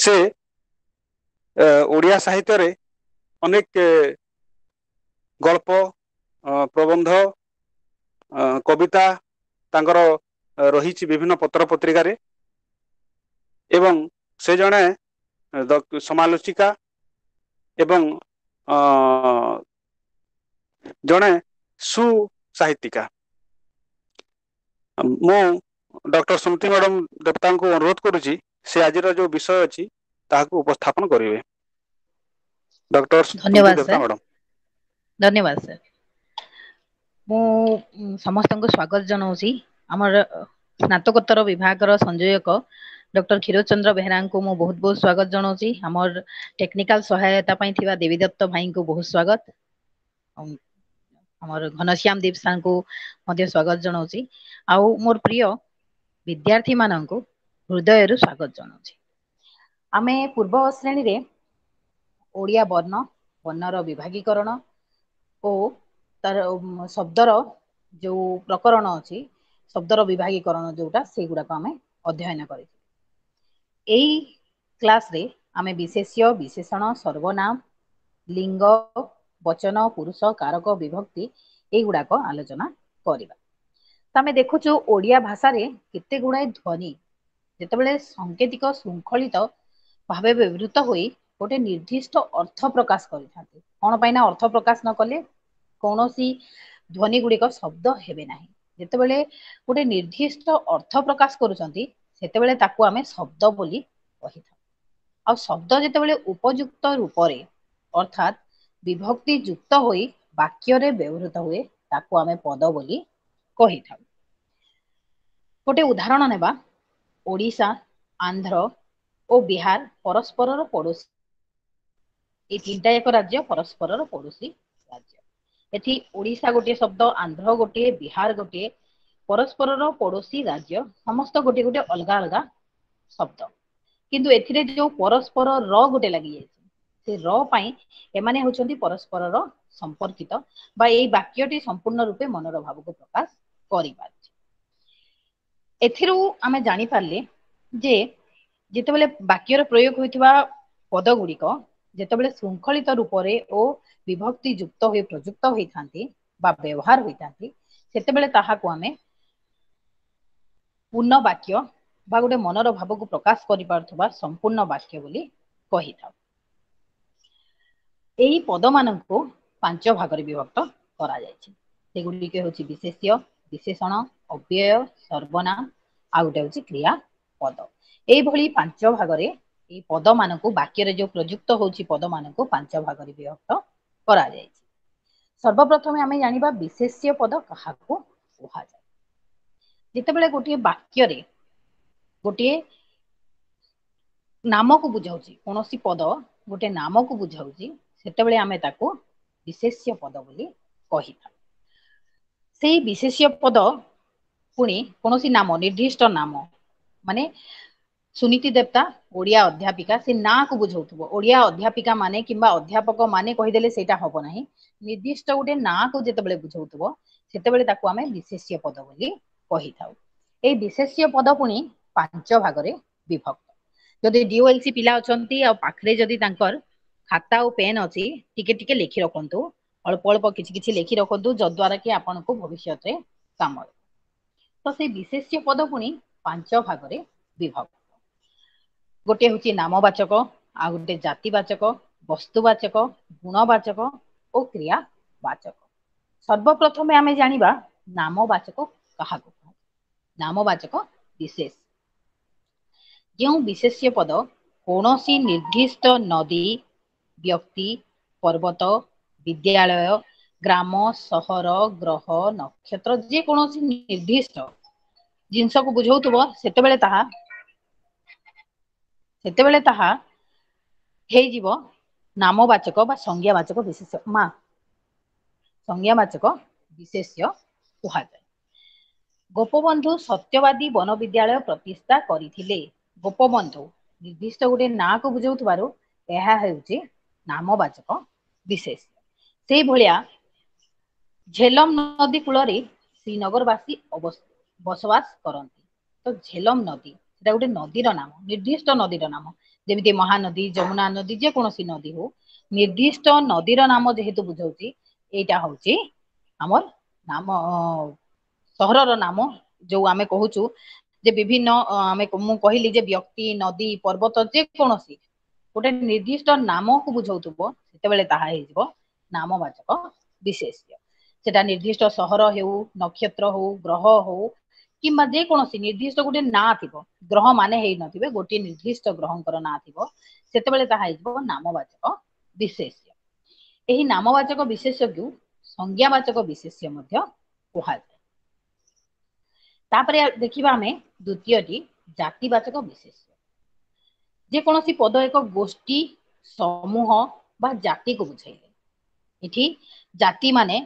ସେ ଓଡ଼ିଆ ସାହିତ୍ୟରେ ଅନେକ ଗଳ୍ପ, ପ୍ରବନ୍ଧ, କବିତା ତାଙ୍କର ରହିଛି ବିଭିନ୍ନ ପତ୍ର ପତ୍ରିକାରେ ଏବଂ ସେ ଜଣେ ସମାଲୋଚିକା ଏବଂ ଜଣେ ସୁସାହିତ୍ୟିକା। ମୁଁ ଡକ୍ଟର ସୁମତି ମ୍ୟାଡ଼ାମ ଦେବତାଙ୍କୁ ଅନୁରୋଧ କରୁଛି, ସେ ଆଜିର ଯୋଉ ବିଷୟ ଅଛି ତାହାକୁ ଉପସ୍ଥାପନ କରିବେ। ଡକ୍ଟର ସୁମତି ଧନ୍ୟବାଦ ଦେବତା ସାର୍। ମ୍ୟାଡ଼ାମ। ଧନ୍ୟବାଦ ସାର୍। ମୁଁ ସମସ୍ତଙ୍କୁ ସ୍ଵାଗତ ଜଣାଉଛି। ଆମର ସ୍ନାତକୋତ୍ତର ବିଭାଗର ସଂଯୋଜକ ଡକ୍ଟର କ୍ଷୀରୋଦ ଚନ୍ଦ୍ର ବେହେରାଙ୍କୁ ମୁଁ ବହୁତ ବହୁତ ସ୍ଵାଗତ ଜଣାଉଛି। ଆମର ଟେକ୍ନିକାଲ ସହାୟତା ପାଇଁ ଥିବା ଦେବୀଦତ୍ତ ଭାଇଙ୍କୁ ବହୁତ ସ୍ଵାଗତ। ଆମର ଘନଶ୍ୟାମ ଦୀପ ସାର୍ଙ୍କୁ ମଧ୍ୟ ସ୍ଵାଗତ ଜଣାଉଛି। ଆଉ ମୋର ପ୍ରିୟ ବିଦ୍ୟାର୍ଥୀ ମାନଙ୍କୁ ହୃଦୟରୁ ସ୍ଵାଗତ ଜଣାଉଛି। ଆମେ ପୂର୍ବ ଶ୍ରେଣୀରେ ଓଡ଼ିଆ ବର୍ଣ୍ଣ, ବର୍ଣ୍ଣର ବିଭାଗୀକରଣ ଓ ତାର ଶବ୍ଦର ଯୋଉ ପ୍ରକରଣ ଅଛି, ଶବ୍ଦର ବିଭାଗୀକରଣ ଯୋଉଟା, ସେଇଗୁଡାକ ଆମେ ଅଧ୍ୟୟନ କରିଛୁ। ଏଇ କ୍ଲାସରେ ଆମେ ବିଶେଷ୍ୟ, ବିଶେଷଣ, ସର୍ବନାମ, ଲିଙ୍ଗ, ବଚନ, ପୁରୁଷ, କାରକ, ବିଭକ୍ତି ଏଇଗୁଡାକ ଆଲୋଚନା କରିବା। ତ ଆମେ ଦେଖୁଛୁ ଓଡ଼ିଆ ଭାଷାରେ କେତେ ଗୁଡାଏ ଧ୍ୱନି ଯେତେବେଳେ ସାଙ୍କେତିକ ଶୃଙ୍ଖଳିତ ଭାବେ ବ୍ୟବହୃତ ହୋଇ ଗୋଟେ ନିର୍ଦ୍ଦିଷ୍ଟ ଅର୍ଥ ପ୍ରକାଶ କରିଥାନ୍ତି। କଣ ପାଇଁ ନା ଅର୍ଥ ପ୍ରକାଶ ନ କଲେ କୌଣସି ଧ୍ୱନି ଗୁଡିକ ଶବ୍ଦ ହେବେ ନାହିଁ। ଯେତେବେଳେ ଗୋଟେ ନିର୍ଦ୍ଦିଷ୍ଟ ଅର୍ଥ ପ୍ରକାଶ କରୁଛନ୍ତି, ସେତେବେଳେ ତାକୁ ଆମେ ଶବ୍ଦ ବୋଲି କହିଥାଉ। ଆଉ ଶବ୍ଦ ଯେତେବେଳେ ଉପଯୁକ୍ତ ରୂପରେ ଅର୍ଥାତ୍ ବିଭକ୍ତି ଯୁକ୍ତ ହୋଇ ବାକ୍ୟରେ ବ୍ୟବହୃତ ହୁଏ, ତାକୁ ଆମେ ପଦ ବୋଲି କହିଥାଉ। ଗୋଟେ ଉଦାହରଣ ନେବା। ଓଡ଼ିଶା, ଆନ୍ଧ୍ର ଓ ବିହାର ପରସ୍ପରର ପଡୋଶୀ। ଏଇ ତିନିଟା ଯାକ ରାଜ୍ୟ ପରସ୍ପରର ପଡୋଶୀ ରାଜ୍ୟ। ଏଠି ଓଡ଼ିଶା ଗୋଟିଏ ଶବ୍ଦ, ଆନ୍ଧ୍ର ଗୋଟିଏ, ବିହାର ଗୋଟିଏ, ପରସ୍ପରର ପଡୋଶୀ ରାଜ୍ୟ, ସମସ୍ତ ଗୋଟିଏ ଗୋଟେ ଅଲଗା ଅଲଗା ଶବ୍ଦ। କିନ୍ତୁ ଏଥିରେ ଯୋଉ ପରସ୍ପର ର ଗୋଟେ ଲାଗିଯାଇଛି, ସେ ର ପାଇଁ ଏମାନେ ହଉଛନ୍ତି ପରସ୍ପରର ସମ୍ପର୍କିତ ବା ଏଇ ବାକ୍ୟଟି ସମ୍ପୂର୍ଣ୍ଣ ରୂପେ ମନର ଭାବକୁ ପ୍ରକାଶ କରିପାରୁଛି। ଏଥିରୁ ଆମେ ଜାଣିପାରିଲେ ଯେ ଯେତେବେଳେ ବାକ୍ୟର ପ୍ରୟୋଗ ହୋଇଥିବା ପଦ ଗୁଡିକ ଯେତେବେଳେ ଶୃଙ୍ଖଳିତ ରୂପରେ ଓ ବିଭକ୍ତି ଯୁକ୍ତ ହୋଇ ପ୍ରଯୁକ୍ତ ହୋଇଥାନ୍ତି ବା ବ୍ୟବହାର ହୋଇଥାନ୍ତି, ସେତେବେଳେ ତାହାକୁ ଆମେ ପୂର୍ଣ୍ଣ ବାକ୍ୟ ବା ଗୋଟେ ମନର ଭାବକୁ ପ୍ରକାଶ କରିପାରୁଥିବା ସମ୍ପୂର୍ଣ୍ଣ ବାକ୍ୟ ବୋଲି କହିଥାଉ। ଏହି ପଦମାନଙ୍କୁ 5 ଭାଗରେ ବିଭକ୍ତ କରାଯାଇଛି। ସେଗୁଡ଼ିକ ହେଉଛି ବିଶେଷ୍ୟ, ବିଶେଷଣ, ଅବ୍ୟୟ, ସର୍ବନାମ, ଆଉ ଗୋଟେ ହେଉଛି କ୍ରିୟା ପଦ। ଏଇଭଳି 5 ଭାଗରେ ଏଇ ପଦମାନଙ୍କୁ, ବାକ୍ୟରେ ଯୋଉ ପ୍ରଯୁକ୍ତ ହଉଛି ପଦମାନଙ୍କୁ 5 ଭାଗରେ ବିଭକ୍ତ କରାଯାଇଛି। ସର୍ବପ୍ରଥମେ ଆମେ ଜାଣିବା ବିଶେଷ୍ୟ ପଦ କାହାକୁ କୁହାଯାଏ। ଯେତେବେଳେ ଗୋଟିଏ ବାକ୍ୟରେ ଗୋଟିଏ ନାମକୁ ବୁଝାଉଛି, କୌଣସି ପଦ ଗୋଟେ ନାମକୁ ବୁଝାଉଛି, ସେତେବେଳେ ଆମେ ତାକୁ ବିଶେଷ୍ୟ ପଦ ବୋଲି କହିଥାଉ। ସେଇ ବିଶେଷ୍ୟ ପଦ ପୁଣି କୌଣସି ନାମ, ନିର୍ଦ୍ଦିଷ୍ଟ ନାମ, ମାନେ ସୁନୀତି ଦେବତା ଓଡ଼ିଆ ଅଧ୍ୟାପିକା, ସେ ନାଁକୁ ବୁଝାଉଥିବ। ଓଡ଼ିଆ ଅଧ୍ୟାପିକା ମାନେ କିମ୍ବା ଅଧ୍ୟାପକ ମାନେ କହିଦେଲେ ସେଇଟା ହବ ନାହିଁ। ନିର୍ଦ୍ଦିଷ୍ଟ ଗୋଟେ ନାଁକୁ ଯେତେବେଳେ ବୁଝାଉଥିବ, ସେତେବେଳେ ତାକୁ ଆମେ ବିଶେଷ୍ୟ ପଦ ବୋଲି କହିଥାଉ। ଏଇ ବିଶେଷ୍ୟ ପଦ ପୁଣି 5 ଭାଗରେ ବିଭକ୍ତ। ଯଦି ଡିଓଏଲସି ପିଲା ଅଛନ୍ତି ଆଉ ପାଖରେ ଯଦି ତାଙ୍କର ଖାତା ଆଉ ପେନ୍ ଅଛି, ଟିକେ ଟିକେ ଲେଖି ରଖନ୍ତୁ, ଅଳ୍ପ ଅଳ୍ପ କିଛି କିଛି ଲେଖି ରଖନ୍ତୁ, ଯଦ୍ୱାରା କି ଆପଣଙ୍କୁ ଭବିଷ୍ୟତରେ କାମ ଦେବ। ତ ସେଇ ବିଶେଷ୍ୟ ପଦ ପୁଣି 5 ଭାଗରେ ବିଭକ୍ତ। ଗୋଟିଏ ହଉଛି ନାମବାଚକ, ଆଉ ଗୋଟେ ଜାତିବାଚକ, ବସ୍ତୁବାଚକ, ଗୁଣବାଚକ ଓ କ୍ରିୟାବାଚକ। ସର୍ବପ୍ରଥମେ ଆମେ ଜାଣିବା ନାମବାଚକ କାହାକୁ କୁହାଯାଏ। ନାମବାଚକ ବିଶେଷ ଯେଉଁ ବିଶେଷ୍ୟ ପଦ କୌଣସି ନିର୍ଦ୍ଦିଷ୍ଟ ନଦୀ, ବ୍ୟକ୍ତି, ପର୍ବତ, ବିଦ୍ୟାଳୟ, ଗ୍ରାମ, ସହର, ଗ୍ରହ, ନକ୍ଷତ୍ର, ଯେକୌଣସି ନିର୍ଦ୍ଦିଷ୍ଟ ଜିନିଷକୁ ବୁଝାଉଥିବ, ସେତେବେଳେ ତାହା ହେଇଯିବ ନାମବାଚକ ବା ସଂଜ୍ଞାବାଚକ ବିଶେଷ୍ୟ। ମା ସଂଜ୍ଞାବାଚକ ବିଶେଷ୍ୟ କୁହାଯାଏ। ଗୋପବନ୍ଧୁ ସତ୍ୟବାଦୀ ବନ ବିଦ୍ୟାଳୟ ପ୍ରତିଷ୍ଠା କରିଥିଲେ। ଗୋପବନ୍ଧୁ ନିର୍ଦ୍ଦିଷ୍ଟ ଗୋଟେ ନାଁକୁ ବୁଝାଉଥିବାରୁ ଏହା ହେଉଛି ନାମବାଚକ ବିଶେଷ୍ୟ। ସେଇଭଳିଆ ଝେଲମ ନଦୀ କୂଳରେ ଶ୍ରୀନଗରବାସୀ ବସବାସ କରନ୍ତି। ତ ଝେଲମ ନଦୀ ସେଟା ଗୋଟେ ନଦୀର ନାମ, ନିର୍ଦ୍ଦିଷ୍ଟ ନଦୀର ନାମ। ଯେମିତି ମହାନଦୀ, ଯମୁନା ନଦୀ, ଯେକୌଣସି ନଦୀ ହଉ, ନିର୍ଦ୍ଦିଷ୍ଟ ନଦୀର ନାମ ଯେହେତୁ ବୁଝଉଛି, ଏଇଟା ହଉଛି ଆମର ନାମ, ସହରର ନାମ। ଯୋଉ ଆମେ କହୁଛୁ ଯେ ବିଭିନ୍ନ, ଆମେ ମୁଁ କହିଲି ଯେ ବ୍ୟକ୍ତି, ନଦୀ, ପର୍ବତ, ଯେକୌଣସି ଗୋଟେ ନିର୍ଦ୍ଦିଷ୍ଟ ନାମକୁ ବୁଝଉଥିବ, ସେତେବେଳେ ତାହା ହେଇଯିବ ନାମବାଚକ ବିଶେଷ୍ୟ। ସେଟା ନିର୍ଦ୍ଦିଷ୍ଟ ସହର ହେଉ, ନକ୍ଷତ୍ର ହଉ, ଗ୍ରହ ହଉ, କିମ୍ବା ଯେକୌଣସି ନିର୍ଦ୍ଦିଷ୍ଟ ଗୋଟେ ନାଁ ଥିବ, ଗ୍ରହ ମାନେ ହେଇନଥିବେ, ଗୋଟିଏ ନିର୍ଦ୍ଦିଷ୍ଟ ଗ୍ରହଙ୍କର ନାଁ ଥିବ, ସେତେବେଳେ ତାହା ହେଇଯିବ ନାମବାଚକ ବିଶେଷ୍ୟ। ଏହି ନାମବାଚକ ବିଶେଷ୍ୟକୁ ସଂଜ୍ଞାବାଚକ ବିଶେଷ୍ୟ ମଧ୍ୟ କୁହାଯାଏ। ତାପରେ ଦେଖିବା ଆମେ ଦ୍ୱିତୀୟଟି, ଜାତିବାଚକ ବିଶେଷ୍ୟ। ଯେକୌଣସି ପଦ ଏକ ଗୋଷ୍ଠୀ, ସମୂହ ବା ଜାତିକୁ ବୁଝାଇଲେ। ଏଠି ଜାତି ମାନେ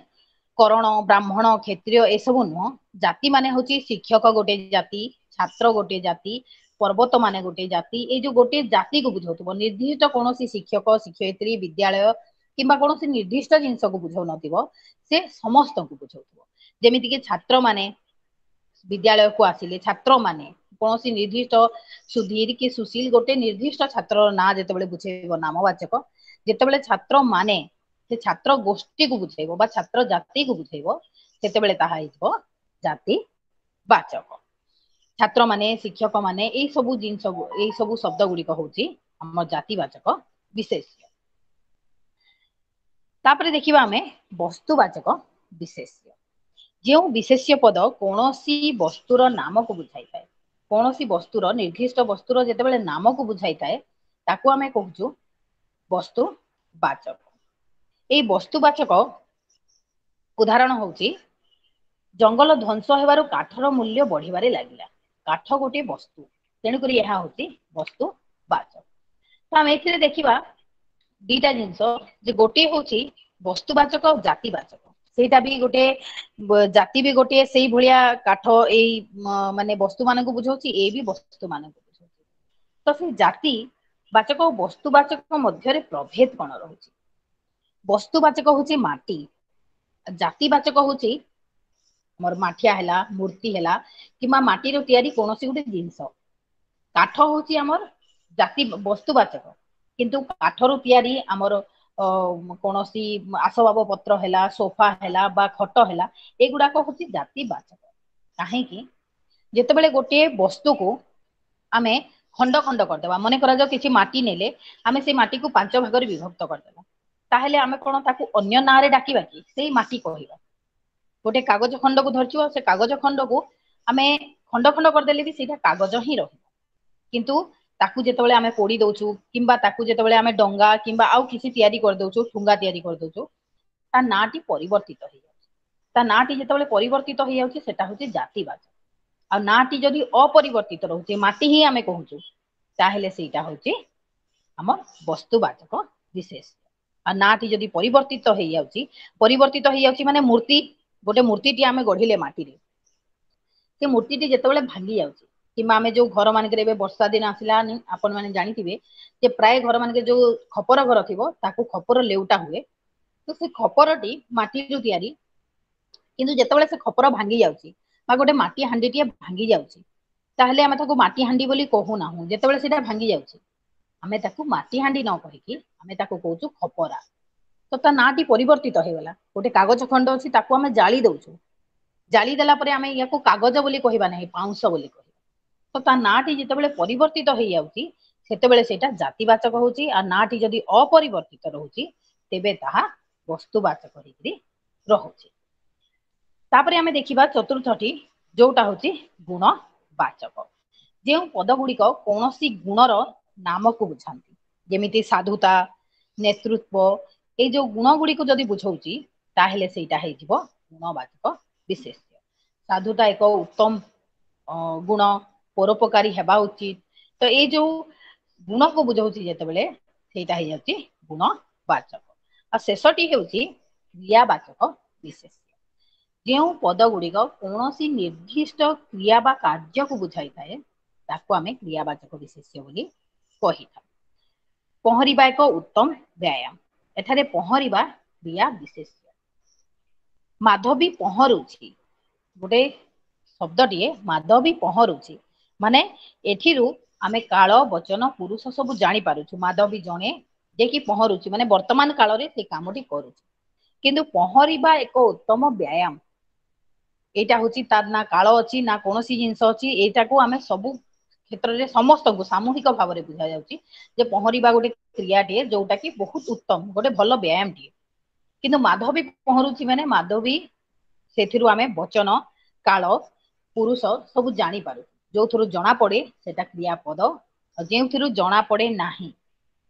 କରଣ, ବ୍ରାହ୍ମଣ, କ୍ଷତ୍ରିୟ ଏସବୁ ନୁହଁ। ଜାତି ମାନେ ହଉଛି ଶିକ୍ଷକ ଗୋଟେ ଜାତି, ଛାତ୍ର ଗୋଟେ ଜାତି, ପର୍ବତ ମାନେ ଗୋଟେ ଜାତି। ଏଇ ଯୋଉ ଗୋଟେ ଜାତିକୁ ବୁଝଉଥିବ, ନିର୍ଦ୍ଦିଷ୍ଟ କୌଣସି ଶିକ୍ଷକ, ଶିକ୍ଷୟିତ୍ରୀ, ବିଦ୍ୟାଳୟ କିମ୍ବା କୌଣସି ନିର୍ଦ୍ଦିଷ୍ଟ ଜିନିଷକୁ ବୁଝଉନଥିବ, ସେ ସମସ୍ତଙ୍କୁ ବୁଝଉଥିବ। ଯେମିତିକି ଛାତ୍ର ମାନେ ବିଦ୍ୟାଳୟକୁ ଆସିଲେ, ଛାତ୍ର ମାନେ କୌଣସି ନିର୍ଦ୍ଦିଷ୍ଟ ସୁଧୀର କି ସୁଶୀଲ, ଗୋଟେ ନିର୍ଦ୍ଦିଷ୍ଟ ଛାତ୍ରର ନାଁ ଯେତେବେଳେ ବୁଝେଇବ ନାମବାଚକ। ଯେତେବେଳେ ଛାତ୍ର ମାନେ ସେ ଛାତ୍ର ଗୋଷ୍ଠୀକୁ ବୁଝେଇବ ବା ଛାତ୍ର ଜାତିକୁ ବୁଝେଇବ, ସେତେବେଳେ ତାହା ହେଇଯିବ ଜାତି ବାଚକ। ଛାତ୍ର ମାନେ, ଶିକ୍ଷକ ମାନେ, ଏଇ ସବୁ ଜିନିଷ, ଏଇ ସବୁ ଶବ୍ଦ ଗୁଡିକ ହଉଛି ଆମ ଜାତିବାଚକ ବିଶେଷ୍ୟ। ତାପରେ ଦେଖିବା ଆମେ ବସ୍ତୁବାଚକ ବିଶେଷ୍ୟ। ଯେଉଁ ବିଶେଷ୍ୟ ପଦ କୌଣସି ବସ୍ତୁର ନାମକୁ ବୁଝାଇଥାଏ, କୌଣସି ବସ୍ତୁର, ନିର୍ଦ୍ଦିଷ୍ଟ ବସ୍ତୁର ଯେତେବେଳେ ନାମକୁ ବୁଝାଇଥାଏ, ତାକୁ ଆମେ କହୁଛୁ ବସ୍ତୁବାଚକ। ଏଇ ବସ୍ତୁବାଚକ ଉଦାହରଣ ହଉଛି, ଜଙ୍ଗଲ ଧ୍ୱଂସ ହେବାରୁ କାଠର ମୂଲ୍ୟ ବଢିବାରେ ଲାଗିଲା। କାଠ ଗୋଟିଏ ବସ୍ତୁ, ତେଣୁକରି ଏହା ହଉଛି ବସ୍ତୁବାଚକ। ତ ଆମେ ଏଥିରେ ଦେଖିବା ଦିଟା ଜିନିଷ, ଯେ ଗୋଟିଏ ହଉଛି ବସ୍ତୁବାଚକ ଆଉ ଜାତିବାଚକ। ସେଇଟା ବି ଗୋଟେ ଜାତି ବି ଗୋଟିଏ ସେଇ ଭଳିଆ, କାଠ ଏଇ ମାନେ ବସ୍ତୁ ମାନଙ୍କୁ ବୁଝଉଛି, ଏ ବି ବସ୍ତୁ ମାନଙ୍କୁ ବୁଝଉଛି। ତ ସେଇ ଜାତି ବାଚକ ଓ ବସ୍ତୁବାଚକ ମଧ୍ୟରେ ପ୍ରଭେଦ କଣ ରହୁଛି? ବସ୍ତୁବାଚକ ହଉଛି ମାଟି, ଜାତିବାଚକ ହଉଛି ଆମର ମାଠିଆ ହେଲା, ମୂର୍ତ୍ତି ହେଲା, କିମ୍ବା ମାଟିର ତିଆରି କୌଣସି ଗୋଟେ ଜିନିଷ। କାଠ ହଉଛି ଆମର ଜାତି ବସ୍ତୁବାଚକ, କିନ୍ତୁ କାଠରୁ ତିଆରି ଆମର କୌଣସି ଆସବାବ ପତ୍ର ହେଲା, ସୋଫା ହେଲା ବା ଖଟ ହେଲା, ଏଗୁଡାକ ହଉଛି ଜାତିବାଚକ। କାହିଁକି? ଯେତେବେଳେ ଗୋଟିଏ ବସ୍ତୁକୁ ଆମେ ଖଣ୍ଡ ଖଣ୍ଡ କରିଦେବା, ମନେ କରାଯାଉ କିଛି ମାଟି ନେଲେ, ଆମେ ସେଇ ମାଟିକୁ 5 ଭାଗରେ ବିଭକ୍ତ କରିଦେବା, ତାହେଲେ ଆମେ କଣ ତାକୁ ଅନ୍ୟ ନାଁରେ ଡାକିବା କି ସେଇ ମାଟି କହିବା? ଗୋଟେ କାଗଜ ଖଣ୍ଡକୁ ଧରିଛୁ, ସେ କାଗଜ ଖଣ୍ଡକୁ ଆମେ ଖଣ୍ଡ ଖଣ୍ଡ କରିଦେଲେ ବି ସେଇଟା କାଗଜ ହିଁ ରହିବ। କିନ୍ତୁ ତାକୁ ଯେତେବେଳେ ଆମେ ପୋଡି ଦଉଛୁ, କିମ୍ବା ତାକୁ ଯେତେବେଳେ ଆମେ ଡଙ୍ଗା କିମ୍ବା ଆଉ କିଛି ତିଆରି କରିଦଉଛୁ, ଠୁଙ୍ଗା ତିଆରି କରିଦଉଛୁ, ତା ନାଁଟି ପରିବର୍ତ୍ତିତ ହେଇଯାଉଛି। ତା ନାଁଟି ଯେତେବେଳେ ପରିବର୍ତ୍ତିତ ହେଇଯାଉଛି, ସେଟା ହଉଛି ଜାତିବାଚକ। ଆଉ ନାଁଟି ଯଦି ଅପରିବର୍ତ୍ତିତ ରହୁଛି, ମାଟି ହିଁ ଆମେ କହୁଛୁ, ତାହେଲେ ସେଇଟା ହଉଛି ଆମ ବସ୍ତୁବାଚକ ବିଶେଷ। ଆଉ ନାଁଟି ଯଦି ପରିବର୍ତ୍ତିତ ହେଇଯାଉଛି, ପରିବର୍ତ୍ତିତ ହେଇଯାଉଛି ମାନେ ମୂର୍ତ୍ତି, ଗୋଟେ ମୂର୍ତ୍ତିଟି ଆମେ ଗଢିଲେ ମାଟିରେ, ସେ ମୂର୍ତ୍ତିଟି ଯେତେବେଳେ ଭାଙ୍ଗି ଯାଉଛି, କିମ୍ବା ଆମେ ଯୋଉ ଘର ମାନଙ୍କରେ, ଏବେ ବର୍ଷା ଦିନ ଆସିଲାନି, ଆପଣ ମାନେ ଜାଣିଥିବେ ଯେ ପ୍ରାୟ ଘର ମାନଙ୍କରେ ଯୋଉ ଖପର ଘର ଥିବ, ତାକୁ ଖପର ଲେଉଟା ହୁଏ। ତ ସେ ଖପରଟି ମାଟିରୁ ତିଆରି, କିନ୍ତୁ ଯେତେବେଳେ ସେ ଖପର ଭାଙ୍ଗି ଯାଉଛି ବା ଗୋଟେ ମାଟି ହାଣ୍ଡିଟିଏ ଭାଙ୍ଗି ଯାଉଛି, ତାହେଲେ ଆମେ ତାକୁ ମାଟି ହାଣ୍ଡି ବୋଲି କହୁନାହୁଁ। ଯେତେବେଳେ ସେଇଟା ଭାଙ୍ଗି ଯାଉଛି, ଆମେ ତାକୁ ମାଟି ହାଣ୍ଡି ନ କହିକି ଆମେ ତାକୁ କହୁଛୁ ଖପରା। ତ ତା ନାଁଟି ପରିବର୍ତ୍ତିତ ହେଇଗଲା। ଗୋଟେ କାଗଜ ଖଣ୍ଡ ଅଛି, ତାକୁ ଆମେ ଜାଳି ଦଉଛୁ, ଜାଳି ଦେଲା ପରେ ଆମେ ୟାକୁ କାଗଜ ବୋଲି କହିବା ନାହିଁ, ପାଉଁଶ ବୋଲି କହିବା। ତ ତା ନାଁଟି ଯେତେବେଳେ ପରିବର୍ତ୍ତିତ ହେଇଯାଉଛି, ସେତେବେଳେ ସେଇଟା ଜାତିବାଚକ ହଉଛି। ଆଉ ନାଁଟି ଯଦି ଅପରିବର୍ତ୍ତିତ ରହୁଛି, ତେବେ ତାହା ବସ୍ତୁବାଚକ ହେଇକିରି ରହୁଛି। ତାପରେ ଆମେ ଦେଖିବା ଚତୁର୍ଥଟି, ଯୋଉଟା ହଉଛି ଗୁଣବାଚକ। ଯେଉଁ ପଦ ଗୁଡିକ କୌଣସି ଗୁଣର ନାମକୁ ବୁଝାନ୍ତି, ଯେମିତି ସାଧୁତା, ନେତୃତ୍ୱ, ଏଇ ଯୋଉ ଗୁଣ ଗୁଡିକୁ ଯଦି ବୁଝଉଛି, ତାହେଲେ ସେଇଟା ହେଇଯିବ ଗୁଣବାଚକ ବିଶେଷ୍ୟ। ସାଧୁତା ଏକ ଉତ୍ତମ ଗୁଣ, ପରୋପକାରୀ ହେବା ଉଚିତ। ତ ଏଇ ଯୋଉ ଗୁଣକୁ ବୁଝଉଛି ଯେତେବେଳେ, ସେଇଟା ହେଇଯାଉଛି ଗୁଣବାଚକ। ଆଉ ଶେଷଟି ହେଉଛି କ୍ରିୟାବାଚକ ବିଶେଷ୍ୟ। ଯେଉଁ ପଦ ଗୁଡିକ କୌଣସି ନିର୍ଦ୍ଦିଷ୍ଟ କ୍ରିୟା ବା କାର୍ଯ୍ୟକୁ ବୁଝାଇଥାଏ, ତାକୁ ଆମେ କ୍ରିୟାବାଚକ ବିଶେଷ୍ୟ ବୋଲି କହିଥାଉ। ପହଁରିବା ଏକ ଉତ୍ତମ ବ୍ୟାୟାମ। ଏଠାରେ ପହଁରିବା କ୍ରିୟା ବିଶେଷ୍ୟ। ମାଧବୀ ପହଁରୁଛି, ଗୋଟେ ଶବ୍ଦଟିଏ, ମାଧବୀ ପହଁରୁଛି। ମାନେ ଏଥିରୁ ଆମେ କାଳ, ବଚନ, ପୁରୁଷ ସବୁ ଜାଣିପାରୁଛୁ। ମାଧବୀ ଜଣେ ଯେ କି ପହଁରୁଛି, ମାନେ ବର୍ତ୍ତମାନ କାଳରେ ସେ କାମଟି କରୁଛି। କିନ୍ତୁ ପହଁରିବା ଏକ ଉତ୍ତମ ବ୍ୟାୟାମ, ଏଇଟା ହଉଛି ତାର ନା କାଳ ଅଛି ନା କୌଣସି ଜିନିଷ ଅଛି। ଏଇଟାକୁ ଆମେ ସବୁ କ୍ଷେତ୍ରରେ ସମସ୍ତଙ୍କୁ ସାମୂହିକ ଭାବରେ ବୁଝା ଯାଉଛି ଯେ ପହଁରିବା ଗୋଟେ କ୍ରିୟାଟିଏ ଯୋଉଟା କି ବହୁତ ଉତ୍ତମ, ଗୋଟେ ଭଲ ବ୍ୟାୟାମଟିଏ। କିନ୍ତୁ ମାଧବୀ ପହଁରୁଛି ମାନେ ମାଧବୀ, ସେଥିରୁ ଆମେ ବଚନ, କାଳ, ପୁରୁଷ ସବୁ ଜାଣିପାରୁ। ଯୋଉଥିରୁ ଜଣା ପଡେ ସେଟା କ୍ରିୟାପଦ, ଆଉ ଯେଉଁଥିରୁ ଜଣା ପଡେ ନାହିଁ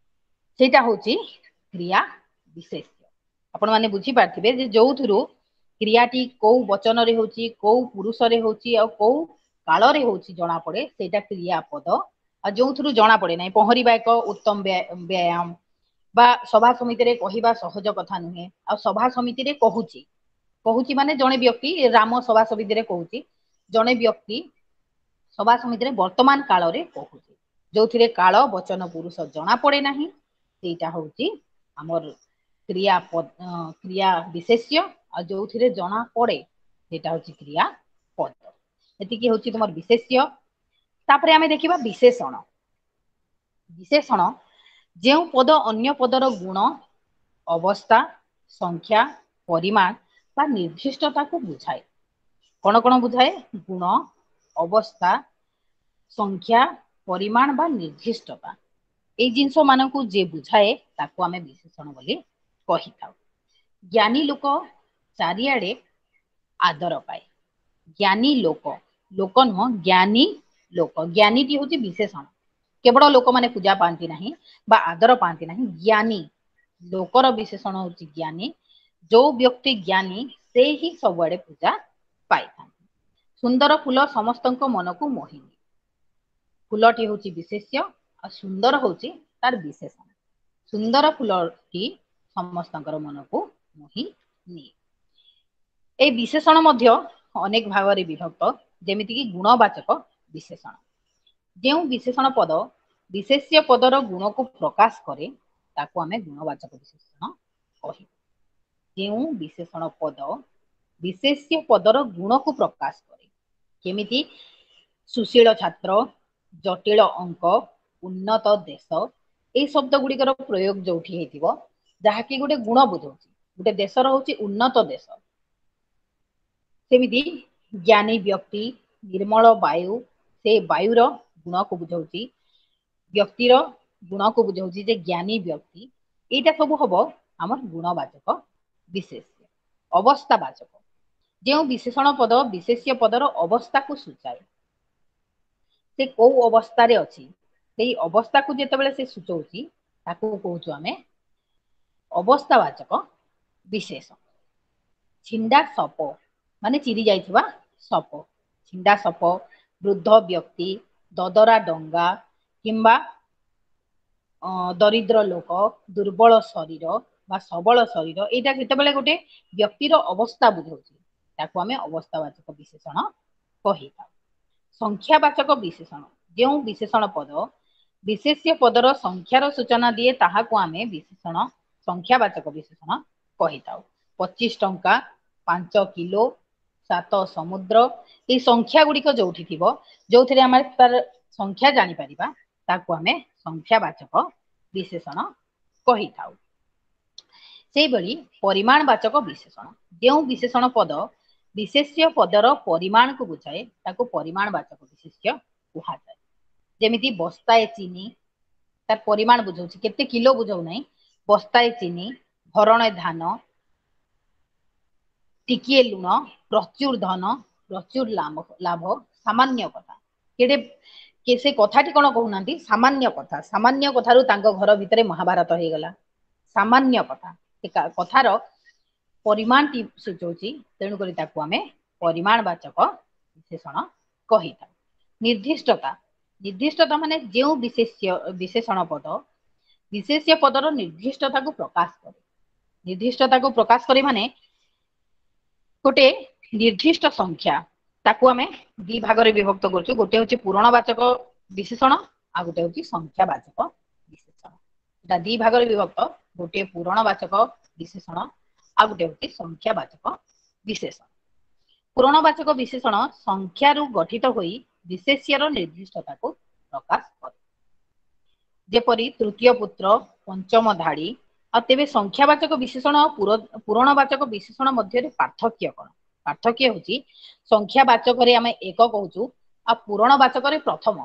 ସେଇଟା ହଉଛି କ୍ରିୟା ବିଶେଷ୍ୟ। ଆପଣ ମାନେ ବୁଝିପାରିଥିବେ ଯେ ଯୋଉଥିରୁ କ୍ରିୟାଟି କୋଉ ବଚନରେ ହଉଛି, କୋଉ ପୁରୁଷରେ ହଉଛି ଆଉ କୋଉ କାଳରେ ହଉଛି ଜଣା ପଡେ, ସେଇଟା କ୍ରିୟାପଦ। ଆଉ ଯୋଉଥିରୁ ଜଣା ପଡେ ନାହିଁ, ପହଁରିବା ଏକ ଉତ୍ତମ ବ୍ୟାୟାମ ବା ସଭା ସମିତିରେ କହିବା ସହଜ କଥା ନୁହେଁ। ଆଉ ସଭା ସମିତିରେ କହୁଛି, କହୁଛି ମାନେ ଜଣେ ବ୍ୟକ୍ତି, ରାମ ସଭା ସମିତିରେ କହୁଛି, ଜଣେ ବ୍ୟକ୍ତି ସଭା ସମିତିରେ ବର୍ତ୍ତମାନ କାଳରେ କହୁଛି, ଯୋଉଥିରେ କାଳ, ବଚନ, ପୁରୁଷ ଜଣା ପଡେ ନାହିଁ, ସେଇଟା ହଉଛି ଆମର କ୍ରିୟା କ୍ରିୟା ବିଶେଷ୍ୟ। ଆଉ ଯୋଉଥିରେ ଜଣା ପଡେ ସେଇଟା ହଉଛି କ୍ରିୟା ପଦ। ଏତିକି ହଉଛି ତୁମର ବିଶେଷ୍ୟ। ତାପରେ ଆମେ ଦେଖିବା ବିଶେଷଣ। ବିଶେଷଣ ଯେଉଁ ପଦ ଅନ୍ୟ ପଦର ଗୁଣ, ଅବସ୍ଥା, ସଂଖ୍ୟା, ପରିମାଣ ବା ନିର୍ଦ୍ଦିଷ୍ଟତାକୁ ବୁଝାଏ। କଣ କଣ ବୁଝାଏ? ଗୁଣ, ଅବସ୍ଥା, ସଂଖ୍ୟା, ପରିମାଣ ବା ନିର୍ଦ୍ଦିଷ୍ଟତା। ଏଇ ଜିନିଷ ମାନଙ୍କୁ ଯିଏ ବୁଝାଏ ତାକୁ ଆମେ ବିଶେଷଣ ବୋଲି କହିଥାଉ। ଜ୍ଞାନୀ ଲୋକ ଚାରିଆଡେ ଆଦର ପାଏ। ଜ୍ଞାନୀ ଲୋକ, ଲୋକ ନୁହଁ, ଜ୍ଞାନୀ ଲୋକ। ଜ୍ଞାନୀଟି ହଉଛି ବିଶେଷଣ। କେବଳ ଲୋକମାନେ ପୂଜା ପାଆନ୍ତି ନାହିଁ ବା ଆଦର ପାଆନ୍ତି ନାହିଁ। ଜ୍ଞାନୀ ଲୋକର ବିଶେଷଣ ହଉଛି ଜ୍ଞାନୀ। ଯୋଉ ବ୍ୟକ୍ତି ଜ୍ଞାନୀ ସେ ହିଁ ସବୁଆଡେ ପୂଜା ପାଇଥାନ୍ତି। ସୁନ୍ଦର ଫୁଲ ସମସ୍ତଙ୍କ ମନକୁ ମୋହିନି। ଫୁଲଟି ହଉଛି ବିଶେଷ୍ୟ ଆଉ ସୁନ୍ଦର ହଉଛି ତାର ବିଶେଷଣ। ସୁନ୍ଦର ଫୁଲଟି ସମସ୍ତଙ୍କର ମନକୁ ମୋହି ନିଏ। ଏଇ ବିଶେଷଣ ମଧ୍ୟ ଅନେକ ଭାଗରେ ବିଭକ୍ତ, ଯେମିତିକି ଗୁଣବାଚକ ବିଶେଷଣ। ଯେଉଁ ବିଶେଷଣ ପଦ ବିଶେଷ୍ୟ ପଦର ଗୁଣକୁ ପ୍ରକାଶ କରେ ତାକୁ ଆମେ ଗୁଣବାଚକ ବିଶେଷଣ କହିବୁ। ଯେଉଁ ବିଶେଷଣ ପଦ ବିଶେଷ୍ୟ ପଦର ଗୁଣକୁ ପ୍ରକାଶ କରେ, କେମିତି? ସୁଶୀଳ ଛାତ୍ର, ଜଟିଳ ଅଙ୍କ, ଉନ୍ନତ ଦେଶ, ଏଇ ଶବ୍ଦ ଗୁଡିକର ପ୍ରୟୋଗ ଯୋଉଠି ହେଇଥିବ, ଯାହାକି ଗୋଟେ ଗୁଣ ବୁଝଉଛି, ଗୋଟେ ଦେଶର ହଉଛି ଉନ୍ନତ ଦେଶ। ସେମିତି ଜ୍ଞାନୀ ବ୍ୟକ୍ତି, ନିର୍ମଳ ବାୟୁ, ସେ ବାୟୁର ଗୁଣକୁ ବୁଝଉଛି, ବ୍ୟକ୍ତିର ଗୁଣକୁ ବୁଝଉଛି ଯେ ଜ୍ଞାନୀ ବ୍ୟକ୍ତି। ଏଇଟା ସବୁ ହବ ଆମର ଗୁଣବାଚକ ବିଶେଷ୍ୟ। ଅବସ୍ଥାବାଚକ ଯେଉଁ ବିଶେଷଣ ପଦ ବିଶେଷ୍ୟ ପଦର ଅବସ୍ଥାକୁ ସୂଚାଏ, ସେ କୋଉ ଅବସ୍ଥାରେ ଅଛି ସେଇ ଅବସ୍ଥାକୁ ଯେତେବେଳେ ସେ ସୂଚଉଛି ତାକୁ କହୁଛୁ ଆମେ ଅବସ୍ଥାବାଚକ ବିଶେଷ। ଛିଣ୍ଡା ସପ ମାନେ ଚିରି ଯାଇଥିବା ସପ, ଛିଣ୍ଡା ସପ, ବୃଦ୍ଧ ବ୍ୟକ୍ତି, ଦଦରା ଡଙ୍ଗା କିମ୍ବା ଦରିଦ୍ର ଲୋକ, ଦୁର୍ବଳ ଶରୀର ବା ସବଳ ଶରୀର, ଏଇଟା ଯେତେବେଳେ ଗୋଟେ ବ୍ୟକ୍ତିର ଅବସ୍ଥା ବୁଝଉଛି ତାକୁ ଆମେ ଅବସ୍ଥାବାଚକ ବିଶେଷଣ କହିଥାଉ। ସଂଖ୍ୟାବାଚକ ବିଶେଷଣ ଯେଉଁ ବିଶେଷଣ ପଦ ବିଶେଷ୍ୟ ପଦର ସଂଖ୍ୟାର ସୂଚନା ଦିଏ ତାହାକୁ ଆମେ ବିଶେଷଣ ସଂଖ୍ୟାବାଚକ ବିଶେଷଣ କହିଥାଉ। 25 ଟଙ୍କା, 5 କିଲୋ, 7 ସମୁଦ୍ର, ଏଇ ସଂଖ୍ୟା ଗୁଡିକ ଯୋଉଠି ଥିବ, ଯୋଉଥିରେ ଆମେ ତାର ସଂଖ୍ୟା ଜାଣିପାରିବା ତାକୁ ଆମେ ସଂଖ୍ୟାବାଚକ ବିଶେଷଣ କହିଥାଉ। ସେଇଭଳି ପରିମାଣବାଚକ ବିଶେଷଣ ଯେଉଁ ବିଶେଷଣ ପଦ ବିଶେଷ୍ୟ ପଦର ପରିମାଣକୁ ବୁଝାଏ ତାକୁ ପରିମାଣବାଚକ ବିଶେଷ୍ୟ କୁହାଯାଏ। ଯେମିତି ବସ୍ତାଏ ଚିନି, ତାର ପରିମାଣ ବୁଝାଉଛି, କେତେ କିଲୋ ବୁଝାଉ ନାହିଁ। ବସ୍ତାଏ ଚିନି, ଭରଣେ ଧାନ, ଟିକିଏ ଲୁଣ, ପ୍ରଚୁର ଧନ, ପ୍ରଚୁର ଲାଭ, ସାମାନ୍ୟ କଥା। କେଡେ ସେ କଥାଟି କଣ କହୁନାହାନ୍ତି, ସାମାନ୍ୟ କଥା। ସାମାନ୍ୟ କଥାରୁ ତାଙ୍କ ଘର ଭିତରେ ମହାଭାରତ ହେଇଗଲା। ସାମାନ୍ୟ କଥା, ସେ କଥାର ପରିମାଣଟି ସୂଚଉଛି, ତେଣୁକରି ତାକୁ ଆମେ ପରିମାଣବାଚକ ବିଶେଷଣ କହିଥାଉ। ନିର୍ଦ୍ଦିଷ୍ଟତା, ନିର୍ଦ୍ଦିଷ୍ଟତା ମାନେ ଯେଉଁ ବିଶେଷଣ ପଦ ବିଶେଷ୍ୟ ପଦର ନିର୍ଦ୍ଦିଷ୍ଟତାକୁ ପ୍ରକାଶ କରେ। ନିର୍ଦ୍ଦିଷ୍ଟତାକୁ ପ୍ରକାଶ କରେ ମାନେ ଗୋଟେ ନିର୍ଦ୍ଦିଷ୍ଟ ସଂଖ୍ୟା, ତାକୁ ଆମେ ଦି ଭାଗରେ ବିଭକ୍ତ କରୁଛୁ। ଗୋଟେ ହଉଛି ପୂରଣବାଚକ ବିଶେଷଣ ଆଉ ଗୋଟେ ହଉଛି ସଂଖ୍ୟାବାଚକ ବିଶେଷଣ। ଏଟା ଦି ଭାଗରେ ବିଭକ୍ତ, ଗୋଟେ ପୂରଣବାଚକ ବିଶେଷଣ ଆଉ ଗୋଟେ ହଉଛି ସଂଖ୍ୟାବାଚକ ବିଶେଷଣ। ପୂରଣବାଚକ ବିଶେଷଣ ସଂଖ୍ୟାରୁ ଗଠିତ ହୋଇ ବିଶେଷ୍ୟର ନିର୍ଦ୍ଦିଷ୍ଟତାକୁ ପ୍ରକାଶ କରେ। ଯେପରି ତୃତୀୟ ପୁତ୍ର, ପଞ୍ଚମ ଧାଡ଼ି। ଆଉ ତେବେ ସଂଖ୍ୟାବାଚକ ବିଶେଷଣ ଆଉ ପୂରଣବାଚକ ବିଶେଷଣ ମଧ୍ୟରେ ପାର୍ଥକ୍ୟ କଣ? ପାର୍ଥକ୍ୟ ହଉଛି ସଂଖ୍ୟାବାଚକରେ ଆମେ ଏକ କହୁଛୁ, ଆଉ ପୂରଣବାଚକରେ ପ୍ରଥମ,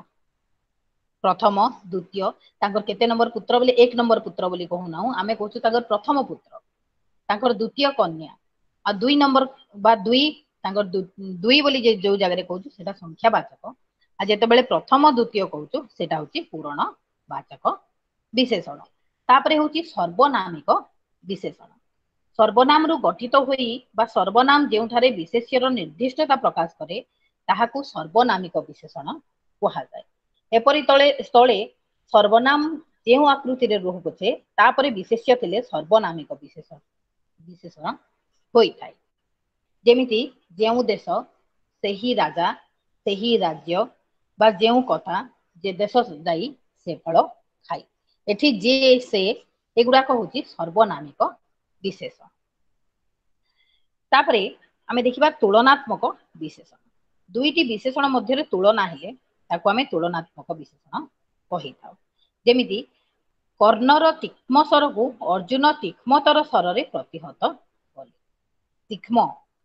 ପ୍ରଥମ, ଦ୍ୱିତୀୟ। ତାଙ୍କର କେତେ ନମ୍ବର ପୁତ୍ର ବୋଲି 1 ନମ୍ବର ପୁତ୍ର ବୋଲି କହୁନାହୁଁ, ଆମେ କହୁଛୁ ତାଙ୍କର ପ୍ରଥମ ପୁତ୍ର, ତାଙ୍କର ଦ୍ୱିତୀୟ କନ୍ୟା, ଆଉ 2 ନମ୍ବର ବା 2, ତାଙ୍କର 2 ବୋଲି ଯୋଉ ଜାଗାରେ କହୁଛୁ ସେଟା ସଂଖ୍ୟାବାଚକ। ଆଉ ଯେତେବେଳେ ପ୍ରଥମ ଦ୍ୱିତୀୟ କହୁଛୁ ସେଟା ହଉଛି ପୂରଣ ବାଚକ ବିଶେଷଣ। ତାପରେ ହଉଛି ସର୍ବନାମିକ ବିଶେଷଣ। ସର୍ବନାମରୁ ଗଠିତ ହୋଇ ବା ସର୍ବନାମ ଯେଉଁଠାରେ ବିଶେଷ୍ୟର ନିର୍ଦ୍ଦିଷ୍ଟତା ପ୍ରକାଶ କରେ ତାହାକୁ ସର୍ବନାମିକ ବିଶେଷଣ କୁହାଯାଏ। ଏପରି ସ୍ଥଳେ ସର୍ବନାମ ଯେଉଁ ଆକୃତିରେ ରହୁ ପଛେ ତାପରେ ବିଶେଷ୍ୟ ଥିଲେ ସର୍ବନାମିକ ବିଶେଷଣ ହୋଇଥାଏ। ଯେମିତି ଯେଉଁ ଦେଶ ସେହି ରାଜା ସେହି ରାଜ୍ୟ ବା ଯେଉଁ କଥା ଯେ ଦେଶ ଯାଇ ସେ ଫଳ ଖାଇ। ଏଠି ଯେ ସେ ଏଗୁଡାକ ହଉଛି ସର୍ବନାମିକ ବିଶେଷଣ। ତାପରେ ଆମେ ଦେଖିବା ତୁଳନାତ୍ମକ ବିଶେଷଣ। ଦୁଇଟି ବିଶେଷଣ ମଧ୍ୟରେ ତୁଳନା ହେଲେ ତାକୁ ଆମେ ତୁଳନାତ୍ମକ ବିଶେଷଣ କହିଥାଉ। ଯେମିତି କର୍ଣ୍ଣର ତୀକ୍ଷ୍ମ ସ୍ୱରକୁ ଅର୍ଜୁନ ତୀକ୍ଷ୍ମତର ସ୍ୱରରେ ପ୍ରତିହତ କଲେ। ତୀକ୍ଷ୍ମ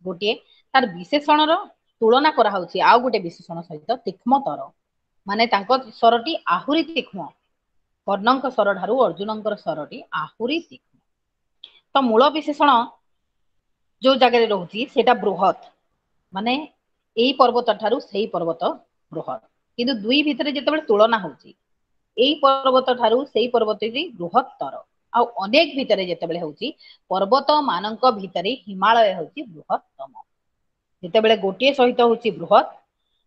ଗୋଟିଏ ତାର ବିଶେଷଣର ତୁଳନା କରାହଉଛି ଆଉ ଗୋଟେ ବିଶେଷଣ ସହିତ, ତୀକ୍ଷ୍ମତର ମାନେ ତାଙ୍କ ସ୍ୱରଟି ଆହୁରି ତୀକ୍ଷ୍ମ, କର୍ଣ୍ଣଙ୍କ ସ୍ୱର ଠାରୁ ଅର୍ଜୁନଙ୍କର ସ୍ୱରଟି ଆହୁରି ତୀକ୍ଷ୍ମ। ତ ମୂଳ ବିଶେଷଣ ଯୋଉ ଜାଗାରେ ରହୁଛି ସେଇଟା ବୃହତ, ମାନେ ଏଇ ପର୍ବତ ଠାରୁ ସେଇ ପର୍ବତ ବୃହତ। କିନ୍ତୁ ଦୁଇ ଭିତରେ ଯେତେବେଳେ ତୁଳନା ହଉଛି ଏଇ ପର୍ବତ ଠାରୁ ସେଇ ପର୍ବତଟି ବୃହତ୍ତର, ଆଉ ଅନେକ ଭିତରେ ଯେତେବେଳେ ହଉଛି ପର୍ବତ ମାନଙ୍କ ଭିତରେ ହିମାଳୟ ହଉଛି ବୃହତ୍ତମ। ଯେତେବେଳେ ଗୋଟିଏ ସହିତ ହଉଛି ବୃହତ,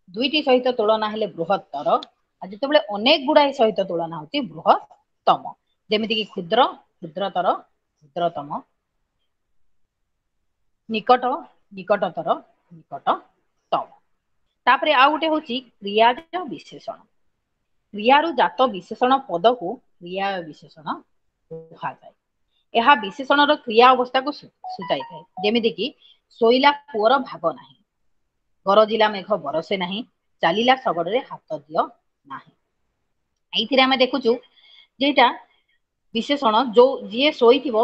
ଦୁଇଟି ସହିତ ତୁଳନା ହେଲେ ବୃହତ୍ତର, ଆଉ ଯେତେବେଳେ ଅନେକ ଗୁଡାଏ ସହିତ ତୁଳନା ହଉଛି ବୃହତ୍ତମ। ଯେମିତିକି କ୍ଷୁଦ୍ର, କ୍ଷୁଦ୍ରତର, କ୍ଷୁଦ୍ରତମ, ନିକଟ, ନିକଟତର, ନିକଟତମ। ତାପରେ ଆଉ ଗୋଟେ ହଉଛି କ୍ରିୟାଜ ବିଶେଷଣ। କ୍ରିୟାରୁ ଜାତ ବିଶେଷଣ ପଦକୁ କ୍ରିୟା ବିଶେଷଣ କୁହାଯାଏ। ଏହା ବିଶେଷଣର କ୍ରିୟା ଅବସ୍ଥାକୁ ସୂଚାଇଥାଏ। ଯେମିତିକି ଶୋଇଲା ପୁଅର ଭାଗ ନାହିଁ, ଗରଜିଲା ମେଘ ବରସେ ନାହିଁ, ଚାଲିଲା ଶଗଡ଼ରେ ହାତ ଦିଅ ନାହିଁ। ଏଇଥିରେ ଆମେ ଦେଖୁଛୁ ଯେଇଟା ବିଶେଷଣ ଯୋଉ ଯିଏ ଶୋଇଥିବ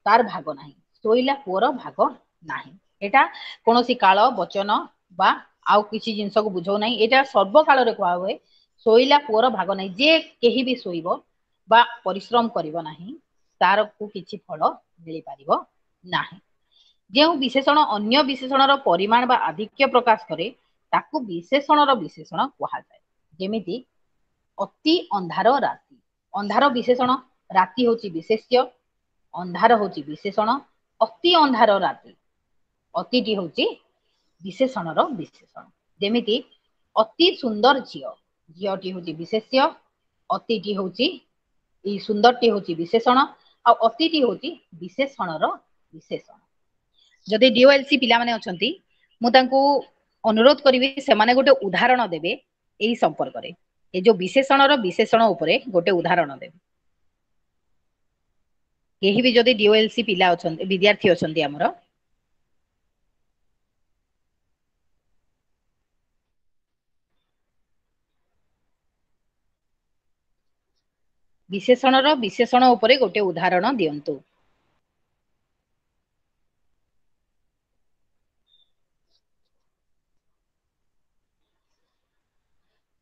ତାର ଭାଗ ନାହିଁ, ଶୋଇଲା ପୁଅର ଭାଗ ନାହିଁ। ଏଇଟା କୌଣସି କାଳ ବଚନ ବା ଆଉ କିଛି ଜିନିଷକୁ ବୁଝାଉ ନାହିଁ, ଏଇଟା ସର୍ବକାଳରେ କୁହା ହୁଏ। ଶୋଇଲା ପୁଅର ଭାଗ ନାହିଁ, ଯିଏ କେହି ବି ଶୋଇବ ବା ପରିଶ୍ରମ କରିବ ନାହିଁ ତାରକୁ କିଛି ଫଳ ମିଳିପାରିବ ନାହିଁ। ଯେଉଁ ବିଶେଷଣ ଅନ୍ୟ ବିଶେଷଣର ପରିମାଣ ବା ଆଧିକ୍ୟ ପ୍ରକାଶ କରେ ତାକୁ ବିଶେଷଣର ବିଶେଷଣ କୁହାଯାଏ। ଯେମିତି ଅତି ଅନ୍ଧାର ରାତି, ଅନ୍ଧାର ବିଶେଷଣ, ରାତି ହଉଛି ବିଶେଷ୍ୟ, ଅନ୍ଧାର ହଉଛି ବିଶେଷଣ, ଅତି ଅନ୍ଧାର ରାତି, ଅତିଟି ହଉଛି ବିଶେଷଣର ବିଶେଷଣ। ଯେମିତି ଅତି ସୁନ୍ଦର ଝିଅ, ଝିଅଟି ହଉଛି ବିଶେଷ୍ୟ, ଅତିଟି ହଉଛି ଏଇ ସୁନ୍ଦରଟି ହଉଛି ବିଶେଷଣ, ଆଉ ଅତିଟି ହଉଛି ବିଶେଷଣର ବିଶେଷଣ। ଯଦି ଡିଓଏଲସି ପିଲାମାନେ ଅଛନ୍ତି ମୁଁ ତାଙ୍କୁ ଅନୁରୋଧ କରିବି ସେମାନେ ଗୋଟେ ଉଦାହରଣ ଦେବେ ଏଇ ସମ୍ପର୍କରେ, ଏ ଯୋଉ ବିଶେଷଣର ବିଶେଷଣ ଉପରେ ଗୋଟେ ଉଦାହରଣ ଦେବେ। କେହି ବି ଯଦି ଡିଓଏଲସି ପିଲା ଅଛନ୍ତି, ବିଦ୍ୟାର୍ଥୀ ଅଛନ୍ତି ଆମର, ବିଶେଷଣର ବିଶେଷଣ ଉପରେ ଗୋଟେ ଉଦାହରଣ ଦିଅନ୍ତୁ।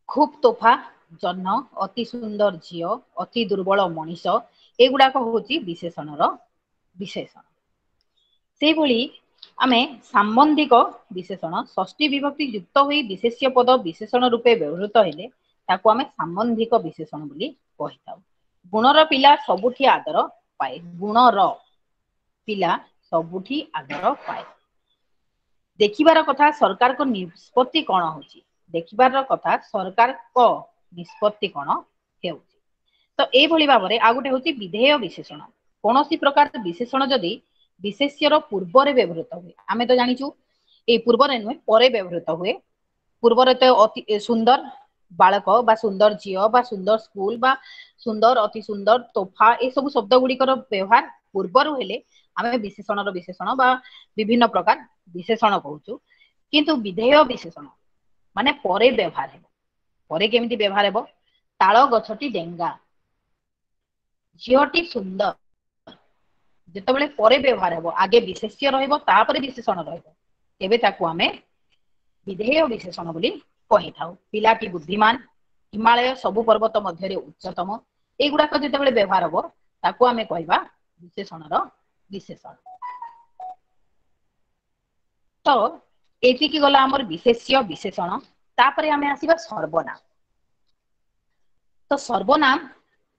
ଖୁବ ତୋଫା ଜହ୍ନ, ଅତି ସୁନ୍ଦର ଝିଅ, ଅତି ଦୁର୍ବଳ ମଣିଷ, ଏଗୁଡାକ ହଉଛି ବିଶେଷଣର ବିଶେଷଣ। ସେଇଭଳି ଆମେ ସାମ୍ବନ୍ଧିକ ବିଶେଷଣ ଷଷ୍ଠୀ ବିଭକ୍ତି ଯୁକ୍ତ ହୋଇ ବିଶେଷ୍ୟ ପଦ ବିଶେଷଣ ରୂପେ ବ୍ୟବହୃତ ହେଲେ ତାକୁ ଆମେ ସାମ୍ବନ୍ଧିକ ବିଶେଷଣ ବୋଲି କହିଥାଉ। ଗୁଣର ପିଲା ସବୁଠି ଆଦର ପାଏ, ଗୁଣର ପିଲା ସବୁଠି ଆଦର ପାଏ। ଦେଖିବାର କଥା ସରକାରଙ୍କ ନିଷ୍ପତ୍ତି କଣ ହଉଛି, ଦେଖିବାର କଥା ସରକାରଙ୍କ ନିଷ୍ପତ୍ତି କଣ ହେଉଛି। ତ ଏଇଭଳି ଭାବରେ ଆଉ ଗୋଟେ ହଉଛି ବିଧେୟ ବିଶେଷଣ। କୌଣସି ପ୍ରକାର ବିଶେଷଣ ଯଦି ବିଶେଷ୍ୟର ପୂର୍ବରେ ବ୍ୟବହୃତ ହୁଏ, ଆମେ ତ ଜାଣିଛୁ ଏଇ ପୂର୍ବରେ ନୁହେଁ ପରେ ବ୍ୟବହୃତ ହୁଏ। ପୂର୍ବରେ ତ ଅତି ସୁନ୍ଦର ବାଳକ ବା ସୁନ୍ଦର ଝିଅ ବା ସୁନ୍ଦର ସ୍କୁଲ ବା ସୁନ୍ଦର ଅତି ସୁନ୍ଦର ତୋଫା, ଏସବୁ ଶବ୍ଦ ଗୁଡିକର ବ୍ୟବହାର ପୂର୍ବରୁ ହେଲେ ଆମେ ବିଶେଷଣର ବିଶେଷଣ ବା ବିଭିନ୍ନ ପ୍ରକାର ବିଶେଷଣ କହୁଛୁ। କିନ୍ତୁ ବିଧେୟ ବିଶେଷଣ ମାନେ ପରେ ବ୍ୟବହାର ହେବ। ପରେ କେମିତି ବ୍ୟବହାର ହେବ? ତାଳ ଗଛଟି ଡେଙ୍ଗା, ଝିଅଟି ସୁନ୍ଦର। ଯେତେବେଳେ ପରେ ବ୍ୟବହାର ହେବ, ଆଗେ ବିଶେଷ୍ୟ ରହିବ ତାପରେ ବିଶେଷଣ ରହିବ, ତେବେ ତାକୁ ଆମେ ବିଧେୟ ବିଶେଷଣ ବୋଲି କହିଥାଉ। ପିଲାଟି ବୁଦ୍ଧିମାନ, ହିମାଳୟ ସବୁ ପର୍ବତ ମଧ୍ୟରେ ଉଚ୍ଚତମ, ଏଇଗୁଡାକ ଯେତେବେଳେ ବ୍ୟବହାର ହବ ତାକୁ ଆମେ କହିବା ବିଶେଷଣର ବିଶେଷଣ। ତ ଏତିକି ଗଲା ଆମର ବିଶେଷ୍ୟ ବିଶେଷଣ। ତାପରେ ଆମେ ଆସିବା ସର୍ବନାମ। ତ ସର୍ବନାମ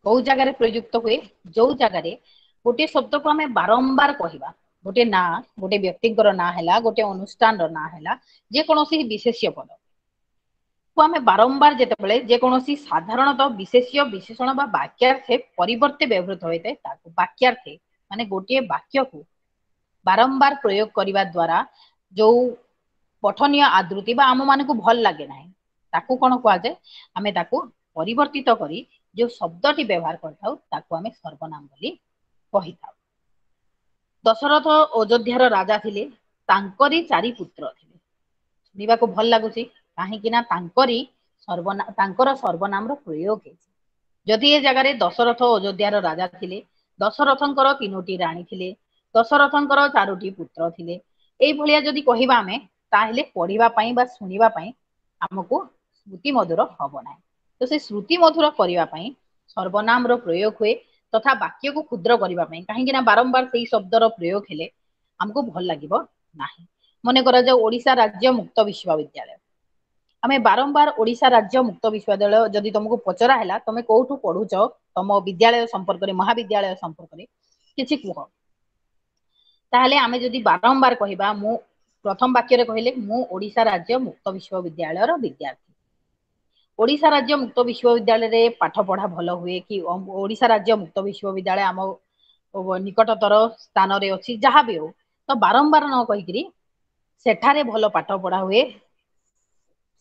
କୋଉ ଜାଗାରେ ପ୍ରଯୁକ୍ତ ହୁଏ? ଯୋଉ ଜାଗାରେ ଗୋଟିଏ ଶବ୍ଦକୁ ଆମେ ବାରମ୍ବାର କହିବା, ଗୋଟେ ନାଁ, ଗୋଟେ ବ୍ୟକ୍ତିଙ୍କର ନାଁ ହେଲା, ଗୋଟେ ଅନୁଷ୍ଠାନର ନାଁ ହେଲା, ଯେକୌଣସି ବିଶେଷ୍ୟ ପଦ କୁ ଆମେ ବାରମ୍ବାର ଯେତେବେଳେ ଯେକୌଣସି ସାଧାରଣତଃ ବିଶେଷ୍ୟ ବିଶେଷଣ ବା ବାକ୍ୟାର୍ଥେ ପରିବର୍ତ୍ତେ ବ୍ୟବହୃତ ହୋଇଥାଏ ତାକୁ ବାକ୍ୟାର୍ଥେ, ମାନେ ଗୋଟିଏ ବାକ୍ୟକୁ ବାରମ୍ବାର ପ୍ରୟୋଗ କରିବା ଦ୍ଵାରା ଯୋଉ ପଠନୀୟ ଆଦୃତି ବା ଆମ ମାନଙ୍କୁ ଭଲ ଲାଗେ ନାହିଁ, ତାକୁ କଣ କୁହାଯାଏ? ଆମେ ତାକୁ ପରିବର୍ତ୍ତିତ କରି ଯୋଉ ଶବ୍ଦଟି ବ୍ୟବହାର କରିଥାଉ ତାକୁ ଆମେ ସର୍ବନାମ ବୋଲି କହିଥାଉ। ଦଶରଥ ଅଯୋଧ୍ୟାର ରାଜା ଥିଲେ, ତାଙ୍କରି ଚାରି ପୁତ୍ର ଥିଲେ। ଶୁଣିବାକୁ ଭଲ ଲାଗୁଛି, କାହିଁକି ନା ତାଙ୍କରି ସର୍ବନା ତାଙ୍କର ସର୍ବନାମର ପ୍ରୟୋଗ ହେଇଛି। ଯଦି ଏ ଜାଗାରେ ଦଶରଥ ଅଯୋଧ୍ୟାର ରାଜା ଥିଲେ, ଦଶରଥଙ୍କର ତିନୋଟି ରାଣୀ ଥିଲେ, ଦଶରଥଙ୍କର ଚାରୋଟି ପୁତ୍ର ଥିଲେ, ଏଇଭଳିଆ ଯଦି କହିବା ଆମେ, ତାହେଲେ ପଢିବା ପାଇଁ ବା ଶୁଣିବା ପାଇଁ ଆମକୁ ଶ୍ରୁତି ମଧୁର ହବ ନାହିଁ। ତ ସେ ଶ୍ରୁତି ମଧୁର କରିବା ପାଇଁ ସର୍ବନାମର ପ୍ରୟୋଗ ହୁଏ, ତଥା ବାକ୍ୟକୁ କ୍ଷୁଦ୍ର କରିବା ପାଇଁ, କାହିଁକି ନା ବାରମ୍ବାର ସେଇ ଶବ୍ଦର ପ୍ରୟୋଗ ହେଲେ ଆମକୁ ଭଲ ଲାଗିବ ନାହିଁ। ମନେ କରାଯାଉ ଓଡିଶା ରାଜ୍ୟ ମୁକ୍ତ ବିଶ୍ୱବିଦ୍ୟାଳୟ, ଆମେ ବାରମ୍ବାର ଓଡିଶା ରାଜ୍ୟ ମୁକ୍ତ ବିଶ୍ୱବିଦ୍ୟାଳୟ ଯଦି ତମକୁ ପଚରା ହେଲା ତମେ କୋଉଠୁ ପଢୁଛ, ତମ ବିଦ୍ୟାଳୟ ସମ୍ପର୍କରେ, ମହାବିଦ୍ୟାଳୟ ସମ୍ପର୍କରେ କିଛି କୁହ, ତାହେଲେ ଆମେ ଯଦି ବାରମ୍ବାର କହିବା, ମୁଁ ପ୍ରଥମ ବାକ୍ୟରେ କହିଲେ ମୁଁ ଓଡିଶା ରାଜ୍ୟ ମୁକ୍ତ ବିଶ୍ୱବିଦ୍ୟାଳୟର ବିଦ୍ୟାର୍ଥୀ, ଓଡିଶା ରାଜ୍ୟ ମୁକ୍ତ ବିଶ୍ୱବିଦ୍ୟାଳୟରେ ପାଠ ପଢା ଭଲ ହୁଏ କି ଓଡିଶା ରାଜ୍ୟ ମୁକ୍ତ ବିଶ୍ୱବିଦ୍ୟାଳୟ ଆମ ନିକଟତର ସ୍ଥାନରେ ଅଛି, ଯାହା ବି ହଉ, ତ ବାରମ୍ବାର ନ କହିକିରି ସେଠାରେ ଭଲ ପାଠ ପଢା ହୁଏ,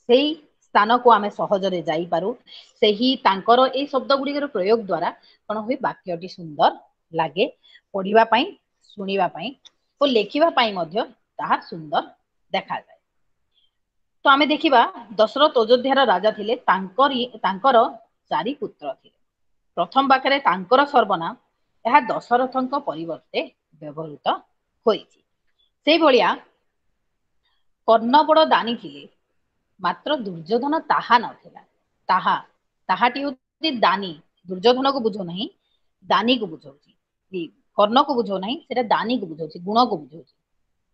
ସେଇ ସ୍ଥାନକୁ ଆମେ ସହଜରେ ଯାଇପାରୁ, ସେହି ତାଙ୍କର ଏଇ ଶବ୍ଦ ଗୁଡିକର ପ୍ରୟୋଗ ଦ୍ଵାରା କଣ ହୁଏ, ବାକ୍ୟଟି ସୁନ୍ଦର ଲାଗେ ପଢିବା ପାଇଁ, ଶୁଣିବା ପାଇଁ ଓ ଲେଖିବା ପାଇଁ ମଧ୍ୟ ତାହା ସୁନ୍ଦର ଦେଖାଯାଏ। ତ ଆମେ ଦେଖିବା ଦଶରଥ ଅଯୋଧ୍ୟାର ରାଜା ଥିଲେ, ତାଙ୍କର ଚାରି ପୁତ୍ର ଥିଲେ। ପ୍ରଥମ ବାକ୍ୟରେ ତାଙ୍କର ସର୍ବନାମ, ଏହା ଦଶରଥଙ୍କ ପରିବର୍ତ୍ତେ ବ୍ୟବହୃତ ହୋଇଛି। ସେଇଭଳିଆ କର୍ଣ୍ଣ ବଡ ଦାନୀ ଥିଲେ, ମାତ୍ର ଦୁର୍ଯ୍ୟୋଧନ ତାହା ନଥିଲା। ତାହା, ତାହାଟି ହଉଛି ଦାନୀ, ଦୁର୍ଯ୍ୟୋଧନକୁ ବୁଝଉ ନାହିଁ, ଦାନୀକୁ ବୁଝଉଛି, କର୍ଣ୍ଣକୁ ବୁଝଉ ନାହିଁ, ସେଟା ଦାନୀକୁ ବୁଝଉଛି, ଗୁଣକୁ ବୁଝଉଛି।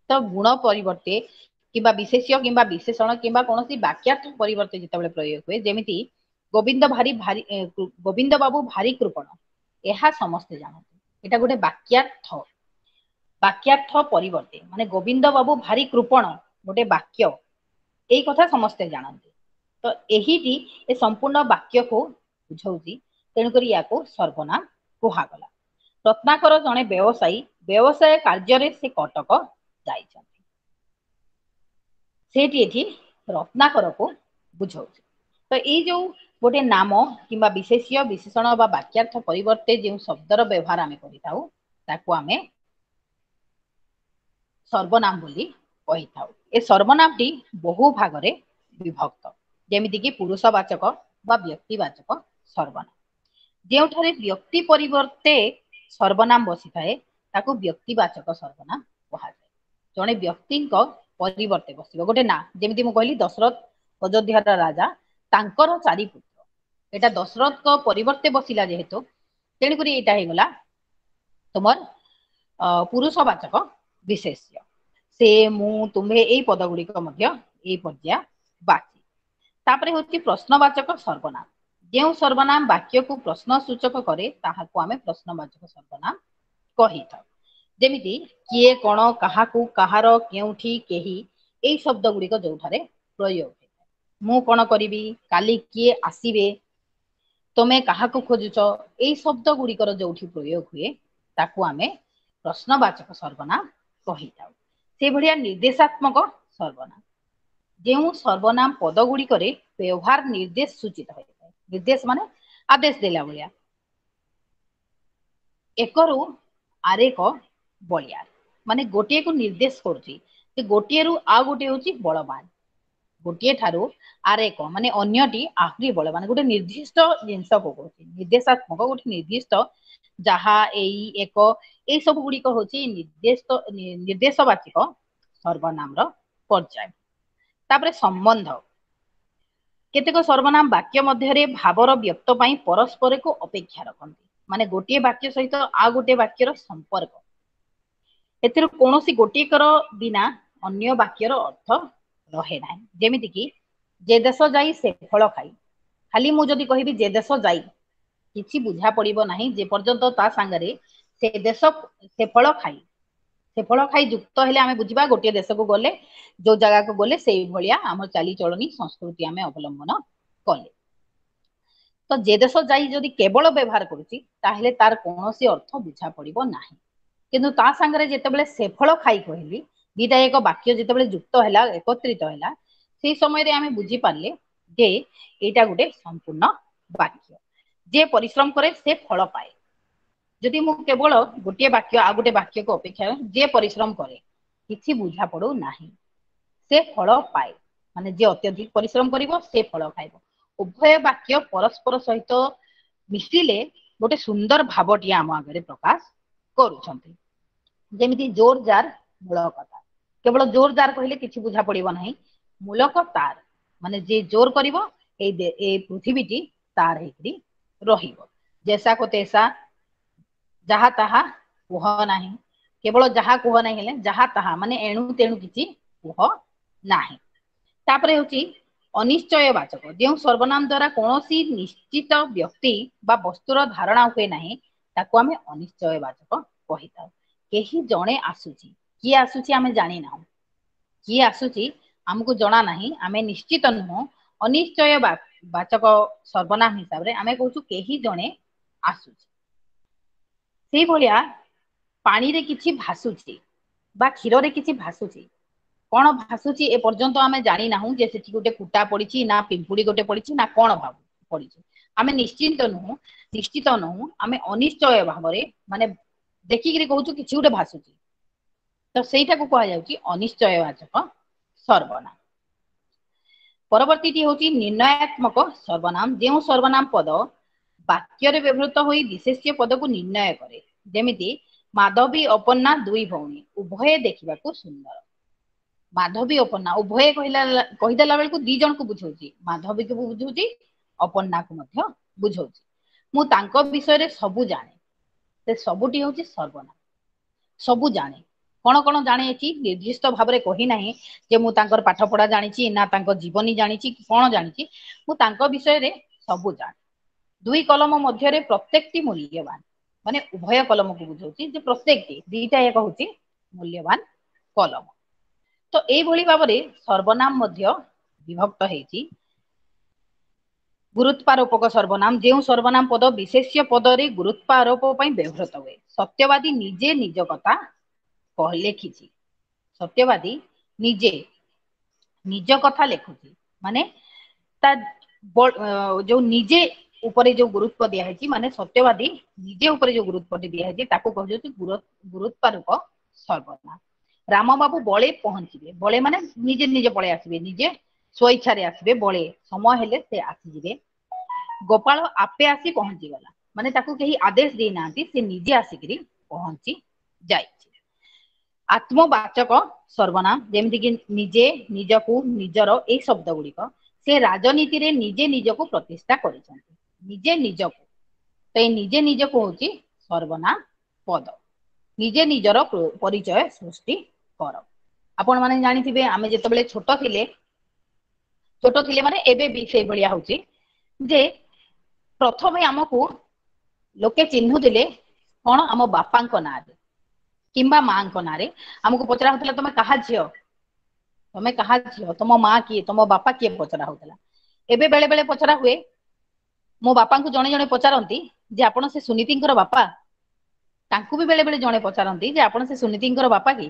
ତ ଗୁଣ ପରିବର୍ତ୍ତେ କିମ୍ବା ବିଶେଷ୍ୟ କିମ୍ବା ବିଶେଷଣ କିମ୍ବା କୌଣସି ବାକ୍ୟାର୍ଥ ପରିବର୍ତ୍ତେ ଯେତେବେଳେ ପ୍ରୟୋଗ ହୁଏ, ଯେମିତି ଗୋବିନ୍ଦ ଭାରି ଭାରି ଗୋବିନ୍ଦ ବାବୁ ଭାରି କୃପଣ, ଏହା ସମସ୍ତେ ଜାଣନ୍ତି, ଏଇଟା ଗୋଟେ ବାକ୍ୟାର୍ଥ। ବାକ୍ୟାର୍ଥ ପରିବର୍ତ୍ତେ ମାନେ ଗୋବିନ୍ଦ ବାବୁ ଭାରି କୃପଣ ଗୋଟେ ବାକ୍ୟ, ଏଇ କଥା ସମସ୍ତେ ଜାଣନ୍ତି, ତ ଏହିଟି ଏ ସମ୍ପୂର୍ଣ୍ଣ ବାକ୍ୟକୁ ବୁଝଉଛି, ତେଣୁକରି ୟାକୁ ସର୍ବନାମ କୁହାଗଲା। ରତ୍ନାକର ଜଣେ ବ୍ୟବସାୟୀ, ବ୍ୟବସାୟ କାର୍ଯ୍ୟରେ ସେ କଟକ ଯାଇଛନ୍ତି, ସେଇଠି ଏଠି ରତ୍ନାକରକୁ ବୁଝଉଛି। ତ ଏଇ ଯୋଉ ଗୋଟେ ନାମ କିମ୍ବା ବିଶେଷ୍ୟ ବିଶେଷଣ ବା ବାକ୍ୟାର୍ଥ ପରିବର୍ତ୍ତେ ଯେଉଁ ଶବ୍ଦର ବ୍ୟବହାର ଆମେ କରିଥାଉ ତାକୁ ଆମେ ସର୍ବନାମ ବୋଲି କହିଥାଉ। ଏ ସର୍ବନାମଟି ବହୁ ଭାଗରେ ବିଭକ୍ତ, ଯେମିତିକି ପୁରୁଷବାଚକ ବା ବ୍ୟକ୍ତିବାଚକ ସର୍ବନାମ। ଯେଉଁଠାରେ ବ୍ୟକ୍ତି ପରିବର୍ତ୍ତେ ସର୍ବନାମ ବସିଥାଏ ତାକୁ ବ୍ୟକ୍ତିବାଚକ ସର୍ବନାମ କୁହାଯାଏ। ଜଣେ ବ୍ୟକ୍ତିଙ୍କ ପରିବର୍ତ୍ତେ ବସିବ ଗୋଟେ ନାଁ, ଯେମିତି ମୁଁ କହିଲି ଦଶରଥ ଅଯୋଧ୍ୟାର ରାଜା, ତାଙ୍କର ଚାରି ପୁତ୍ର, ଏଇଟା ଦଶରଥଙ୍କ ପରିବର୍ତ୍ତେ ବସିଲା ଯେହେତୁ, ତେଣୁକରି ଏଇଟା ହେଇଗଲା ତୁମର ପୁରୁଷବାଚକ ବିଶେଷ୍ୟ। ସେ, ମୁଁ, ତୁମ୍ଭେ ଏଇ ପଦ ଗୁଡିକ ମଧ୍ୟ ଏଇ ପର୍ଯ୍ୟାୟ ବାଚି। ତାପରେ ହଉଛି ପ୍ରଶ୍ନବାଚକ ସର୍ବନାମ। ଯେଉଁ ସର୍ବନାମ ବାକ୍ୟକୁ ପ୍ରଶ୍ନ ସୂଚକ କରେ ତାହାକୁ ଆମେ ପ୍ରଶ୍ନବାଚକ ସର୍ବନାମ କହିଥାଉ। ଯେମିତି କିଏ, କଣ, କାହାକୁ, କାହାର, କେଉଁଠି, କେହି, ଏଇ ଶବ୍ଦ ଗୁଡିକ ଯୋଉଠାରେ ପ୍ରୟୋଗ ହେଇଥାଏ। ମୁଁ କଣ କରିବି, କାଲି କିଏ ଆସିବେ, ତମେ କାହାକୁ ଖୋଜୁଛ, ଏଇ ଶବ୍ଦ ଗୁଡିକର ଯୋଉଠି ପ୍ରୟୋଗ ହୁଏ ତାକୁ ଆମେ ପ୍ରଶ୍ନବାଚକ ସର୍ବନାମ କହିଥାଉ। ସେଇଭଳିଆ ନିର୍ଦ୍ଦେଶାତ୍ମକ ସର୍ବନାମ, ଯେଉଁ ସର୍ବନାମ ପଦ ଗୁଡିକରେ ବ୍ୟବହାର ନିର୍ଦ୍ଦେଶ ସୂଚିତ ହୋଇଥାଏ। ନିର୍ଦ୍ଦେଶ ମାନେ ଆଦେଶ ଦେଲା ଭଳିଆ, ଏକରୁ ଆରେକ ବଳିଆର, ମାନେ ଗୋଟିଏକୁ ନିର୍ଦ୍ଦେଶ କରୁଛି ଯେ ଗୋଟିଏରୁ ଆଉ ଗୋଟିଏ ହଉଛି ବଳବାନ। ଗୋଟିଏ ଠାରୁ ଆରେକ ମାନେ ଅନ୍ୟଟି ଆହୁରି ବଳବାନ। ଗୋଟେ ନିର୍ଦ୍ଦିଷ୍ଟ ଜିନିଷକୁ କହୁଛି, ନିର୍ଦ୍ଦେଶାତ୍ମକ ଗୋଟେ ନିର୍ଦ୍ଦିଷ୍ଟ ଯାହା, ଏଇ, ଏକ, ଏଇ ସବୁ ଗୁଡିକ ହଉଛି ନିର୍ଦ୍ଦେଶବାଚକ ସର୍ବନାମର ପର୍ଯ୍ୟାୟ। ତାପରେ ସମ୍ବନ୍ଧ। କେତେକ ସର୍ବନାମ ବାକ୍ୟ ମଧ୍ୟରେ ଭାବର ବ୍ୟକ୍ତ ପାଇଁ ପରସ୍ପରକୁ ଅପେକ୍ଷା ରଖନ୍ତି, ମାନେ ଗୋଟିଏ ବାକ୍ୟ ସହିତ ଆଉ ଗୋଟିଏ ବାକ୍ୟର ସମ୍ପର୍କ। ଏଥିରୁ କୌଣସି ଗୋଟିଏକର ବିନା ଅନ୍ୟ ବାକ୍ୟର ଅର୍ଥ ରହେ ନାହିଁ। ଯେମିତି କି ଯେ ଦେଶ ଯାଇ ସେ ଫଳ ଖାଇ। ଖାଲି ମୁଁ ଯଦି କହିବି ଯେ ଦେଶ ଯାଇ, କିଛି ବୁଝା ପଡିବ ନାହିଁ ଯେ ପର୍ଯ୍ୟନ୍ତ ତା ସାଙ୍ଗରେ ସେ ଦେଶ ସେ ଫଳ ଖାଇ, ସେ ଫଳ ଖାଇ ଯୁକ୍ତ ହେଲେ ଆମେ ବୁଝିବା ଗୋଟିଏ ଦେଶକୁ ଗଲେ, ଯୋଉ ଜାଗାକୁ ଗଲେ ସେଇ ଭଳିଆ ଆମ ଚାଲିଚଳନି ସଂସ୍କୃତି ଆମେ ଅବଲମ୍ବନ କଲେ। ତ ଯେ ଦେଶ ଯାଇ ଯଦି କେବଳ ବ୍ୟବହାର କରୁଛି ତାହେଲେ ତାର କୌଣସି ଅର୍ଥ ବୁଝା ପଡିବ ନାହିଁ। କିନ୍ତୁ ତା ସାଙ୍ଗରେ ଯେତେବେଳେ ସେ ଫଳ ଖାଇ କହିଲି, ଦିଟା ଏକ ବାକ୍ୟ ଯେତେବେଳେ ଯୁକ୍ତ ହେଲା, ଏକତ୍ରିତ ହେଲା, ସେଇ ସମୟରେ ଆମେ ବୁଝିପାରିଲେ ଯେ ଏଇଟା ଗୋଟେ ସମ୍ପୂର୍ଣ୍ଣ ବାକ୍ୟ। ଯିଏ ପରିଶ୍ରମ କରେ ସେ ଫଳ ପାଏ। ଯଦି ମୁଁ କେବଳ ଗୋଟିଏ ବାକ୍ୟ ଆଉ ଗୋଟେ ବାକ୍ୟକୁ ଅପେକ୍ଷା, ଯିଏ ପରିଶ୍ରମ କରେ, କିଛି ବୁଝା ପଡୁ ନାହିଁ, ସେ ଫଳ ପାଏ, ମାନେ ଯିଏ ଅତ୍ୟଧିକ ପରିଶ୍ରମ କରିବ ସେ ଫଳ ଖାଇବ। ଉଭୟ ବାକ୍ୟ ପରସ୍ପର ସହିତ ମିଶିଲେ ଗୋଟେ ସୁନ୍ଦର ଭାବଟିଏ ଆମ ଆଗରେ ପ୍ରକାଶ କରୁଛନ୍ତି। ଯେମିତି ଜୋର ଜାର ମୂଳକ ତାର। କେବଳ ଜୋର ଜାର କହିଲେ କିଛି ବୁଝା ପଡିବ ନାହିଁ, ମୂଳକ ତାର ମାନେ ଯିଏ ଜୋର କରିବ ଏଇ ପୃଥିବୀଟି ତାର ହେଇକରି ରହିବ। ଜେସା କୋ ତେସା, ଯାହା ତାହା କୁହ ନାହିଁ। କେବଳ ଯାହା କୁହ ନାହିଁ ହେଲେ ଯାହା ତାହା ମାନେ ଏଣୁ ତେଣୁ କିଛି କୁହ ନାହିଁ। ତାପରେ ହେଉଛି ଅନିଶ୍ଚୟ ବାଚକ। ଯେଉଁ ସର୍ବନାମ ଦ୍ଵାରା କୌଣସି ନିଶ୍ଚିତ ବ୍ୟକ୍ତି ବା ବସ୍ତୁର ଧାରଣା ହୁଏ ନାହିଁ ତାକୁ ଆମେ ଅନିଶ୍ଚୟ ବାଚକ କହିଥାଉ। କେହି ଜଣେ ଆସୁଛି, କିଏ ଆସୁଛି ଆମେ ଜାଣିନାହୁଁ, କିଏ ଆସୁଛି ଆମକୁ ଜଣା ନାହିଁ, ଆମେ ନିଶ୍ଚିତ ନୁହଁ। ଅନିଶ୍ଚୟ ବାଚକ ସର୍ବନାମ ହିସାବରେ ଆମେ କହୁଛୁ କେହି ଜଣେ ଆସୁଛି। ସେଇଭଳିଆ ପାଣିରେ କିଛି ଭାସୁଛି ବା କ୍ଷୀରରେ କିଛି ଭାସୁଛି, କଣ ଭାସୁଛି ଏ ପର୍ଯ୍ୟନ୍ତ ଆମେ ଜାଣିନାହୁଁ ଯେ ସେଠି ଗୋଟେ କୁଟା ପଡିଛି ନା ପିମ୍ପୁଡି ଗୋଟେ ପଡିଛି ନା କଣ ପଡିଛି, ଆମେ ନିଶ୍ଚିନ୍ତ ନୁହଁ, ନିଶ୍ଚିତ ନୁହଁ। ଆମେ ଅନିଶ୍ଚୟ ଭାବରେ ମାନେ ଦେଖିକିରି କହୁଛୁ କିଛି ଗୋଟେ ଭାସୁଛି, ତ ସେଇଟାକୁ କୁହାଯାଉଛି ଅନିଶ୍ଚୟବାଚକ ସର୍ବନାମ। ପରବର୍ତ୍ତୀଟି ହଉଛି ନିର୍ଣ୍ଣୟାତ୍ମକ ସର୍ବନାମ। ଯେଉଁ ସର୍ବନାମ ପଦ ବାକ୍ୟରେ ବ୍ୟବହୃତ ହୋଇ ବିଶେଷ୍ୟ ପଦକୁ ନିର୍ଣ୍ଣୟ କରେ, ଯେମିତି ମାଧବୀ ଅପର୍ଣ୍ଣା ଦୁଇ ଭଉଣୀ ଉଭୟେ ଦେଖିବାକୁ ସୁନ୍ଦର। ମାଧବୀ ଅପର୍ଣ୍ଣା ଉଭୟେ କହିଦେଲା ବେଳକୁ ଦି ଜଣକୁ ବୁଝଉଛି, ମାଧବୀକୁ ବୁଝଉଛି ଅପର୍ଣ୍ଣାକୁ ମଧ୍ୟ ବୁଝଉଛି। ମୁଁ ତାଙ୍କ ବିଷୟରେ ସବୁ ଜାଣେ, ସେ ସବୁଟି ହଉଛି ସର୍ବନାମ। ସବୁ ଜାଣେ, କଣ କଣ ଜାଣେ ଏଠି ନିର୍ଦ୍ଦିଷ୍ଟ ଭାବରେ କହି ନାହିଁ ଯେ ମୁଁ ତାଙ୍କର ପାଠ ପଢା ଜାଣିଛି ନା ତାଙ୍କ ଜୀବନୀ ଜାଣିଛି କି କଣ ଜାଣିଛି, ମୁଁ ତାଙ୍କ ବିଷୟରେ ସବୁ ଜାଣେ। ଦୁଇ କଲମ ମଧ୍ୟରେ ପ୍ରତ୍ୟେକଟି ମୂଲ୍ୟବାନ, ମାନେ ଉଭୟ କଲମକୁ ବୁଝଉଛି ଯେ ପ୍ରତ୍ୟେକଟି ଦିଟା ଏକ ହଉଛି ମୂଲ୍ୟବାନ କଲମ। ତ ଏଇଭଳି ଭାବରେ ସର୍ବନାମ ମଧ୍ୟ ବିଭକ୍ତ ହେଇଛି। ଗୁରୁତ୍ୱାରୋପକ ସର୍ବନାମ, ଯେଉଁ ସର୍ବନାମ ପଦ ବିଶେଷ୍ୟ ପଦରେ ଗୁରୁତ୍ୱାରୋପ ପାଇଁ ବ୍ୟବହୃତ ହୁଏ। ସତ୍ୟବାଦୀ ନିଜେ ନିଜ କଥା ଲେଖିଛି, ସତ୍ୟବାଦୀ ନିଜେ ନିଜ କଥା ଲେଖୁଛି, ମାନେ ତା ଯୋଉ ନିଜେ ଉପରେ ଯୋଉ ଗୁରୁତ୍ୱ ଦିଆହେଇଛି, ମାନେ ସତ୍ୟବାଦୀ ନିଜେ ଉପରେ ଯୋଉ ଗୁରୁତ୍ୱଟି ଦିଆହେଇଛି ତାକୁ କୁହାଯାଉଛି ଗୁରୁତ୍ୱାରୋପ ସର୍ବନାମ। ରାମ ବାବୁ ବଳେ ପହଞ୍ଚିବେ, ବଳେ ମାନେ ନିଜେ ନିଜେ ପଳେଇ ଆସିବେ, ନିଜେ ସ୍ୱଇଚ୍ଛାରେ ଆସିବେ, ବଳେ ସମୟ ହେଲେ ସେ ଆସିଯିବେ। ଗୋପାଳ ଆପେ ଆସି ପହଞ୍ଚିଗଲା, ମାନେ ତାକୁ କେହି ଆଦେଶ ଦେଇନାହାନ୍ତି, ସେ ନିଜେ ଆସିକିରି ପହଞ୍ଚି ଯାଇଛି। ଆତ୍ମବାଚକ ସର୍ବନାମ, ଯେମିତିକି ନିଜେ, ନିଜକୁ, ନିଜର, ଏଇ ଶବ୍ଦ ଗୁଡିକ ସେ ରାଜନୀତିରେ ନିଜେ ନିଜକୁ ପ୍ରତିଷ୍ଠା କରିଛନ୍ତି, ନିଜେ ନିଜକୁ। ତ ଏଇ ନିଜେ ନିଜକୁ ହଉଛି ସର୍ବନାମ ପଦ। ନିଜେ ନିଜର ପରିଚୟ ସୃଷ୍ଟି କର। ଆପଣ ମାନେ ଜାଣିଥିବେ ଆମେ ଯେତେବେଳେ ଛୋଟ ଥିଲେ, ଛୋଟ ଥିଲେ ମାନେ ଏବେ ବି ସେଇଭଳିଆ ହଉଛି ଯେ ପ୍ରଥମେ ଆମକୁ ଲୋକେ ଚିହ୍ନୁଥିଲେ କଣ ଆମ ବାପାଙ୍କ ନାଁରେ କିମ୍ବା ମାଙ୍କ ନାଁରେ। ଆମକୁ ପଚରା ହଉଥିଲା ତମେ କାହା ଝିଅ, ତମେ କାହା ଝିଅ, ତମ ମା କିଏ, ତମ ବାପା କିଏ ପଚରା ହଉଥିଲା। ଏବେ ବେଳେ ବେଳେ ପଚରା ହୁଏ, ମୋ ବାପାଙ୍କୁ ଜଣେ ଜଣେ ପଚାରନ୍ତି ଯେ ଆପଣ ସେ ସୁନୀତିଙ୍କର ବାପା, ତାଙ୍କୁ ବି ବେଳେ ବେଳେ ଜଣେ ପଚାରନ୍ତି ଯେ ଆପଣ ସେ ସୁନୀତିଙ୍କର ବାପା କି।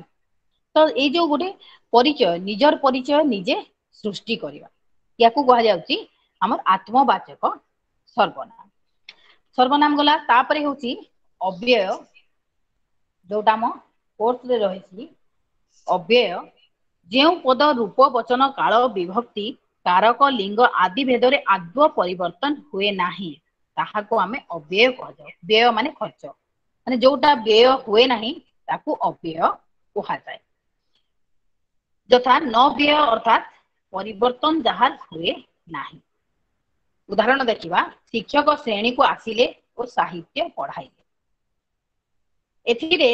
ତ ଏଇ ଯୋଉ ଗୋଟେ ପରିଚୟ, ନିଜର ପରିଚୟ ନିଜେ ସୃଷ୍ଟି କରିବା, ୟାକୁ କୁହାଯାଉଛି ଆମର ଆତ୍ମବାଚକ ସର୍ବନାମ। ସର୍ବନାମ ଗଲା, ତାପରେ ହଉଛି ଅବ୍ୟୟ, ଯୋଉଟା ଆମ କୋର୍ସରେ ରହିଛି ଅବ୍ୟୟ। ଯେଉଁ ପଦ ରୂପ, ବଚନ, କାଳ, ବିଭକ୍ତି, କାରକ, ଲିଙ୍ଗ ଆଦି ଭେଦରେ ଆଦୌ ପରିବର୍ତ୍ତନ ହୁଏ ନାହିଁ, ତାହାକୁ ଆମେ ଅବ୍ୟୟ କୁହାଯାଏ। ବ୍ୟୟ ମାନେ ଖର୍ଚ୍ଚ, ମାନେ ଯୋଉଟା ବ୍ୟୟ ହୁଏ ନାହିଁ ତାକୁ ଅବ୍ୟୟ କୁହାଯାଏ। ଯଥା ନ ବ୍ୟୟ ଅର୍ଥାତ ପରିବର୍ତ୍ତନ ଯାହା ହୁଏ ନାହିଁ। ଉଦାହରଣ ଦେଖିବା, ଶିକ୍ଷକ ଶ୍ରେଣୀକୁ ଆସିଲେ ଓ ସାହିତ୍ୟ ପଢାଇଲେ। ଏଥିରେ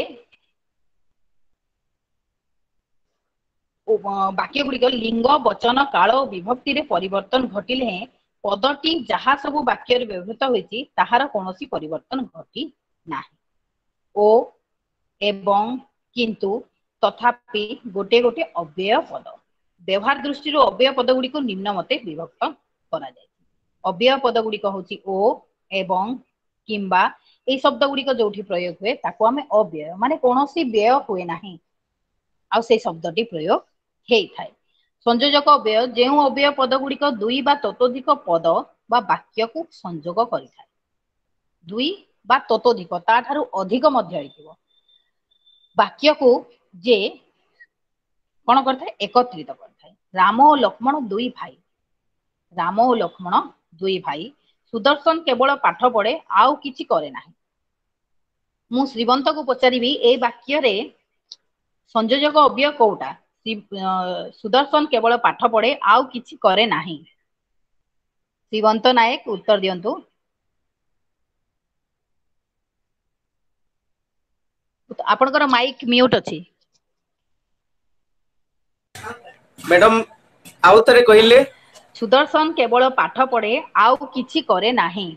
ବାକ୍ୟ ଗୁଡିକ ଲିଙ୍ଗ, ବଚନ, କାଳ ଓ ବିଭକ୍ତିରେ ପରିବର୍ତ୍ତନ ଘଟିଲେ ହେଁ ପଦଟି ଯାହା ସବୁ ବାକ୍ୟରେ ବ୍ୟବହୃତ ହୋଇଛି ତାହାର କୌଣସି ପରିବର୍ତ୍ତନ ଘଟି ନାହିଁ। ଓ, ଏବଂ, କିନ୍ତୁ, ତଥାପି ଗୋଟେ ଗୋଟେ ଅବ୍ୟୟ ପଦ। ବ୍ୟବହାର ଦୃଷ୍ଟିରୁ ଅବ୍ୟୟ ପଦ ଗୁଡିକୁ ନିମ୍ନ ମତେ ବିଭକ୍ତ କରାଯାଇଛି। ଅବ୍ୟୟ ପଦ ଗୁଡିକ ହଉଛି ଓ, ଏବଂ, କିମ୍ବା। ଏଇ ଶବ୍ଦ ଗୁଡିକ ଯୋଉଠି ପ୍ରୟୋଗ ହୁଏ ତାକୁ ଆମେ ଅବ୍ୟୟ, ମାନେ କୌଣସି ବ୍ୟୟ ହୁଏ ନାହିଁ ଆଉ ସେଇ ଶବ୍ଦଟି ପ୍ରୟୋଗ ହେଇଥାଏ। ସଂଯୋଜକ ଅବ୍ୟୟ, ଯେଉଁ ଅବ୍ୟୟ ପଦ ଗୁଡିକ ଦୁଇ ବା ତତୋଧିକ ପଦ ବା ବାକ୍ୟକୁ ସଂଯୋଗ କରିଥାଏ। ଦୁଇ ବା ତତୋଧିକ, ତାଠାରୁ ଅଧିକ ମଧ୍ୟ ହେଇଥିବ, ବାକ୍ୟକୁ ଯେ କଣ କରିଥାଏ? ଏକତ୍ରିତ କରିଥାଏ। ରାମ ଓ ଲକ୍ଷ୍ମଣ ଦୁଇ ଭାଇ। ରାମ ଓ ଲକ୍ଷ୍ମଣ ଦୁଇ ଭାଇ। ସୁଦର୍ଶନ କେବଳ ପାଠ ପଢେ ଆଉ କିଛି କରେ ନାହିଁ। ମୁଁ ଶ୍ରୀବନ୍ତକୁ ପଚାରିବି, ଏଇ ବାକ୍ୟରେ ସଂଯୋଜକ ଅବ୍ୟୟ କୋଉଟା? ସୁଦର୍ଶନ କେବଳ ପାଠ ପଢେ ଆଉ କିଛି କରେ ନାହିଁ। ଶ୍ରୀବନ୍ତ ନାୟକ ଉତ୍ତର ଦିଅନ୍ତୁ। ଆପଣଙ୍କର ମାଇକ୍ ମ୍ୟୁଟ ଅଛି। ମ୍ୟାଡାମ ଆଉ ଥରେ କହିଲେ। ସୁଦର୍ଶନ କେବଳ ପାଠ ପଢେ ଆଉ କିଛି କରେ ନାହିଁ।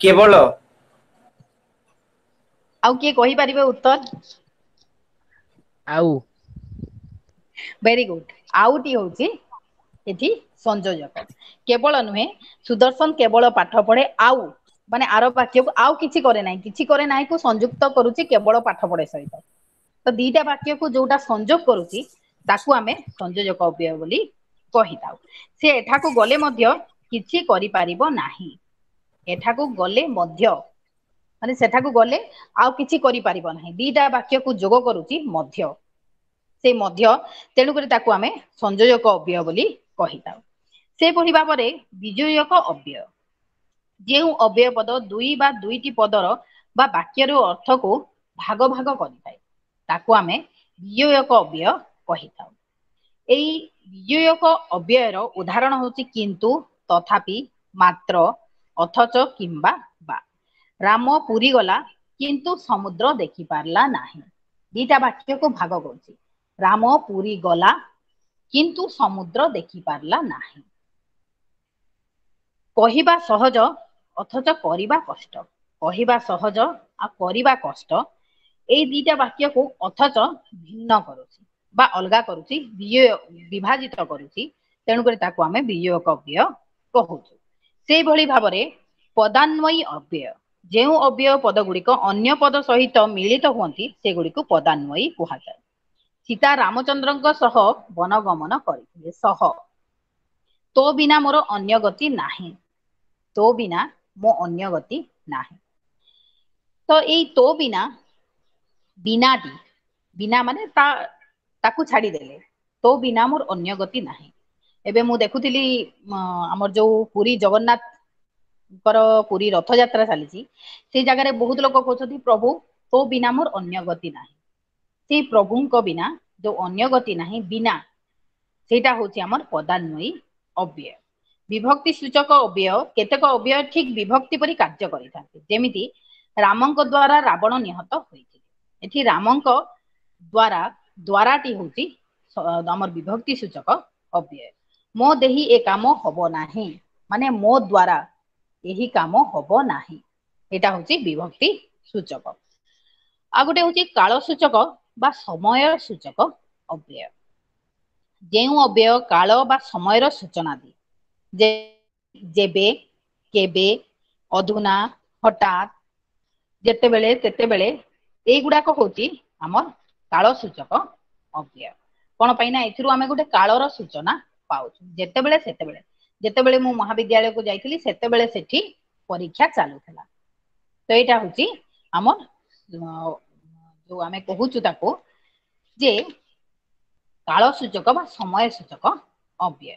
କେବଳ। ଆଉ କିଏ କହିପାରିବେ ଉତ୍ତର? ଆଉ। Very good. ଆଉଟି ହଉଛି ଏଠି ସଂଯୋଜକ। କେବଳ ନୁହେଁ, ସୁଦର୍ଶନ କେବଳ ପାଠ ପଢେ ଆଉ, ମାନେ ଆର ବାକ୍ୟକୁ ଆଉ କିଛି କରେ ନାହିଁ, କିଛି କରେ ନାହିଁ କୁ ସଂଯୁକ୍ତ କରୁଛି କେବଳ ପାଠ ପଢେ ସହିତ। ତ ଦିଟା ବାକ୍ୟକୁ ଯୋଉଟା ସଂଯୋଗ କରୁଛି ତାକୁ ଆମେ ସଂଯୋଜକ ଅବ୍ୟୟ ବୋଲି କହିଥାଉ। ସେ ଏଠାକୁ ଗଲେ ମଧ୍ୟ କିଛି କରିପାରିବ ନାହିଁ। ଏଠାକୁ ଗଲେ ମଧ୍ୟ, ମାନେ ସେଠାକୁ ଗଲେ ଆଉ କିଛି କରିପାରିବ ନାହିଁ। ଦିଟା ବାକ୍ୟକୁ ଯୋଗ କରୁଛି ମଧ୍ୟ, ସେ ମଧ୍ୟ, ତେଣୁକରି ତାକୁ ଆମେ ସଂଯୋଜକ ଅବ୍ୟୟ ବୋଲି କହିଥାଉ। ସେପରି ଭାବରେ ବିଯୋଜକ ଅବ୍ୟୟ, ଯେଉଁ ଅବ୍ୟୟ ପଦ ଦୁଇ ବା ଦୁଇଟି ପଦର ବା ବାକ୍ୟର ଅର୍ଥକୁ ଭାଗ ଭାଗ କରିଥାଏ ତାକୁ ଆମେ ବିଯୋଜକ ଅବ୍ୟୟ କହିଥାଉ। ଏଇ ବିଯୋଜକ ଅବ୍ୟୟର ଉଦାହରଣ ହଉଛି କିନ୍ତୁ, ତଥାପି, ମାତ୍ର, ଅଥଚ, କିମ୍ବା ବା। ରାମ ପୁରୀ ଗଲା କିନ୍ତୁ ସମୁଦ୍ର ଦେଖି ପାରିଲା ନାହିଁ। ଦିଟା ବାକ୍ୟକୁ ଭାଗ କରୁଛି। ରାମ ପୁରୀ ଗଲା କିନ୍ତୁ ସମୁଦ୍ର ଦେଖି ପାରିଲା ନାହିଁ। କହିବା ସହଜ ଅଥଚ କରିବା କଷ୍ଟ। କହିବା ସହଜ ଆଉ କରିବା କଷ୍ଟ, ଏଇ ଦିଟା ବାକ୍ୟକୁ ଅଥଚ ଭିନ୍ନ କରୁଛି ବା ଅଲଗା କରୁଛି, ବିଭାଜିତ କରୁଛି, ତେଣୁକରି ତାକୁ ଆମେ ବିଯୋଜକ ଅବ୍ୟୟ କହୁଛୁ। ସେଇଭଳି ଭାବରେ ପଦାନ୍ୱୟୀ ଅବ୍ୟୟ, ଯେଉଁ ଅବ୍ୟୟ ପଦ ଗୁଡିକ ଅନ୍ୟ ପଦ ସହିତ ମିଳିତ ହୁଅନ୍ତି ସେଗୁଡିକୁ ପଦାନ୍ୱୟୀ କୁହାଯାଏ। ସୀତା ରାମଚନ୍ଦ୍ରଙ୍କ ସହ ବନଗମନ କରିଥିଲେ। ସହ, ତୋ ବିନା ମୋର ଅନ୍ୟ ଗତି ନାହିଁ। ତୋ ବିନା ମୋ ଅନ୍ୟ ଗତି ନାହିଁ। ତ ଏଇ ତୋ ବିନା, ବିନାଟି, ବିନା ମାନେ ତାକୁ ଛାଡିଦେଲେ, ତୋ ବିନା ମୋର ଅନ୍ୟ ଗତି ନାହିଁ। ଏବେ ମୁଁ ଦେଖୁଥିଲି ଆମର ଯୋଉ ପୁରୀ ଜଗନ୍ନାଥଙ୍କର ପୁରୀ ରଥଯାତ୍ରା ଚାଲିଛି, ସେଇ ଜାଗାରେ ବହୁତ ଲୋକ କହୁଛନ୍ତି ପ୍ରଭୁ ତୋ ବିନା ମୋର ଅନ୍ୟ ଗତି ନାହିଁ। ସେଇ ପ୍ରଭୁଙ୍କ ବିନା ଯୋଉ ଅନ୍ୟ ଗତି ନାହିଁ, ବିନା, ସେଇଟା ହଉଛି ଆମର ପଦାନ୍ୱୟୀ ଅବ୍ୟୟ। ବିଭକ୍ତି ସୂଚକ ଅବ୍ୟୟ, କେତେକ ଅବ୍ୟୟ ଠିକ ବିଭକ୍ତି ପରି କାର୍ଯ୍ୟ କରିଥାନ୍ତି। ଯେମିତି ରାମଙ୍କ ଦ୍ଵାରା ରାବଣ ନିହତ ହୋଇଥିଲେ। ଏଠି ରାମଙ୍କ ଦ୍ଵାରା, ଦ୍ଵାରାଟି ହଉଛି ଆମର ବିଭକ୍ତି ସୂଚକ ଅବ୍ୟୟ। ମୋ ଦେହି ଏ କାମ ହବ ନାହିଁ, ମାନେ ମୋ ଦ୍ଵାରା ଏହି କାମ ହବ ନାହିଁ, ଏଇଟା ହଉଛି ବିଭକ୍ତି ସୂଚକ। ଆଉ ଗୋଟେ ହଉଛି କାଳ ସୂଚକ ବା ସମୟ ସୂଚକ ଅବ୍ୟୟ। ଯେଉଁ ଅବ୍ୟୟ କାଳ ବା ସମୟର ସୂଚନା ଦିଏ, ଯେବେ, କେବେ, ଅଧୁନା, ହଠାତ୍, ଯେତେବେଳେ, ତେତେବେଳେ, ଏଇଗୁଡାକ ହଉଛି ଆମର କାଳ ସୂଚକ ଅବ୍ୟୟ। କଣ ପାଇଁ ନା ଏଥିରୁ ଆମେ ଗୋଟେ କାଳର ସୂଚନା ପାଉଛୁ। ଯେତେବେଳେ, ସେତେବେଳେ, ଯେତେବେଳେ ମୁଁ ମହାବିଦ୍ୟାଳୟକୁ ଯାଇଥିଲି ସେତେବେଳେ ସେଠି ପରୀକ୍ଷା ଚାଲୁଥିଲା। ତ ଏଇଟା ହଉଛି ଆମର ଯୋଉ ଆମେ କହୁଛୁ ତାକୁ ଯେ କାଳ ସୂଚକ ବା ସମୟ ସୂଚକ ଅବ୍ୟୟ।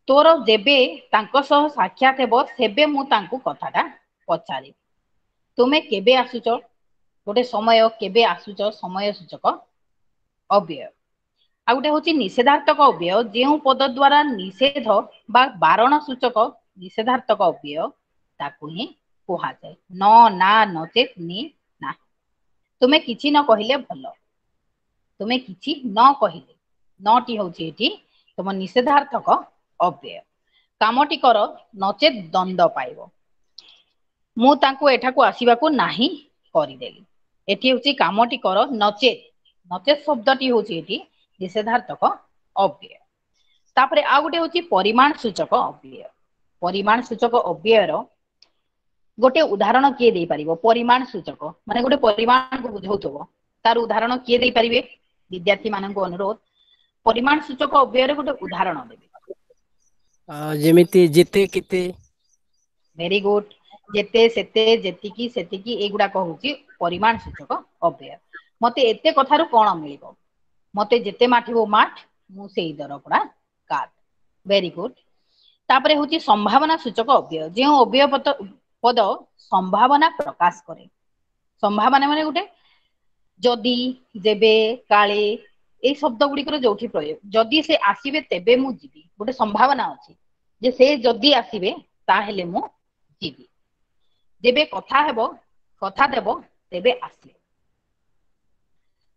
ତୋର ଯେବେ ତାଙ୍କ ସହ ସାକ୍ଷାତ ହେବ ସେବେ ମୁଁ ତାଙ୍କୁ କଥାଟା ପଚାରିବି। ତୁମେ କେବେ ଆସୁଛ? ଗୋଟେ ସମୟ, କେବେ ଆସୁଛ, ସମୟ ସୂଚକ ଅବ୍ୟୟ। ଆଉ ଗୋଟେ ହଉଛି ନିଷେଧାତ୍ମକ ଅବ୍ୟୟ, ଯେଉଁ ପଦ ଦ୍ଵାରା ନିଷେଧ ବା ବାରଣ ସୂଚକ ନିଷେଧାତ୍ମକ ଅବ୍ୟୟ ତାକୁ ହିଁ କୁହାଯାଏ। ନ, ନା, ନଚେତ, ନି, ନାହିଁ। ତୁମେ କିଛି ନ କହିଲେ ଭଲ। ତୁମେ କିଛି ନ କହିଲେ, ନଟି ହଉଛି ଏଠି ତୁମ ନିଷେଧାର୍ଥକ ଅବ୍ୟୟ। କାମଟି କର ନଚେତ ଦଣ୍ଡ ପାଇବ। ମୁଁ ତାଙ୍କୁ ଏଠାକୁ ଆସିବାକୁ ନାହିଁ କରିଦେଲି। ଏଠି ହଉଛି କାମଟି କର ନଚେତ, ନଚେତ ଶବ୍ଦଟି ହଉଛି ଏଠି ନିଷେଧାର୍ଥକ ଅବ୍ୟୟ। ତାପରେ ଆଉ ଗୋଟେ ହଉଛି ପରିମାଣ ସୂଚକ ଅବ୍ୟୟ। ପରିମାଣ ସୂଚକ ଅବ୍ୟୟର ଗୋଟେ ଉଦାହରଣ କିଏ ଦେଇପାରିବ? ପରିମାଣ ସୂଚକ ମାନେ ଗୋଟେ ପରିମାଣକୁ ବୁଝଉଥିବ, ତାର ଉଦାହରଣ କିଏ ଦେଇପାରିବେ? ବିଦ୍ୟାର୍ଥୀ ମାନଙ୍କୁ ଅନୁରୋଧ, ପରିମାଣ ସୂଚକ ଅବ୍ୟୟର ଗୋଟେ ଉଦାହରଣ ଦେବେ। ଯେମିତି ଯେତେ, କେତେ। Very good. ଯେତେ, ସେତେ, ଯେତିକି, ସେତିକି, ଏଇଗୁଡାକ ହଉଛି ପରିମାଣ ସୂଚକ ଅବ୍ୟୟ। ମତେ ଏତେ କଥାରୁ କଣ ମିଳିବ? ମତେ ଯେତେ ମାଠିବୁ ମାଠ, ମୁଁ ସେଇ ଦରପୋଡା କାଠ। Very good. ତାପରେ ହଉଛି ସମ୍ଭାବନା ସୂଚକ ଅବ୍ୟୟ, ଯେଉଁ ଅବ୍ୟୟ ପଦ ସମ୍ଭାବନା ପ୍ରକାଶ କରେ। ସମ୍ଭାବନା ମାନେ ଗୋଟେ ଯଦି, ଯେବେ, କାଳେ, ଏଇ ଶବ୍ଦ ଗୁଡିକର ଯୋଉଠି ପ୍ରୟୋଗ। ଯଦି ସେ ଆସିବେ ତେବେ ମୁଁ ଯିବି, ଗୋଟେ ସମ୍ଭାବନା ଅଛି ଯେ ସେ ଯଦି ଆସିବେ ତାହେଲେ ମୁଁ ଯିବି। ଯେବେ କଥା ହେବ, କଥା ଦେବ ତେବେ ଆସିବେ।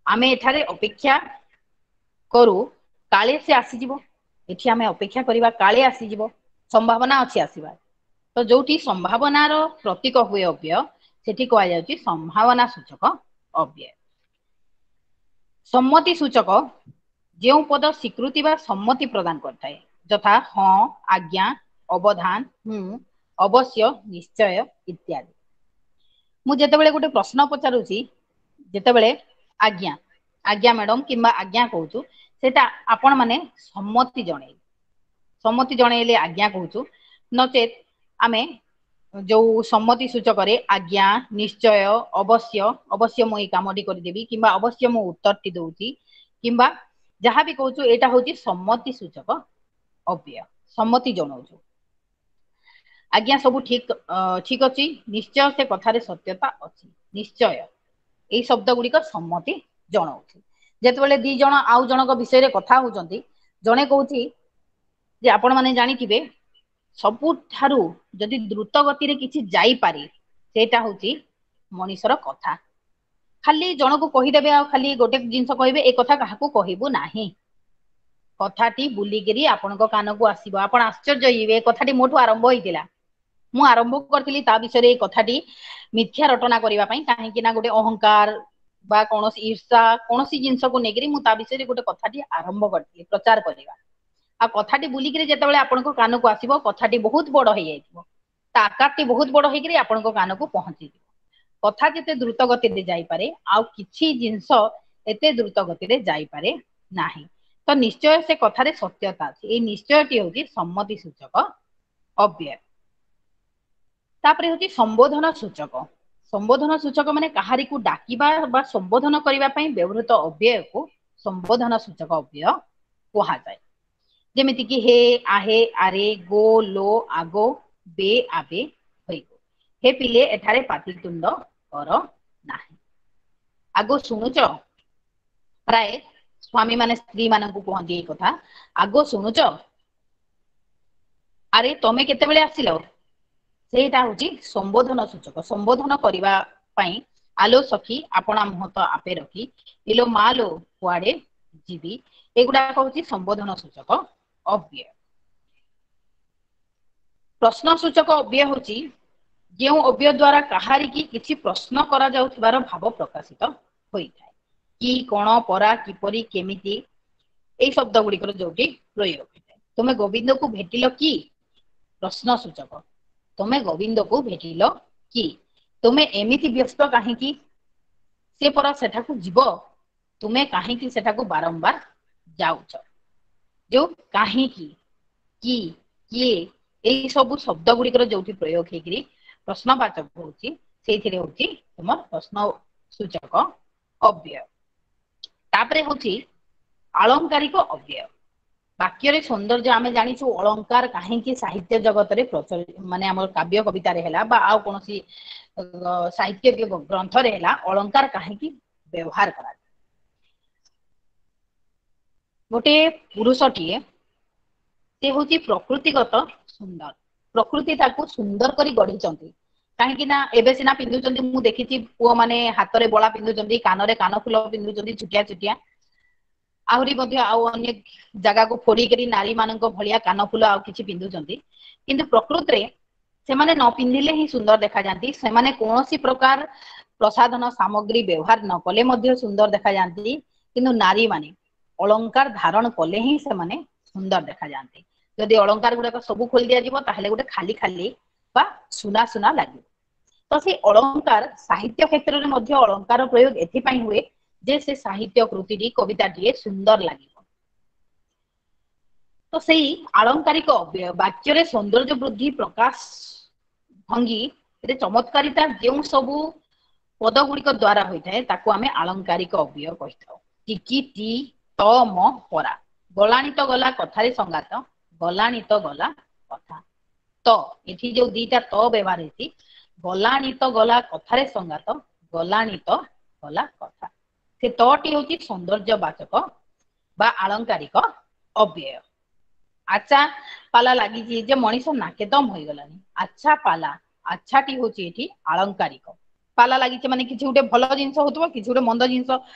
ଆମେ ଏଠାରେ ଅପେକ୍ଷା କରୁ କାଳେ ସେ ଆସିଯିବ। ଏଠି ଆମେ ଅପେକ୍ଷା କରିବା କାଳେ ଆସିଯିବ, ସମ୍ଭାବନା ଅଛି ଆସିବାର। ତ ଯୋଉଠି ସମ୍ଭାବନାର ପ୍ରତୀକ ହୁଏ ଅବ୍ୟୟ, ସେଠି କୁହାଯାଉଛି ସମ୍ଭାବନା ସୂଚକ ଅବ୍ୟୟ। ସମ୍ମତି ସୂଚକ, ଯେଉଁ ପଦ ସ୍ୱୀକୃତି ବା ସମ୍ମତି ପ୍ରଦାନ କରିଥାଏ, ଯଥା ହଁ, ଆଜ୍ଞା, ଅବଧାନ, ହୁଁ, ଅବଶ୍ୟ, ନିଶ୍ଚୟ ଇତ୍ୟାଦି। ମୁଁ ଯେତେବେଳେ ଗୋଟେ ପ୍ରଶ୍ନ ପଚାରୁଛି, ଯେତେବେଳେ ଆଜ୍ଞା, ଆଜ୍ଞା ମ୍ୟାଡମ କିମ୍ବା ଆଜ୍ଞା କହୁଛୁ, ସେଇଟା ଆପଣ ମାନେ ସମ୍ମତି ଜଣେଇଲେ, ସମ୍ମତି ଜଣେଇଲେ ଆଜ୍ଞା କହୁଛୁ। ନଚେତ ଆମେ ଯୋଉ ସମ୍ମତି ସୂଚକରେ ଆଜ୍ଞା, ନିଶ୍ଚୟ, ଅବଶ୍ୟ, ଅବଶ୍ୟ ମୁଁ ଏଇ କାମଟି କରିଦେବି କିମ୍ବା ଅବଶ୍ୟ ମୁଁ ଉତ୍ତରଟି ଦଉଛି କିମ୍ବା ଯାହା ବି କହୁଛୁ, ଏଇଟା ହଉଛି ସମ୍ମତି ସୂଚକ ଅବ୍ୟୟ, ସମ୍ମତି ଜଣାଉଛୁ। ଆଜ୍ଞା ସବୁ ଠିକ ଠିକ ଅଛି, ନିଶ୍ଚୟ ସେ କଥାରେ ସତ୍ୟତା ଅଛି, ନିଶ୍ଚୟ, ଏଇ ଶବ୍ଦ ଗୁଡିକ ସମ୍ମତି ଜଣାଉଛି। ଯେତେବେଳେ ଦି ଜଣ ଆଉ ଜଣଙ୍କ ବିଷୟରେ କଥା ହଉଛନ୍ତି, ଜଣେ କହୁଛି ଯେ ଆପଣ ମାନେ ଜାଣିଥିବେ ସବୁଠାରୁ ଯଦି ଦ୍ରୁତ ଗତିରେ କିଛି ଯାଇପାରେ ସେଇଟା ହଉଛି ମଣିଷର କଥା। ଖାଲି ଜଣକୁ କହିଦେବେ ଆଉ ଖାଲି ଗୋଟେ ଜିନିଷ କହିବେ, ଏ କଥା କାହାକୁ କହିବୁ ନାହିଁ, କଥାଟି ବୁଲିକିରି ଆପଣଙ୍କ କାନକୁ ଆସିବ, ଆପଣ ଆଶ୍ଚର୍ଯ୍ୟ ହେଇଯିବେ, ଏ କଥାଟି ମୋଠୁ ଆରମ୍ଭ ହେଇଥିଲା, ମୁଁ ଆରମ୍ଭ କରିଥିଲି ତା ବିଷୟରେ ଏଇ କଥାଟି ମିଥ୍ୟା ରଟନା କରିବା ପାଇଁ, କାହିଁକି ନା ଗୋଟେ ଅହଙ୍କାର ବା କୌଣସି ଈର୍ଷା କୌଣସି ଜିନିଷକୁ ନେଇକିରି ମୁଁ ତା ବିଷୟରେ ଗୋଟେ କଥାଟି ଆରମ୍ଭ କରିଥିଲି ପ୍ରଚାର କରିବା। ଆଉ କଥାଟି ବୁଲିକିରି ଯେତେବେଳେ ଆପଣଙ୍କ କାନକୁ ଆସିବ, କଥାଟି ବହୁତ ବଡ ହେଇଯାଇଥିବ, ତା ଆକାରଟି ବହୁତ ବଡ ହେଇକିରି ଆପଣଙ୍କ କାନକୁ ପହଞ୍ଚିଯିବ। କଥା ଯେତେ ଦ୍ରୁତ ଗତିରେ ଯାଇପାରେ ଆଉ କିଛି ଜିନିଷ ଏତେ ଦ୍ରୁତ ଗତିରେ ଯାଇପାରେ ନାହିଁ। ତ ନିଶ୍ଚୟ ସେ କଥାରେ ସତ୍ୟତା ଅଛି, ଏଇ ନିଶ୍ଚୟଟି ହଉଛି ସମ୍ମତି ସୂଚକ ଅବ୍ୟୟ। ତାପରେ ହଉଛି ସମ୍ବୋଧନ ସୂଚକ। ସମ୍ବୋଧନ ସୂଚକ ମାନେ କାହାରିକୁ ଡାକିବା ବା ସମ୍ବୋଧନ କରିବା ପାଇଁ ବ୍ୟବହୃତ ଅବ୍ୟୟକୁ ସମ୍ବୋଧନ ସୂଚକ ଅବ୍ୟୟ କୁହାଯାଏ। ଯେମିତି କି ହେ, ଆହେ, ଆରେ, ଗୋ, ଲୋ, ଆଗୋ, ବେ, ଆବେ, ହୋଇଗୋ। ହେ ପିଲେ ଏଠାରେ ପାଟିତୁଣ୍ଡ କର ନାହିଁ। ଆଗୋ ଶୁଣୁଛ, ପ୍ରାୟ ସ୍ୱାମୀ ମାନେ ସ୍ତ୍ରୀ ମାନଙ୍କୁ କୁହନ୍ତି ଏଇ କଥା, ଆଗୋ ଶୁଣୁଛ, ଆରେ ତମେ କେତେବେଳେ ଆସିଲ। ସେଇଟା ହଉଛି ସମ୍ବୋଧନ ସୂଚକ। ସମ୍ବୋଧନ କରିବା ପାଇଁ ଆଲୋ ସଖୀ ଆପଣା ମୁହଁ ତ ଆପେ ରଖି, ଇଲୋ ମା ଲୋ କୁଆଡେ ଯିବି, ଏଗୁଡାକ ହଉଛି ସମ୍ବୋଧନ ସୂଚକ ଅବ୍ୟୟ। ପ୍ରଶ୍ନ ସୂଚକ ଅବ୍ୟୟ ହଉଛି ଯେଉଁ ଅବ୍ୟୟ ଦ୍ଵାରା କାହାରିକି କିଛି ପ୍ରଶ୍ନ କରାଯାଉଥିବାର ଭାବ ପ୍ରକାଶିତ ହୋଇଥାଏ। କି, କଣ, ପରା, କିପରି, କେମିତି, ଏଇ ଶବ୍ଦ ଗୁଡିକର ଯୋଉଠି ପ୍ରୟୋଗ ହୋଇଥାଏ। ତୁମେ ଗୋବିନ୍ଦକୁ ଭେଟିଲ କି, ପ୍ରଶ୍ନ ସୂଚକ। ତୁମେ ଗୋବିନ୍ଦକୁ ଭେଟିଲ କି, ତୁମେ ଏମିତି ବ୍ୟସ୍ତ କାହିଁକି, ସେ ପରା ସେଠାକୁ ଯିବ, ତୁମେ କାହିଁକି ସେଠାକୁ ବାରମ୍ବାର ଯାଉଛ। ଯୋଉ କାହିଁକି, କି, କିଏ, ଏଇ ସବୁ ଶବ୍ଦ ଗୁଡିକର ଯୋଉଠି ପ୍ରୟୋଗ ହେଇକିରି ପ୍ରଶ୍ନବାଚକ ହଉଛି, ସେଇଥିରେ ହଉଛି ତୁମର ପ୍ରଶ୍ନ ସୂଚକ ଅବ୍ୟୟ। ତାପରେ ହଉଛି ଆଳଙ୍କାରିକ ଅବ୍ୟୟ। ବାକ୍ୟରେ ସୌନ୍ଦର୍ଯ୍ୟ ଆମେ ଜାଣିଛୁ ଅଳଙ୍କାର କାହିଁକି ସାହିତ୍ୟ ଜଗତରେ ପ୍ରଚଳିତ, ମାନେ ଆମର କାବ୍ୟ କବିତାରେ ହେଲା ବା ଆଉ କୌଣସି ସାହିତ୍ୟ ଗ୍ରନ୍ଥରେ ହେଲା, ଅଳଙ୍କାର କାହିଁକି ବ୍ୟବହାର କରାଯାଏ। ଗୋଟେ ପୁରୁଷଟିଏ ସେ ହଉଛି ପ୍ରକୃତିଗତ ସୁନ୍ଦର, ପ୍ରକୃତି ତାକୁ ସୁନ୍ଦର କରି ଗଢିଛନ୍ତି। କାହିଁକି ନା ଏବେ ସିନା ପିନ୍ଧୁଛନ୍ତି, ମୁଁ ଦେଖିଛି ପୁଅ ମାନେ ହାତରେ ବଳା ପିନ୍ଧୁଛନ୍ତି, କାନରେ କାନ ଫୁଲ ପିନ୍ଧୁଛନ୍ତି ଛୋଟିଆ ଛୋଟିଆ, ଆହୁରି ମଧ୍ୟ ଆଉ ଅନେକ ଜାଗାକୁ ଫୋଡିକରି ନାରୀ ମାନଙ୍କ ଭଳିଆ କାନ ଫୁଲ ଆଉ କିଛି ପିନ୍ଧୁଛନ୍ତି। କିନ୍ତୁ ପ୍ରକୃତିରେ ସେମାନେ ନ ପିନ୍ଧିଲେ ହିଁ ସୁନ୍ଦର ଦେଖାଯାଆନ୍ତି। ସେମାନେ କୌଣସି ପ୍ରକାର ପ୍ରସାଧନ ସାମଗ୍ରୀ ବ୍ୟବହାର ନ କଲେ ମଧ୍ୟ ସୁନ୍ଦର ଦେଖାଯାଆନ୍ତି। କିନ୍ତୁ ନାରୀ ମାନେ ଅଳଙ୍କାର ଧାରଣ କଲେ ହିଁ ସେମାନେ ସୁନ୍ଦର ଦେଖାଯାଆନ୍ତି। ଯଦି ଅଳଙ୍କାର ଗୁଡାକ ସବୁ ଖୋଲି ଦିଆଯିବ ତାହେଲେ ଗୋଟେ ଖାଲି ଖାଲି ବା ସୁନା ସୁନା ଲାଗିବ। ତ ସେଇ ଅଳଙ୍କାର ସାହିତ୍ୟ କ୍ଷେତ୍ରରେ ମଧ୍ୟ ଅଳଙ୍କାର ପ୍ରୟୋଗ ଏଥିପାଇଁ ହୁଏ ଯେ ସେ ସାହିତ୍ୟ କୃତିଟି କବିତାଟିଏ ସୁନ୍ଦର ଲାଗିବ। ତ ସେଇ ଆଳଙ୍କାରିକ ଅବ୍ୟୟ ବାକ୍ୟରେ ସୌନ୍ଦର୍ଯ୍ୟ ବୃଦ୍ଧି ପ୍ରକାଶ ଭଙ୍ଗୀ ରେ ଚମତ୍କାରିତା ଯେଉଁ ସବୁ ପଦ ଗୁଡିକ ଦ୍ଵାରା ହୋଇଥାଏ ତାକୁ ଆମେ ଆଳଙ୍କାରିକ ଅବ୍ୟୟ କହିଥାଉ। ଟିକି ଟି ତ ମ ପରା, ଗଲାଣି ତ ଗଲା କଥାରେ ସଙ୍ଗାତ, ଗଲାଣି ତ ଗଲା କଥା। ତ ଏଠି ଯୋଉ ଦିଟା ତ ବ୍ୟବହାର ହେଇଛି, ଗଲାଣି ତ ଗଲା କଥାରେ ସଙ୍ଗାତ, ଗଲାଣି ତ ଗଲା କଥା, ସେ ତଟି ହଉଛି ସୌନ୍ଦର୍ଯ୍ୟ ବାଚକ ବା ଆଳଙ୍କାରିକ ଅବ୍ୟୟ। ଆଚ୍ଛା ପାଲା ଲାଗିଛି ଯେ ମଣିଷ ନାକେଦମ ହୋଇଗଲାଣି। ଆଚ୍ଛା ପାଲା, ଆଚ୍ଛାଟି ହଉଛି ଏଠି ଆଳଙ୍କାରିକ। ପାଲା ଲାଗିଛି ମାନେ କିଛି ଗୋଟେ ଭଲ ଜିନିଷ ହଉଥିବ, କିଛି ଗୋଟେ ମନ୍ଦ ଜିନିଷ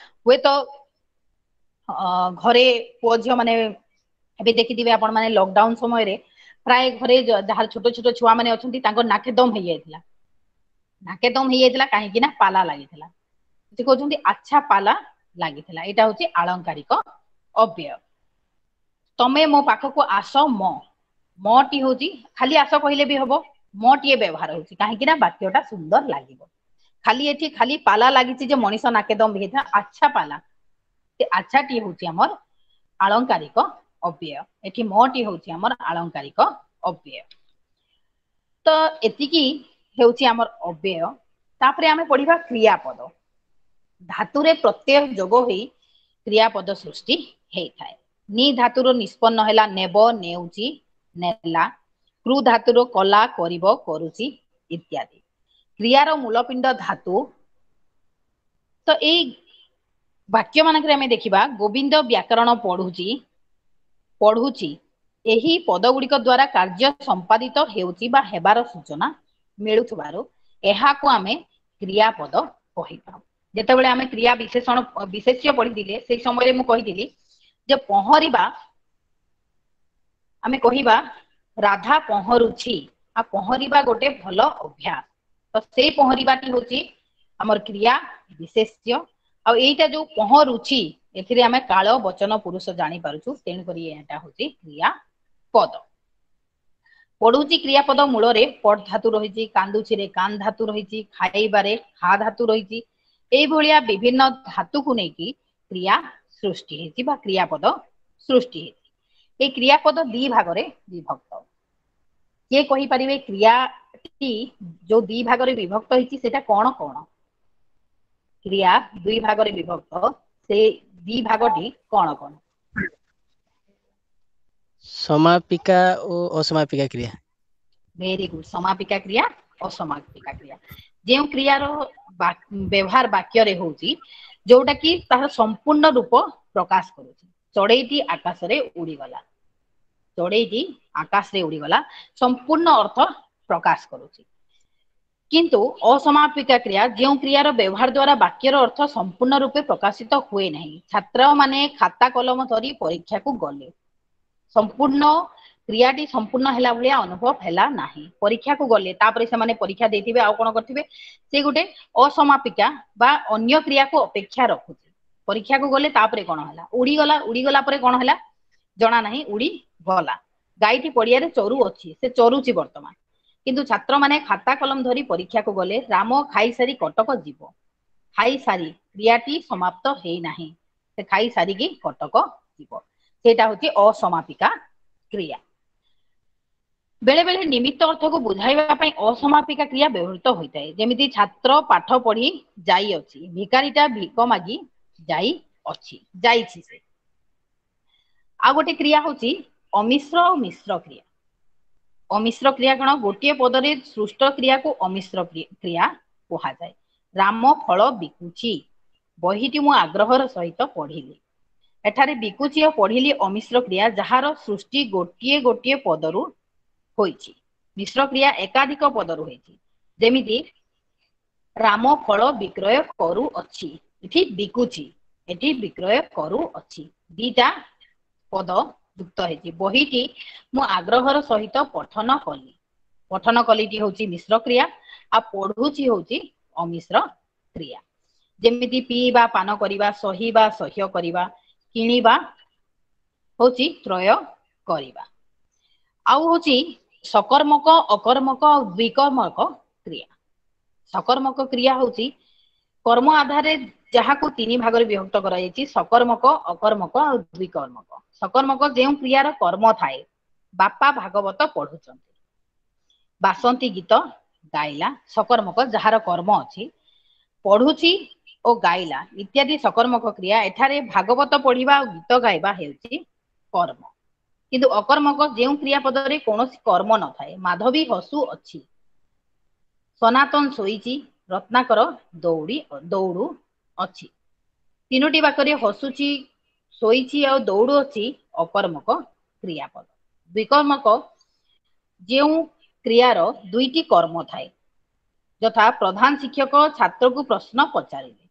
ହୁଏତ। ଘରେ ପୁଅ ଝିଅ ମାନେ ଏବେ ଦେଖିଥିବେ ଆପଣ ମାନେ ଲକଡାଉନ ସମୟରେ ପ୍ରାୟ ଘରେ ଯାହାର ଛୋଟ ଛୋଟ ଛୁଆ ମାନେ ଅଛନ୍ତି ତାଙ୍କ ନାକେଦମ ହେଇଯାଇଥିଲା। ନାକେଦମ ହେଇଯାଇଥିଲା କାହିଁକି ନା ପାଲା ଲାଗିଥିଲା। ସେ କହୁଛନ୍ତି ଆଚ୍ଛା ପାଲା ଲାଗିଥିଲା, ଏଇଟା ହଉଛି ଆଳଙ୍କାରିକ ଅବ୍ୟୟ। ତମେ ମୋ ପାଖକୁ ଆସ ମ, ମଟି ହଉଛି ଖାଲି ଆସ କହିଲେ ବି ହବ, ମଟିଏ ବ୍ୟବହାର ହଉଛି କାହିଁକି ନା ବାକ୍ୟଟା ସୁନ୍ଦର ଲାଗିବ। ଖାଲି ଏଠି ଖାଲି ପାଲା ଲାଗିଛି ଯେ ମଣିଷ ନାକେଦମ ହେଇଥିଲା, ଆଚ୍ଛା ପାଲା, ସେ ଆଚ୍ଛାଟି ହଉଛି ଆମର ଆଳଙ୍କାରିକ ଅବ୍ୟୟ। ଏଠି ମଟି ହଉଛି ଆମର ଆଳଙ୍କାରିକ ଅବ୍ୟୟ। ତ ଏତିକି ହେଉଛି ଆମର ଅବ୍ୟୟ। ତାପରେ ଆମେ ପଢିବା କ୍ରିୟାପଦ। ଧାତୁରେ ପ୍ରତ୍ୟୟ ଯୋଗ ହୋଇ କ୍ରିୟାପଦ ସୃଷ୍ଟି ହେଇଥାଏ। ନି ଧାତୁର ନିଷ୍ପନ୍ନ ହେଲା ନେବ, ନେଉଛି, ନେଲା। କୃ ଧାତୁର କଲା, କରିବ, କରୁଛି ଇତ୍ୟାଦି। କ୍ରିୟାର ମୂଳପିଣ୍ଡ ଧାତୁ। ତ ଏଇ ବାକ୍ୟ ମାନଙ୍କରେ ଆମେ ଦେଖିବା ଗୋବିନ୍ଦ ବ୍ୟାକରଣ ପଢୁଛି, ପଢୁଛି, ଏହି ପଦ ଗୁଡିକ ଦ୍ଵାରା କାର୍ଯ୍ୟ ସମ୍ପାଦିତ ହେଉଛି ବା ହେବାର ସୂଚନା ମିଳୁଥିବାରୁ ଏହାକୁ ଆମେ କ୍ରିୟାପଦ କହିଥାଉ। ଯେତେବେଳେ ଆମେ କ୍ରିୟା ବିଶେଷଣ ବିଶେଷ୍ୟ ପଢିଥିଲେ ସେଇ ସମୟରେ ମୁଁ କହିଥିଲି ଯେ ପହଁରିବା, ଆମେ କହିବା ରାଧା ପହଁରୁଛି, ଆଉ ପହଁରିବା ଗୋଟେ ଭଲ ଅଭ୍ୟାସ। ତ ସେଇ ପହଁରିବାଟି ହଉଛି ଆମର କ୍ରିୟା ବିଶେଷ୍ୟ। ଆଉ ଏଇଟା ଯୋଉ ପହଁରୁଛି ଏଥିରେ ଆମେ କାଳ ବଚନ ପୁରୁଷ ଜାଣିପାରୁଛୁ, ତେଣୁକରି ଏଇଟା ହଉଛି କ୍ରିୟା ପଦ। ପଢୁଛି କ୍ରିୟାପଦ ମୂଳରେ ପଟ୍ ଧାତୁ ରହିଛି, କାନ୍ଦୁଛିରେ କାନ୍ ଧାତୁ ରହିଛି, ଖାଇବାରେ ଖା ଧାତୁ ରହିଛି। ଏଇଭଳିଆ ବିଭିନ୍ନ ଧାତୁକୁ ନେଇକି କ୍ରିୟା ସୃଷ୍ଟି ହେଇଛି ବା କ୍ରିୟାପଦ ସୃଷ୍ଟି ହେଇଛି। ଏଇ କ୍ରିୟାପଦ ଦି ଭାଗରେ ବିଭକ୍ତ। କିଏ କହିପାରିବେ କ୍ରିୟାଟି ଯୋଉ ଦି ଭାଗରେ ବିଭକ୍ତ ହେଇଛି ସେଟା କଣ କଣ? କ୍ରିୟା ଦୁଇ ଭାଗରେ ବିଭକ୍ତ, ସେ ଦି ଭାଗଟି କଣ କଣ? ସମାପିକା ଓ ଅସମାପିକା କ୍ରିୟା। ଭେରି ଗୁଡ, ସମାପିକା କ୍ରିୟା ଅସମାପିକା କ୍ରିୟା। ଯେଉଁ କ୍ରିୟାର ବ୍ୟବହାର ବାକ୍ୟରେ ହଉଛି ଯୋଉଟା କି ତାହାର ସମ୍ପୂର୍ଣ୍ଣ ରୂପ ପ୍ରକାଶ କରୁଛି। ଚଢେଇଟି ଆକାଶରେ ଉଡିଗଲା, ଚଢେଇଟି ଆକାଶରେ ଉଡିଗଲା, ସମ୍ପୂର୍ଣ୍ଣ ଅର୍ଥ ପ୍ରକାଶ କରୁଛି। କିନ୍ତୁ ଅସମାପିକା କ୍ରିୟା ଯେଉଁ କ୍ରିୟାର ବ୍ୟବହାର ଦ୍ଵାରା ବାକ୍ୟର ଅର୍ଥ ସମ୍ପୂର୍ଣ୍ଣ ରୂପେ ପ୍ରକାଶିତ ହୁଏ ନାହିଁ। ଛାତ୍ର ମାନେ ଖାତା କଲମ ଧରି ପରୀକ୍ଷାକୁ ଗଲେ, ସମ୍ପୂର୍ଣ୍ଣ କ୍ରିୟାଟି ସମ୍ପୂର୍ଣ୍ଣ ହେଲା ଭଳିଆ ଅନୁଭବ ହେଲା ନାହିଁ। ପରୀକ୍ଷାକୁ ଗଲେ, ତାପରେ ସେମାନେ ପରୀକ୍ଷା ଦେଇଥିବେ ଆଉ କଣ କରିଥିବେ, ସେ ଗୋଟେ ଅସମାପିକା ବା ଅନ୍ୟ କ୍ରିୟାକୁ ଅପେକ୍ଷା ରଖୁଛି। ପରୀକ୍ଷାକୁ ଗଲେ ତାପରେ କଣ ହେଲା, ଉଡିଗଲା, ଉଡିଗଲା ପରେ କଣ ହେଲା ଜଣା ନାହିଁ, ଉଡି ଗଲା। ଗାଈଟି ପଡିଆରେ ଚରୁ ଅଛି, ସେ ଚରୁଛି ବର୍ତ୍ତମାନ। କିନ୍ତୁ ଛାତ୍ରମାନେ ଖାତା କଲମ ଧରି ପରୀକ୍ଷାକୁ ଗଲେ। ରାମ ଖାଇସାରି କଟକ ଯିବ, ଖାଇସାରି କ୍ରିୟାଟି ସମାପ୍ତ ହେଇନାହିଁ, ସେ ଖାଇସାରିକି କଟକ ଯିବ, ସେଇଟା ହଉଛି ଅସମାପିକା କ୍ରିୟା। ବେଳେ ବେଳେ ନିମିତ୍ତ ଅର୍ଥକୁ ବୁଝାଇବା ପାଇଁ ଅସମାପିକା କ୍ରିୟା ବ୍ୟବହୃତ ହୋଇଥାଏ। ଯେମିତି ଛାତ୍ର ପାଠ ପଢି ଯାଇଅଛି, ଭିକାରୀଟା ଭିକ ମାଗି ଯାଇଅଛି, ଯାଇଛି ସେ। ଆଉ ଗୋଟେ କ୍ରିୟା ହଉଛି ଅମିଶ୍ର ଆଉ ମିଶ୍ର କ୍ରିୟା। ଅମିଶ୍ର କ୍ରିୟା କଣ? ଗୋଟିଏ ପଦରେ ସୃଷ୍ଟ କ୍ରିୟାକୁ ଅମିଶ୍ର କ୍ରିୟା କୁହାଯାଏ। ରାମ ଫଳ ବିକୁଛି, ବହିଟି ମୁଁ ଆଗ୍ରହର ସହିତ ପଢିଲି। ଏଠାରେ ବିକୁଛି ଆଉ ପଢିଲି ଅମିଶ୍ର କ୍ରିୟା, ଯାହାର ସୃଷ୍ଟି ଗୋଟିଏ ଗୋଟିଏ ପଦରୁ ହୋଇଛି। ମିଶ୍ର କ୍ରିୟା ଏକାଧିକ ପଦରୁ ହୋଇଛି। ଯେମିତି ରାମ ଫଳ ବିକ୍ରୟ କରୁଅଛି, ଏଠି ବିକୁଛି, ଏଠି ବିକ୍ରୟ କରୁଅଛି, ଦିଟା ପଦ ଯୁକ୍ତ ହେଇଛି। ବହିଟି ମୁଁ ଆଗ୍ରହର ସହିତ ପଠନ କଲି, ପଠନ କଲିଟି ହଉଛି ମିଶ୍ର କ୍ରିୟା, ଆଉ ପଢୁଛି ହଉଛି ଅମିଶ୍ର କ୍ରିୟା। ଯେମିତି ପିଇବା, ପାନ କରିବା, ସହିବା, ସହ୍ୟ କରିବା, କିଣିବା ହଉଛି କ୍ରୟ କରିବା। ଆଉ ହଉଛି ସକର୍ମକ, ଅକର୍ମକ ଆଉ ଦ୍ୱିକର୍ମକ କ୍ରିୟା। ସକର୍ମକ କ୍ରିୟା ହଉଛି କର୍ମ ଆଧାରରେ ଯାହାକୁ ତିନି ଭାଗରେ ବିଭକ୍ତ କରାଯାଇଛି, ସକର୍ମକ, ଅକର୍ମକ ଆଉ ଦ୍ୱିକର୍ମକ। ସକର୍ମକ ଯେଉଁ କ୍ରିୟାର କର୍ମ ଥାଏ, ବାପା ଭାଗବତ ପଢୁଛନ୍ତି, ବାସନ୍ତୀ ଗୀତ ଗାଇଲା, ସକର୍ମକ ଯାହାର କର୍ମ ଅଛି, ପଢୁଛି ଓ ଗାଇଲା ଇତ୍ୟାଦି ସକର୍ମକ କ୍ରିୟା। ଏଠାରେ ଭାଗବତ ପଢିବା ଆଉ ଗୀତ ଗାଇବା ହେଉଛି କର୍ମ। କିନ୍ତୁ ଅକର୍ମକ ଯେଉଁ କ୍ରିୟା ପଦରେ କୌଣସି କର୍ମ ନଥାଏ, ମାଧବୀ ହସୁ ଅଛି, ସନାତନ ଶୋଇଛି, ରତ୍ନାକର ଦୌଡୁ ଅଛି। ତିନୋଟି ବାକ୍ୟରେ ହସୁଛି, ଶୋଇଛି ଆଉ ଦୌଡୁ ଅଛି ଅକର୍ମକ କ୍ରିୟାପଦ। ଦ୍ୱିକର୍ମକ ଯେଉଁ କ୍ରିୟାର ଦୁଇଟି କର୍ମ ଥାଏ, ଯଥା ପ୍ରଧାନ ଶିକ୍ଷକ ଛାତ୍ରକୁ ପ୍ରଶ୍ନ ପଚାରିଲେ।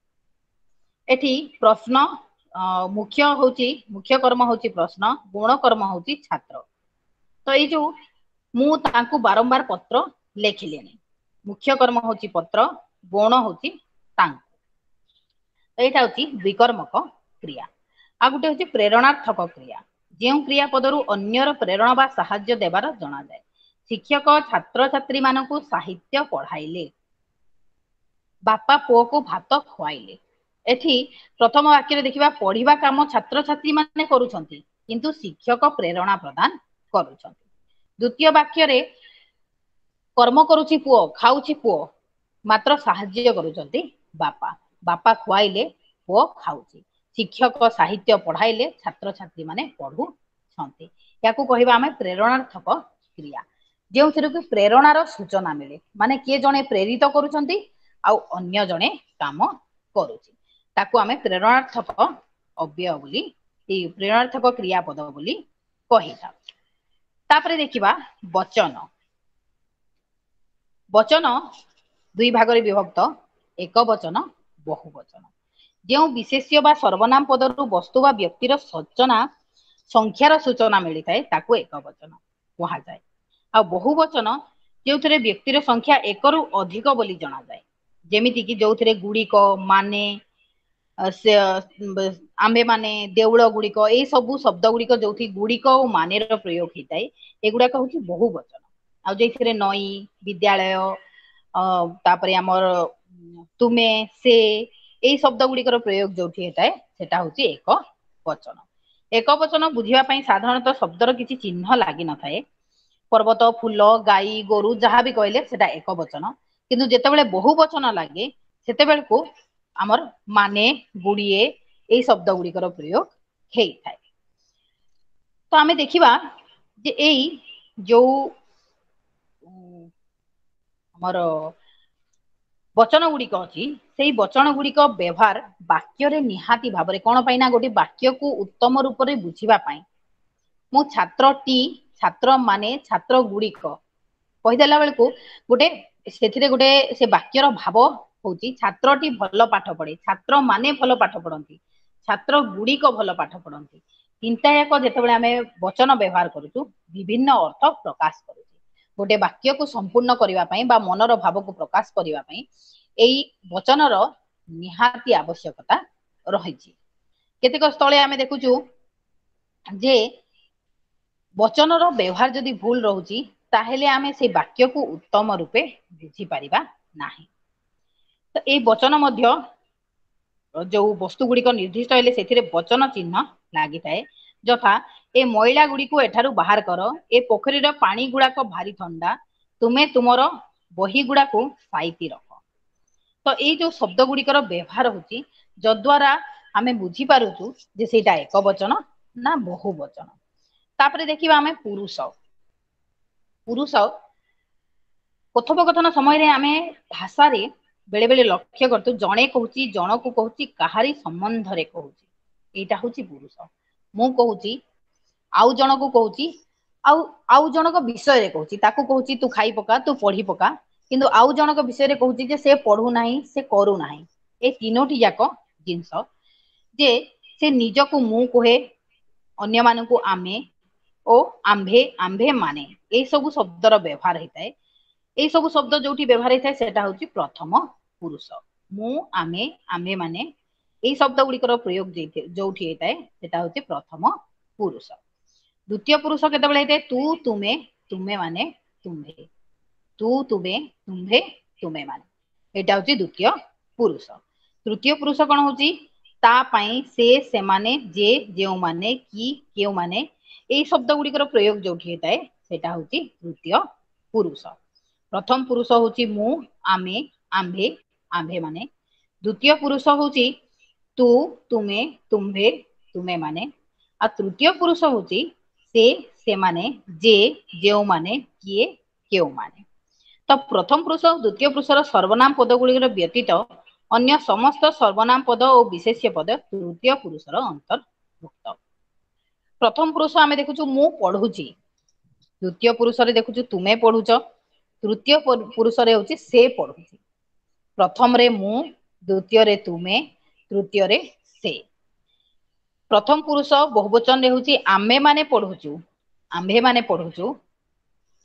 ଏଠି ପ୍ରଶ୍ନ ମୁଖ୍ୟ ହଉଛି, ମୁଖ୍ୟ କର୍ମ ହଉଛି ପ୍ରଶ୍ନ, ଗୌଣ କର୍ମ ହଉଛି ଛାତ୍ର। ତ ଏଇ ଯୋଉ ମୁଁ ତାଙ୍କୁ ବାରମ୍ବାର ପତ୍ର ଲେଖିଲିଣି, ମୁଖ୍ୟ କର୍ମ ହଉଛି ପତ୍ର, ଗୌଣ ହଉଛି ତାଙ୍କୁ। ଏଇଟା ହଉଛି ଦ୍ୱିକର୍ମକ କ୍ରିୟା। ଆଉ ଗୋଟେ ହଉଛି ପ୍ରେରଣାର୍ଥକ କ୍ରିୟା, ଯେଉଁ କ୍ରିୟା ପଦରୁ ଅନ୍ୟର ପ୍ରେରଣା ବା ସାହାଯ୍ୟ ଦେବାର ଜଣାଯାଏ। ଶିକ୍ଷକ ଛାତ୍ରଛାତ୍ରୀ ମାନଙ୍କୁ ସାହିତ୍ୟ ପଢାଇଲେ, ବାପା ପୁଅକୁ ଭାତ ଖୁଆଇଲେ। ଏଠି ପ୍ରଥମ ବାକ୍ୟରେ ଦେଖିବା ପଢିବା କାମ ଛାତ୍ରଛାତ୍ରୀ ମାନେ କରୁଛନ୍ତି, କିନ୍ତୁ ଶିକ୍ଷକ ପ୍ରେରଣା ପ୍ରଦାନ କରୁଛନ୍ତି। ଦ୍ୱିତୀୟ ବାକ୍ୟରେ କର୍ମ କରୁଛି ପୁଅ, ଖାଉଛି ପୁଅ, ମାତ୍ର ସାହାଯ୍ୟ କରୁଛନ୍ତି ବାପା। ବାପା ଖୁଆଇଲେ, ପୁଅ ଖାଉଛି। ଶିକ୍ଷକ ସାହିତ୍ୟ ପଢାଇଲେ, ଛାତ୍ରଛାତ୍ରୀ ମାନେ ପଢୁଛନ୍ତି। ୟାକୁ କହିବା ଆମେ ପ୍ରେରଣାର୍ଥକ କ୍ରିୟା, ଯେଉଁଥିରେ କି ପ୍ରେରଣାର ସୂଚନା ମିଳେ। ମାନେ କିଏ ଜଣେ ପ୍ରେରିତ କରୁଛନ୍ତି ଆଉ ଅନ୍ୟ ଜଣେ କାମ କରୁଛି, ତାକୁ ଆମେ ପ୍ରେରଣାର୍ଥକ ଅବ୍ୟୟ ବୋଲି, ଏଇ ପ୍ରେରଣାର୍ଥକ କ୍ରିୟାପଦ ବୋଲି କହିଥାଉ। ତାପରେ ଦେଖିବା ବଚନ। ବଚନ ଦୁଇ ଭାଗରେ ବିଭକ୍ତ, ଏକ ବଚନ, ବହୁ ବଚନ। ଯେଉଁ ବିଶେଷ୍ୟ ବା ସର୍ବନାମ ପଦରୁ ବସ୍ତୁ ବା ବ୍ୟକ୍ତିର ସୂଚନା, ସଂଖ୍ୟାର ସୂଚନା ମିଳିଥାଏ, ତାକୁ ଏକ ବଚନ କୁହାଯାଏ। ଆଉ ବହୁ ବଚନ ଯେଉଁଥିରେ ବ୍ୟକ୍ତିର ସଂଖ୍ୟା ଏକରୁ ଅଧିକ ବୋଲି ଜଣାଯାଏ, ଯେମିତି କି ଯୋଉଥିରେ ଗୁଡିକ, ମାନେ, ସେ ଆମ୍ଭେ ମାନେ, ଦେଉଳ ଗୁଡିକ, ଏଇ ସବୁ ଶବ୍ଦ ଗୁଡିକ ଯୋଉଠି ଗୁଡିକ ଓ ମାନେର ପ୍ରୟୋଗ ହେଇଥାଏ, ଏଗୁଡାକ ହଉଛି ବହୁ ବଚନ। ଆଉ ଯେଉଁଥିରେ ନଈ, ବିଦ୍ୟାଳୟ, ତାପରେ ଆମର ତୁମେ, ସେ, ଏଇ ଶବ୍ଦ ଗୁଡିକର ପ୍ରୟୋଗ ଯୋଉଠି ହେଇଥାଏ, ସେଟା ହଉଛି ଏକ ବଚନ। ଏକ ବଚନ ବୁଝିବା ପାଇଁ ସାଧାରଣତଃ ଶବ୍ଦର କିଛି ଚିହ୍ନ ଲାଗିନଥାଏ। ପର୍ବତ, ଫୁଲ, ଗାଈ, ଗୋରୁ ଯାହା ବି କହିଲେ ସେଟା ଏକ ବଚନ। କିନ୍ତୁ ଯେତେବେଳେ ବହୁ ବଚନ ଲାଗେ, ସେତେବେଳକୁ ଆମର ମାନେ, ଗୁଡିଏ, ଏଇ ଶବ୍ଦ ଗୁଡିକର ପ୍ରୟୋଗ ହେଇଥାଏ। ତ ଆମେ ଦେଖିବା ଯେ ଏଇ ଯୋଉ ଆମର ବଚନ ଗୁଡିକ ଅଛି, ସେଇ ବଚନ ଗୁଡିକ ବ୍ୟବହାର ବାକ୍ୟରେ ନିହାତି ଭାବରେ କଣ ପାଇଁ ନା ଗୋଟେ ବାକ୍ୟକୁ ଉତ୍ତମ ରୂପରେ ବୁଝିବା ପାଇଁ ମୁଁ ଛାତ୍ରଟି, ଛାତ୍ର ମାନେ, ଛାତ୍ର ଗୁଡିକ କହିଦେଲା ବେଳକୁ ଗୋଟେ ସେଥିରେ ଗୋଟେ ସେ ବାକ୍ୟର ଭାବ ହଉଛି ଛାତ୍ରଟି ଭଲ ପାଠ ପଢେ, ଛାତ୍ର ମାନେ ଭଲ ପାଠ ପଢନ୍ତି, ଛାତ୍ର ଗୁଡିକ ଭଲ ପାଠ ପଢନ୍ତି। ତିନିଟା ଯାକ ଯେତେବେଳେ ଆମେ ବଚନ ବ୍ୟବହାର କରୁଛୁ, ବିଭିନ୍ନ ଅର୍ଥ ପ୍ରକାଶ କରୁଛୁ। ଗୋଟେ ବାକ୍ୟକୁ ସମ୍ପୂର୍ଣ୍ଣ କରିବା ପାଇଁ ବା ମନର ଭାବକୁ ପ୍ରକାଶ କରିବା ପାଇଁ ଏଇ ବଚନର ନିହାତି ଆବଶ୍ୟକତା ରହିଛି। କେତେକ ସ୍ଥଳେ ଆମେ ଦେଖୁଛୁ ଯେ ବଚନର ବ୍ୟବହାର ଯଦି ଭୁଲ ରହୁଛି, ତାହେଲେ ଆମେ ସେଇ ବାକ୍ୟକୁ ଉତ୍ତମ ରୂପେ ବୁଝିପାରିବା ନାହିଁ। ତ ଏଇ ବଚନ ମଧ୍ୟ ଯୋଉ ବସ୍ତୁ ଗୁଡିକ ନିର୍ଦ୍ଦିଷ୍ଟ ହେଲେ ସେଥିରେ ବଚନ ଚିହ୍ନ ଲାଗିଥାଏ। ଯଥା ଏ ମଇଳା ଗୁଡିକୁ ଏଠାରୁ ବାହାର କର, ଏ ପୋଖରୀର ପାଣି ଗୁଡାକ ଭାରି ଥଣ୍ଡା, ତୁମେ ତୁମର ବହି ଗୁଡାକୁ ସାଇତି ରଖ। ତ ଏଇ ଯୋଉ ଶବ୍ଦ ଗୁଡିକର ବ୍ୟବହାର ହଉଛି, ଯଦ୍ୱାରା ଆମେ ବୁଝିପାରୁଛୁ ଯେ ସେଇଟା ଏକ ବଚନ ନା ବହୁ ବଚନ। ତାପରେ ଦେଖିବା ଆମେ ପୁରୁଷ। ପୁରୁଷ କଥୋପକଥନ ସମୟରେ ଆମେ ଭାଷାରେ ବେଳେ ବେଳେ ଲକ୍ଷ୍ୟ କରୁଛୁ, ଜଣେ କହୁଛି, ଜଣକୁ କହୁଛି, କାହାରି ସମ୍ବନ୍ଧରେ କହୁଛି, ଏଇଟା ହଉଛି ପୁରୁଷ। ମୁଁ କହୁଛି, ଆଉ ଜଣକୁ କହୁଛି, ଆଉ ଆଉ ଜଣଙ୍କ ବିଷୟରେ କହୁଛି, ତାକୁ କହୁଛି ତୁ ଖାଇ ପକା, ତୁ ପଢି ପକା, କିନ୍ତୁ ଆଉ ଜଣଙ୍କ ବିଷୟରେ କହୁଛି ଯେ ସେ ପଢୁନାହିଁ, ସେ କରୁନାହିଁ। ଏ ତିନୋଟି ଯାକ ଜିନିଷ ଯେ ସେ ନିଜକୁ ମୁଁ କୁହେ, ଅନ୍ୟମାନଙ୍କୁ ଆମେ ଓ ଆମ୍ଭେ, ଆମ୍ଭେ ମାନେ, ଏଇ ସବୁ ଶବ୍ଦର ବ୍ୟବହାର ହେଇଥାଏ। ଏଇ ସବୁ ଶବ୍ଦ ଯୋଉଠି ବ୍ୟବହାର ହେଇଥାଏ ସେଟା ହଉଛି ପ୍ରଥମ ପୁରୁଷ। ମୁଁ, ଆମେ, ଆମ୍ଭେ ମାନେ, ଏଇ ଶବ୍ଦ ଗୁଡିକର ପ୍ରୟୋଗ ଯୋଉଠି ହେଇଥାଏ ସେଟା ହଉଛି ପ୍ରଥମ ପୁରୁଷ। ଦ୍ୱିତୀୟ ପୁରୁଷ କେତେବେଳେ ହେଇଥାଏ? ତୁ, ତୁମେ, ତୁମେ ମାନେ, ତୁମ୍ଭେ। ତୁ, ତୁମେ, ତୁମ୍ଭେ, ତୁମେ ମାନେ, ଏଇଟା ହଉଛି ଦ୍ୱିତୀୟ ପୁରୁଷ। ତୃତୀୟ ପୁରୁଷ କଣ ହଉଛି? ତା ପାଇଁ, ସେ, ସେମାନେ, ଯେ, ଯେଉଁମାନେ, କି, କେଉଁମାନେ, ଏଇ ଶବ୍ଦ ଗୁଡିକର ପ୍ରୟୋଗ ଯୋଉଠି ହେଇଥାଏ ସେଟା ହଉଛି ତୃତୀୟ ପୁରୁଷ। ପ୍ରଥମ ପୁରୁଷ ହଉଛି ମୁଁ, ଆମେ, ଆମ୍ଭେ, ଆମ୍ଭେ ମାନେ। ଦ୍ୱିତୀୟ ପୁରୁଷ ହଉଛି ତୁ, ତୁମେ, ତୁମ୍ଭେ, ତୁମେ ମାନେ। ଆଉ ତୃତୀୟ ପୁରୁଷ ହଉଛି ସେ, ସେମାନେ, ଯେ, ଯେଉଁମାନେ, କିଏ, କେଉଁମାନେ। ତ ପ୍ରଥମ ପୁରୁଷ ଓ ଦ୍ୱିତୀୟ ପୁରୁଷର ସର୍ବନାମ ପଦ ଗୁଡିକର ବ୍ୟତୀତ ଅନ୍ୟ ସମସ୍ତ ସର୍ବନାମ ପଦ ଓ ବିଶେଷ୍ୟ ପଦ ତୃତୀୟ ପୁରୁଷର ଅନ୍ତର୍ଭୁକ୍ତ। ପ୍ରଥମ ପୁରୁଷ ଆମେ ଦେଖୁଛୁ ମୁଁ ପଢୁଛି, ଦ୍ୱିତୀୟ ପୁରୁଷରେ ଦେଖୁଛୁ ତୁମେ ପଢୁଛ, ତୃତୀୟ ପୁରୁଷରେ ହଉଛି ସେ ପଢୁଛି। ପ୍ରଥମରେ ମୁଁ, ଦ୍ୱିତୀୟରେ ତୁମେ, ତୃତୀୟରେ ସେ। ପ୍ରଥମ ପୁରୁଷ ବହୁବଚନରେ ହଉଛି ଆମେ ମାନେ ପଢୁଛୁ, ଆମ୍ଭେ ମାନେ ପଢୁଛୁ।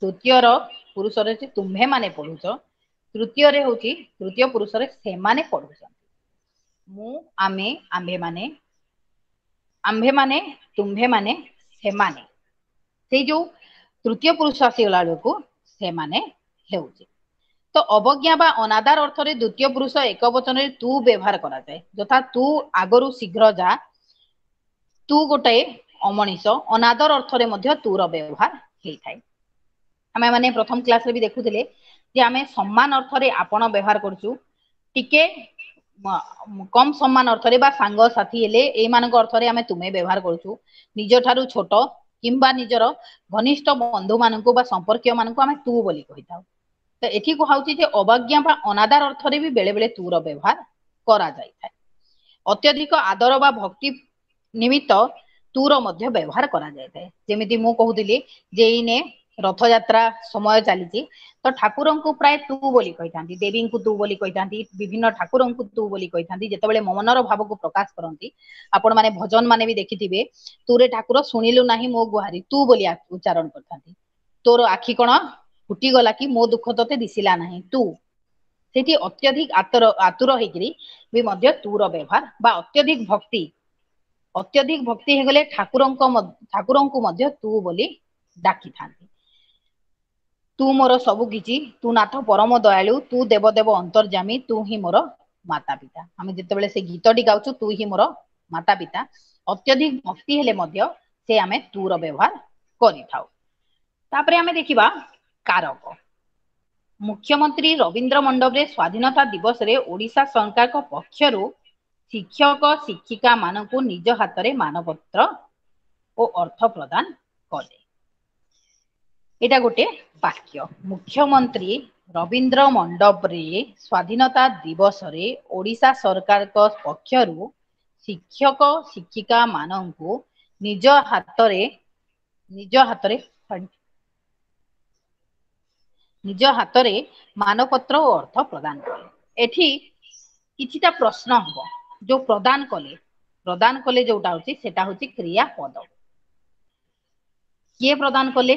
ତୃତୀୟର ପୁରୁଷରେ ହଉଛି ତୁମ୍ଭେ ମାନେ ପଢୁଛ। ତୃତୀୟରେ ହଉଛି ତୃତୀୟ ପୁରୁଷରେ ସେମାନେ ପଢୁଛନ୍ତି। ମୁଁ, ଆମେ, ଆମ୍ଭେ ମାନେ, ଆମ୍ଭେ ମାନେ, ତୁମ୍ଭେ ମାନେ, ସେମାନେ। ସେଇ ଯୋଉ ତୃତୀୟ ପୁରୁଷ ଆସିଗଲା ବେଳକୁ ସେମାନେ ହେଉଛି। ତ ଅବଜ୍ଞା ବା ଅନାଦାର ଅର୍ଥରେ ଦ୍ୱିତୀୟ ପୁରୁଷ ଏକ ବଚନରେ ତୁ ବ୍ୟବହାର କରାଯାଏ। ଯଥା ତୁ ଆଗରୁ ଶୀଘ୍ର ଯା, ତୁ ଗୋଟାଏ ଅମଣିଷ। ଅନାଦର ଅର୍ଥରେ ମଧ୍ୟ ତୁର ବ୍ୟବହାର ହେଇଥାଏ। ଆମେ ମାନେ ପ୍ରଥମ କ୍ଲାସରେ ବି ଦେଖୁଥିଲେ ଯେ ଆମେ ସମ୍ମାନ ଅର୍ଥରେ ଆପଣ ବ୍ୟବହାର କରୁଛୁ, ଟିକେ କମ ସମ୍ମାନ ଅର୍ଥରେ ବା ସାଙ୍ଗସାଥି ହେଲେ ଏଇମାନଙ୍କ ଅର୍ଥରେ ଆମେ ତୁମେ ବ୍ୟବହାର କରୁଛୁ। ନିଜ ଠାରୁ ଛୋଟ କିମ୍ବା ନିଜର ଘନିଷ୍ଠ ବନ୍ଧୁ ମାନଙ୍କୁ ବା ସମ୍ପର୍କୀୟ ମାନଙ୍କୁ ଆମେ ତୁ ବୋଲି କହିଥାଉ। ତ ଏଠି କୁହାଉଛି ଯେ ଅବଜ୍ଞା ବା ଅନାଦାର ଅର୍ଥରେ ବି ବେଳେ ବେଳେ ତୁର ବ୍ୟବହାର କରାଯାଇଥାଏ। ଅତ୍ୟଧିକ ଆଦର ବା ଭକ୍ତି ନିମିତ୍ତ ତୁର ମଧ୍ୟ ବ୍ୟବହାର କରାଯାଇଥାଏ। ଯେମିତି ମୁଁ କହୁଥିଲି ଯେ ଏଇନେ ରଥଯାତ୍ରା ସମୟ ଚାଲିଛି, ତ ଠାକୁରଙ୍କୁ ପ୍ରାୟ ତୁ ବୋଲି କହିଥାନ୍ତି, ଦେବୀଙ୍କୁ ତୁ ବୋଲି କହିଥାନ୍ତି, ବିଭିନ୍ନ ଠାକୁରଙ୍କୁ ତୁ ବୋଲି କହିଥାନ୍ତି। ଯେତେବେଳେ ମନର ଭାବକୁ ପ୍ରକାଶ କରନ୍ତି, ଆପଣ ମାନେ ଭଜନ ମାନେ ବି ଦେଖିଥିବେ, ତୁରେ ଠାକୁର ଶୁଣିଲୁ ନାହିଁ ମୋ ଗୁହାରି, ତୁ ବୋଲି ଉଚ୍ଚାରଣ କରିଥାନ୍ତି। ତୋର ଆଖି କଣ ଫୁଟିଗଲା କି, ମୋ ଦୁଃଖ ତତେ ଦିଶିଲା ନାହିଁ, ତୁ। ସେଠି ଅତ୍ୟଧିକ ଆତୁର ହେଇକିରି ବି ମଧ୍ୟ ତୁର ବ୍ୟବହାର ବା ଅତ୍ୟଧିକ ଭକ୍ତି, ଅତ୍ୟଧିକ ଭକ୍ତି ହେଇଗଲେ ଠାକୁରଙ୍କୁ ମଧ୍ୟ ତୁ ବୋଲି ଡାକିଥାନ୍ତି। ତୁ ମୋର ସବୁ କିଛି, ତୁ ନାଥ ପରମ ଦୟାଳୁ, ତୁ ଦେବଦେବ ଅନ୍ତର୍ଯାମୀ, ତୁ ହିଁ ମୋର ମାତା ପିତା। ଆମେ ଯେତେବେଳେ ସେ ଗୀତଟି ଗାଉଛୁ ତୁ ହିଁ ମୋର ମାତା ପିତା, ଅତ୍ୟଧିକ ଭକ୍ତି ହେଲେ ମଧ୍ୟ ସେ ଆମେ ତୁର ବ୍ୟବହାର କରିଥାଉ। ତାପରେ ଆମେ ଦେଖିବା କାରକ। ମୁଖ୍ୟମନ୍ତ୍ରୀ ରବୀନ୍ଦ୍ର ମଣ୍ଡପରେ ସ୍ୱାଧୀନତା ଦିବସରେ ଓଡ଼ିଶା ସରକାରଙ୍କ ପକ୍ଷରୁ ଶିକ୍ଷକ ଶିକ୍ଷିକା ମାନଙ୍କୁ ନିଜ ହାତରେ ମାନପତ୍ର ଓ ଅର୍ଥ ପ୍ରଦାନ କଲେ। ଏଇଟା ଗୋଟେ ବାକ୍ୟ। ମୁଖ୍ୟମନ୍ତ୍ରୀ ରବୀନ୍ଦ୍ର ମଣ୍ଡପରେ ସ୍ୱାଧୀନତା ଦିବସରେ ଓଡ଼ିଶା ସରକାରଙ୍କ ପକ୍ଷରୁ ଶିକ୍ଷକ ଶିକ୍ଷିକା ମାନଙ୍କୁ ନିଜ ହାତରେ ନିଜ ହାତରେ ନିଜ ହାତରେ ମାନପତ୍ର ଓ ଅର୍ଥ ପ୍ରଦାନ କଲେ। ଏଠି କିଛିଟା ପ୍ରଶ୍ନ ହବ। ଯୋଉ ପ୍ରଦାନ କଲେ, ପ୍ରଦାନ କଲେ ଯୋଉଟା ହଉଛି ସେଟା ହଉଛି କ୍ରିୟା ପଦ। କିଏ ପ୍ରଦାନ କଲେ,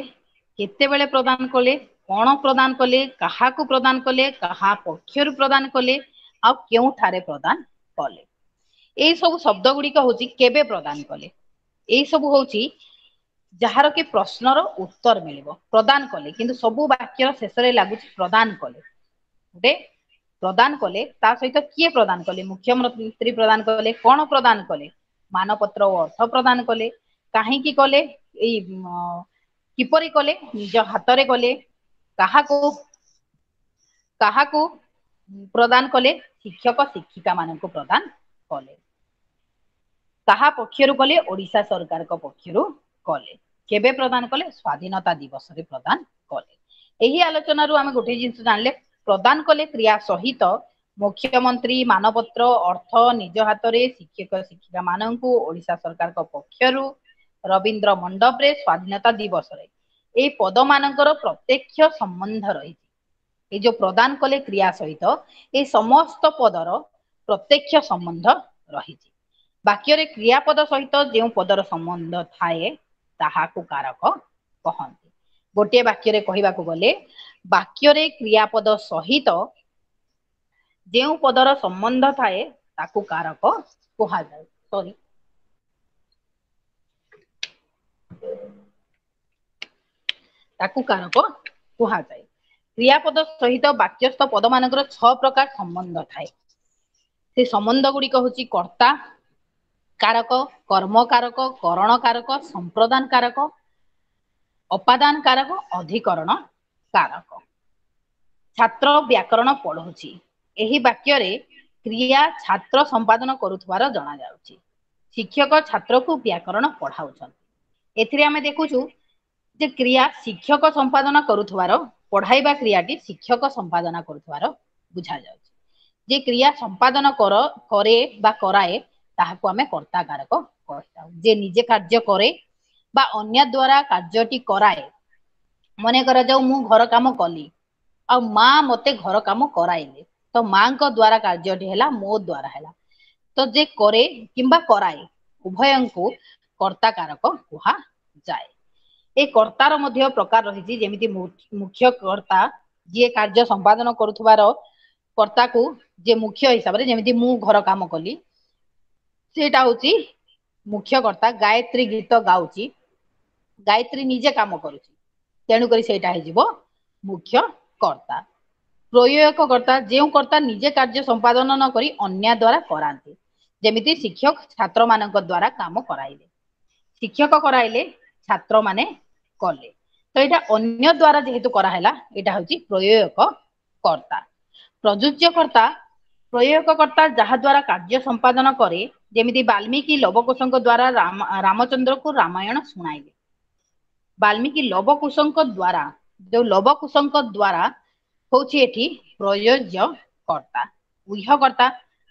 କେତେବେଳେ ପ୍ରଦାନ କଲେ, କଣ ପ୍ରଦାନ କଲେ, କାହାକୁ ପ୍ରଦାନ କଲେ, କାହା ପକ୍ଷରୁ ପ୍ରଦାନ କଲେ, ଆଉ କେଉଁଠାରେ ପ୍ରଦାନ କଲେ। ଏଇ ସବୁ ଶବ୍ଦ ଗୁଡିକ ହଉଛି କେବେ ପ୍ରଦାନ କଲେ, ଏଇ ସବୁ ହଉଛି ଯାହାର କି ପ୍ରଶ୍ନର ଉତ୍ତର ମିଳିବ। ପ୍ରଦାନ କଲେ, କିନ୍ତୁ ସବୁ ବାକ୍ୟର ଶେଷରେ ଲାଗୁଛି ପ୍ରଦାନ କଲେ। ଗୋଟେ ପ୍ରଦାନ କଲେ, ତା ସହିତ କିଏ ପ୍ରଦାନ କଲେ? ମୁଖ୍ୟମନ୍ତ୍ରୀ ପ୍ରଦାନ କଲେ। କଣ ପ୍ରଦାନ କଲେ? ମାନପତ୍ର ଓ ଅର୍ଥ ପ୍ରଦାନ କଲେ। କାହିଁକି କଲେ? ଏଇ କିପରି କଲେ? ନିଜ ହାତରେ କଲେ। କାହାକୁ କାହାକୁ ପ୍ରଦାନ କଲେ? ଶିକ୍ଷକ ଶିକ୍ଷିକା ମାନଙ୍କୁ ପ୍ରଦାନ କଲେ। କାହା ପକ୍ଷରୁ କଲେ? ଓଡିଶା ସରକାରଙ୍କ ପକ୍ଷରୁ କଲେ। କେବେ ପ୍ରଦାନ କଲେ? ସ୍ଵାଧୀନତା ଦିବସରେ ପ୍ରଦାନ କଲେ। ଏହି ଆଲୋଚନାରୁ ଆମେ ଗୋଟେ ଜିନିଷ ଜାଣିଲେ, ପ୍ରଦାନ କଲେ କ୍ରିୟା ସହିତ ମୁଖ୍ୟମନ୍ତ୍ରୀ ମାନପତ୍ର ଅର୍ଥ ନିଜ ହାତରେ ଶିକ୍ଷକ ଶିକ୍ଷିକା ମାନଙ୍କୁ ଓଡିଶା ସରକାରଙ୍କ ପକ୍ଷରୁ ରବୀନ୍ଦ୍ର ମଣ୍ଡପରେ ସ୍ଵାଧୀନତା ଦିବସରେ, ଏଇ ପଦ ମାନଙ୍କର ପ୍ରତ୍ୟକ୍ଷ ସମ୍ବନ୍ଧ ରହିଛି। ଏଇ ଯୋଉ ପ୍ରଦାନ କଲେ କ୍ରିୟା ସହିତ ଏଇ ସମସ୍ତ ପଦର ପ୍ରତ୍ୟକ୍ଷ ସମ୍ବନ୍ଧ ରହିଛି। ବାକ୍ୟରେ କ୍ରିୟାପଦ ସହିତ ଯେଉଁ ପଦର ସମ୍ବନ୍ଧ ଥାଏ ତାହାକୁ କାରକ କହନ୍ତି। ଗୋଟିଏ ବାକ୍ୟରେ କହିବାକୁ ଗଲେ ବାକ୍ୟରେ କ୍ରିୟାପଦ ସହିତ ଯେଉଁ ପଦର ସମ୍ବନ୍ଧ ଥାଏ ତାକୁ କାରକ କୁହାଯାଏ। ସରି, ତାକୁ କାରକ କୁହାଯାଏ। କ୍ରିୟାପଦ ସହିତ ବାକ୍ୟସ୍ଥ ପଦ ମାନଙ୍କର 6 ପ୍ରକାର ସମ୍ବନ୍ଧ ଥାଏ। ସେ ସମ୍ବନ୍ଧ ଗୁଡିକ ହଉଛି କର୍ତ୍ତା କାରକ, କର୍ମ କାରକ, କରଣ କାରକ, ସମ୍ପ୍ରଦାନ କାରକ, ଅପାଦାନ କାରକ, ଅଧିକରଣ କାରକ। ଛାତ୍ର ବ୍ୟାକରଣ ପଢୁଛି, ଏହି ବାକ୍ୟରେ କ୍ରିୟା ଛାତ୍ର ସମ୍ପାଦନ କରୁଥିବାର ଜଣାଯାଉଛି। ଶିକ୍ଷକ ଛାତ୍ରକୁ ବ୍ୟାକରଣ ପଢାଉଛନ୍ତି। ଏଥିରେ ଆମେ ଦେଖୁଛୁ ଯେ କ୍ରିୟା ଶିକ୍ଷକ ସମ୍ପାଦନ କରୁଥିବାର, ପଢାଇବା କ୍ରିୟାଟି ଶିକ୍ଷକ ସମ୍ପାଦନ କରୁଥିବାର ବୁଝାଯାଉଛି। ଯେ କ୍ରିୟା ସମ୍ପାଦନ କରେ ବା କରାଏ ତାହାକୁ ଆମେ କର୍ତ୍ତା କାରକ କହିଥାଉ। ଯେ ନିଜେ କାର୍ଯ୍ୟ କରେ ବା ଅନ୍ୟ ଦ୍ଵାରା କାର୍ଯ୍ୟଟି କରାଏ। ମନେ କରାଯାଉ ମୁଁ ଘର କାମ କଲି ଆଉ ମା ମତେ ଘର କାମ କରାଇଲେ, ତ ମାଙ୍କ ଦ୍ଵାରା କାର୍ଯ୍ୟଟି ହେଲା, ମୋ ଦ୍ଵାରା ହେଲା। ତ ଯେ କରେ କିମ୍ବା କରାଏ ଉଭୟଙ୍କୁ କର୍ତ୍ତା କାରକ କୁହାଯାଏ। ଏ କର୍ତ୍ତାର ମଧ୍ୟ ପ୍ରକାର ରହିଛି, ଯେମିତି ମୁଖ୍ୟ କର୍ତ୍ତା ଯିଏ କାର୍ଯ୍ୟ ସମ୍ପାଦନ କରୁଥିବାର କର୍ତ୍ତାକୁ ଯେ ମୁଖ୍ୟ ହିସାବରେ, ଯେମିତି ମୁଁ ଘର କାମ କଲି ସେଇଟା ହଉଛି ମୁଖ୍ୟ କର୍ତ୍ତା। ଗାୟତ୍ରୀ ଗୀତ ଗାଉଛି, ଗାୟତ୍ରୀ ନିଜେ କାମ କରୁଛି, ତେଣୁକରି ସେଇଟା ହେଇଯିବ ମୁଖ୍ୟ କର୍ତ୍ତା। ପ୍ରୟୋଜକ କର୍ତ୍ତା ଯେଉଁ କର୍ତ୍ତା ନିଜେ କାର୍ଯ୍ୟ ସମ୍ପାଦନ ନ କରି ଅନ୍ୟ ଦ୍ଵାରା କରାନ୍ତି, ଯେମିତି ଶିକ୍ଷକ ଛାତ୍ର ମାନଙ୍କ ଦ୍ଵାରା କାମ କରାଇଲେ, ଶିକ୍ଷକ କରାଇଲେ ଛାତ୍ର ମାନେ କଲେ, ତ ଏଇଟା ଅନ୍ୟ ଦ୍ଵାରା ଯେହେତୁ କରାହେଲା ଏଇଟା ହଉଛି ପ୍ରୟୋଜକ କର୍ତ୍ତା। ପ୍ରଯୁଜ୍ୟ କର୍ତ୍ତା ପ୍ରୟୋଜକ କର୍ତ୍ତା ଯାହା ଦ୍ଵାରା କାର୍ଯ୍ୟ ସମ୍ପାଦନ କରେ, ଯେମିତି ବାଲ୍ମୀକି ଲବକୁଶଙ୍କ ଦ୍ଵାରା ରାମଚନ୍ଦ୍ରକୁ ରାମାୟଣ ଶୁଣାଇଲେ। ବାଲ୍ମୀକି ଲବକୁଶଙ୍କ ଦ୍ଵାରା, ଯୋଉ ଲବକୁଶଙ୍କ ଦ୍ଵାରା ହଉଛି ଏଠି ପ୍ରୟୋଜ୍ୟ କର୍ତ୍ତା। ଉହ୍ୟ କର୍ତ୍ତା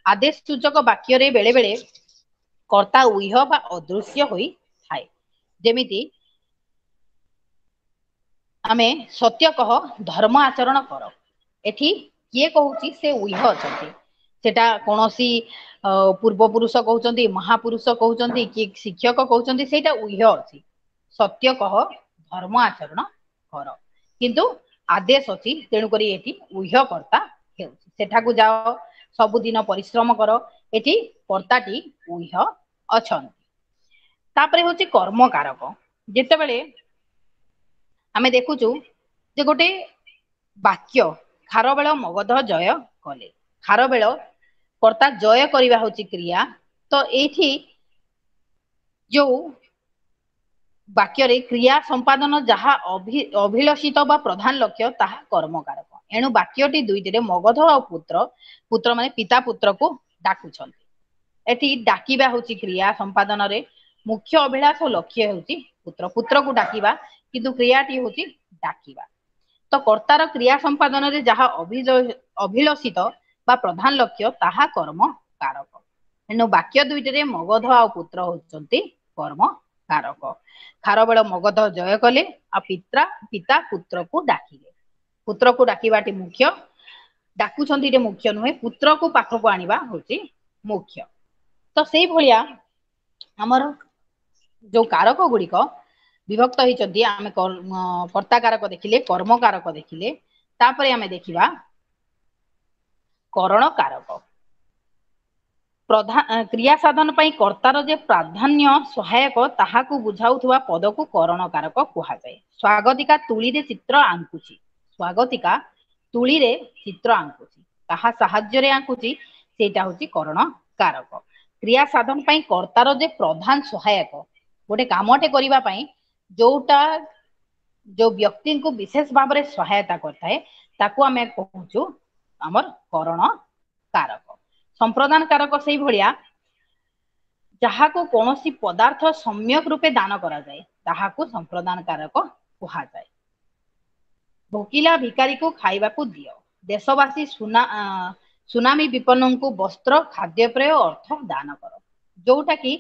ଆଦେଶ ସୂଚକ ବାକ୍ୟରେ ବେଳେ ବେଳେ କର୍ତ୍ତା ଉହ୍ୟ ବା ଅଦୃଶ୍ୟ ହୋଇଥାଏ, ଯେମିତି ଆମେ ସତ୍ୟ କହ ଧର୍ମ ଆଚରଣ କର, ଏଠି କିଏ କହୁଛି ସେ ଉହ୍ୟ ଅଛନ୍ତି। ସେଟା କୌଣସି ପୂର୍ବ ପୁରୁଷ କହୁଛନ୍ତି, ମହାପୁରୁଷ କହୁଛନ୍ତି, କି ଶିକ୍ଷକ କହୁଛନ୍ତି, ସେଇଟା ଉହ୍ୟ ଅଛି। ସତ୍ୟ କହ ଧର୍ମ ଆଚରଣ କର, କିନ୍ତୁ ଆଦେଶ ଅଛି, ତେଣୁକରି ଏଠି ଉହ୍ୟ କର୍ତ୍ତା ହେଉଛି। ସେଠାକୁ ଯାଅ, ସବୁଦିନ ପରିଶ୍ରମ କର, ଏଠି କର୍ତ୍ତାଟି ଉହ୍ୟ ଅଛନ୍ତି। ତାପରେ ହଉଛି କର୍ମକାରକ। ଯେତେବେଳେ ଆମେ ଦେଖୁଛୁ ଯେ ଗୋଟେ ବାକ୍ୟ ଖାରବେଳ ମଗଧ ଜୟ କଲେ, ଖାରବେଳ କର୍ତ୍ତା ଜୟ କରିବା ହଉଛି କ୍ରିୟା, ତ ଏଇଠି ଯୋଉ ବାକ୍ୟରେ କ୍ରିୟା ସମ୍ପାଦନ ଯାହା ଅଭିଳଷିତ ବା ପ୍ରଧାନ ଲକ୍ଷ୍ୟ ତାହା କର୍ମକାରକ। ଏଣୁ ବାକ୍ୟଟି ଦୁଇଟିରେ ମଗଧ ଆଉ ପୁତ୍ର, ପୁତ୍ର ମାନେ ପିତା ପୁତ୍ରକୁ ଡାକୁଛନ୍ତି। ଏଠି ଡାକିବା ହଉଛି କ୍ରିୟା ସମ୍ପାଦନରେ ମୁଖ୍ୟ ଅଭିଳାଷ ଲକ୍ଷ୍ୟ ହେଉଛି ପୁତ୍ର, ପୁତ୍ରକୁ ଡାକିବା, କିନ୍ତୁ କ୍ରିୟାଟି ହଉଛି ଡାକିବା। ତ କର୍ତ୍ତାର କ୍ରିୟା ସମ୍ପାଦନରେ ଯାହା ଅଭିଳଷିତ ବା ପ୍ରଧାନ ଲକ୍ଷ୍ୟ ତାହା କର୍ମ କାରକ। ଏଣୁ ବାକ୍ୟ ଦୁଇଟିରେ ମଗଧ ଆଉ ପୁତ୍ର ହଉଛନ୍ତି କର୍ମ କାରକ। ଖାରବେଳ ମଗଧ ଜୟ କଲେ ଆଉ ପିତା ପୁତ୍ରକୁ ଡାକିଲେ। ପୁତ୍ରକୁ ଡାକିବାଟି ମୁଖ୍ୟ, ଡାକୁଛନ୍ତି ଏଠି ମୁଖ୍ୟ ନୁହେଁ, ପୁତ୍ରକୁ ପାଖକୁ ଆଣିବା ହଉଛି ମୁଖ୍ୟ। ତ ସେଇଭଳିଆ ଆମର ଯୋଉ କାରକ ଗୁଡିକ ବିଭକ୍ତ ହେଇଛନ୍ତି, ଆମେ କର୍ତ୍ତା କାରକ ଦେଖିଲେ, କର୍ମ କାରକ ଦେଖିଲେ, ତାପରେ ଆମେ ଦେଖିବା କରଣ କାରକ। ପ୍ରଧାନ କ୍ରିୟା ସାଧନ ପାଇଁ କର୍ତ୍ତାର ଯେ ପ୍ରାଧାନ୍ୟ ସହାୟକ ତାହାକୁ ବୁଝାଉଥିବା ପଦକୁ କରଣ କାରକ କୁହାଯାଏ। ସ୍ୱାଗତିକା ତୁଳିରେ ଚିତ୍ର ଆଙ୍କୁଛି, ସ୍ୱାଗତିକା ତୁଳିରେ ଚିତ୍ର ଆଙ୍କୁଛି, କାହା ସାହାଯ୍ୟରେ ଆଙ୍କୁଛି ସେଇଟା ହଉଛି କରଣ କାରକ। କ୍ରିୟା ସାଧନ ପାଇଁ କର୍ତ୍ତାର ଯେ ପ୍ରଧାନ ସହାୟକ, ଗୋଟେ କାମଟେ କରିବା ପାଇଁ ଯୋଉଟା ଯୋଉ ବ୍ୟକ୍ତିଙ୍କୁ ବିଶେଷ ଭାବରେ ସହାୟତା କରିଥାଏ ତାକୁ ଆମେ କହୁଛୁ ଆମର କରଣ କାରକ। ସମ୍ପ୍ରଦାନ କାରକ ସେଇଭଳିଆ ଯାହାକୁ କୌଣସି ପଦାର୍ଥ ସମ୍ୟକ ରୂପେ ଦାନ କରାଯାଏ ତାହାକୁ ସମ୍ପ୍ରଦାନ କାରକ କୁହାଯାଏ। ଭୋକିଲା ଭିକାରୀକୁ ଖାଇବାକୁ ଦିଅ। ଦେଶବାସୀ ସୁନାମି ବିପନ୍ନଙ୍କୁ ବସ୍ତ୍ର, ଖାଦ୍ୟପେୟ, ଅର୍ଥ ଦାନ କର। ଯୋଉଟା କି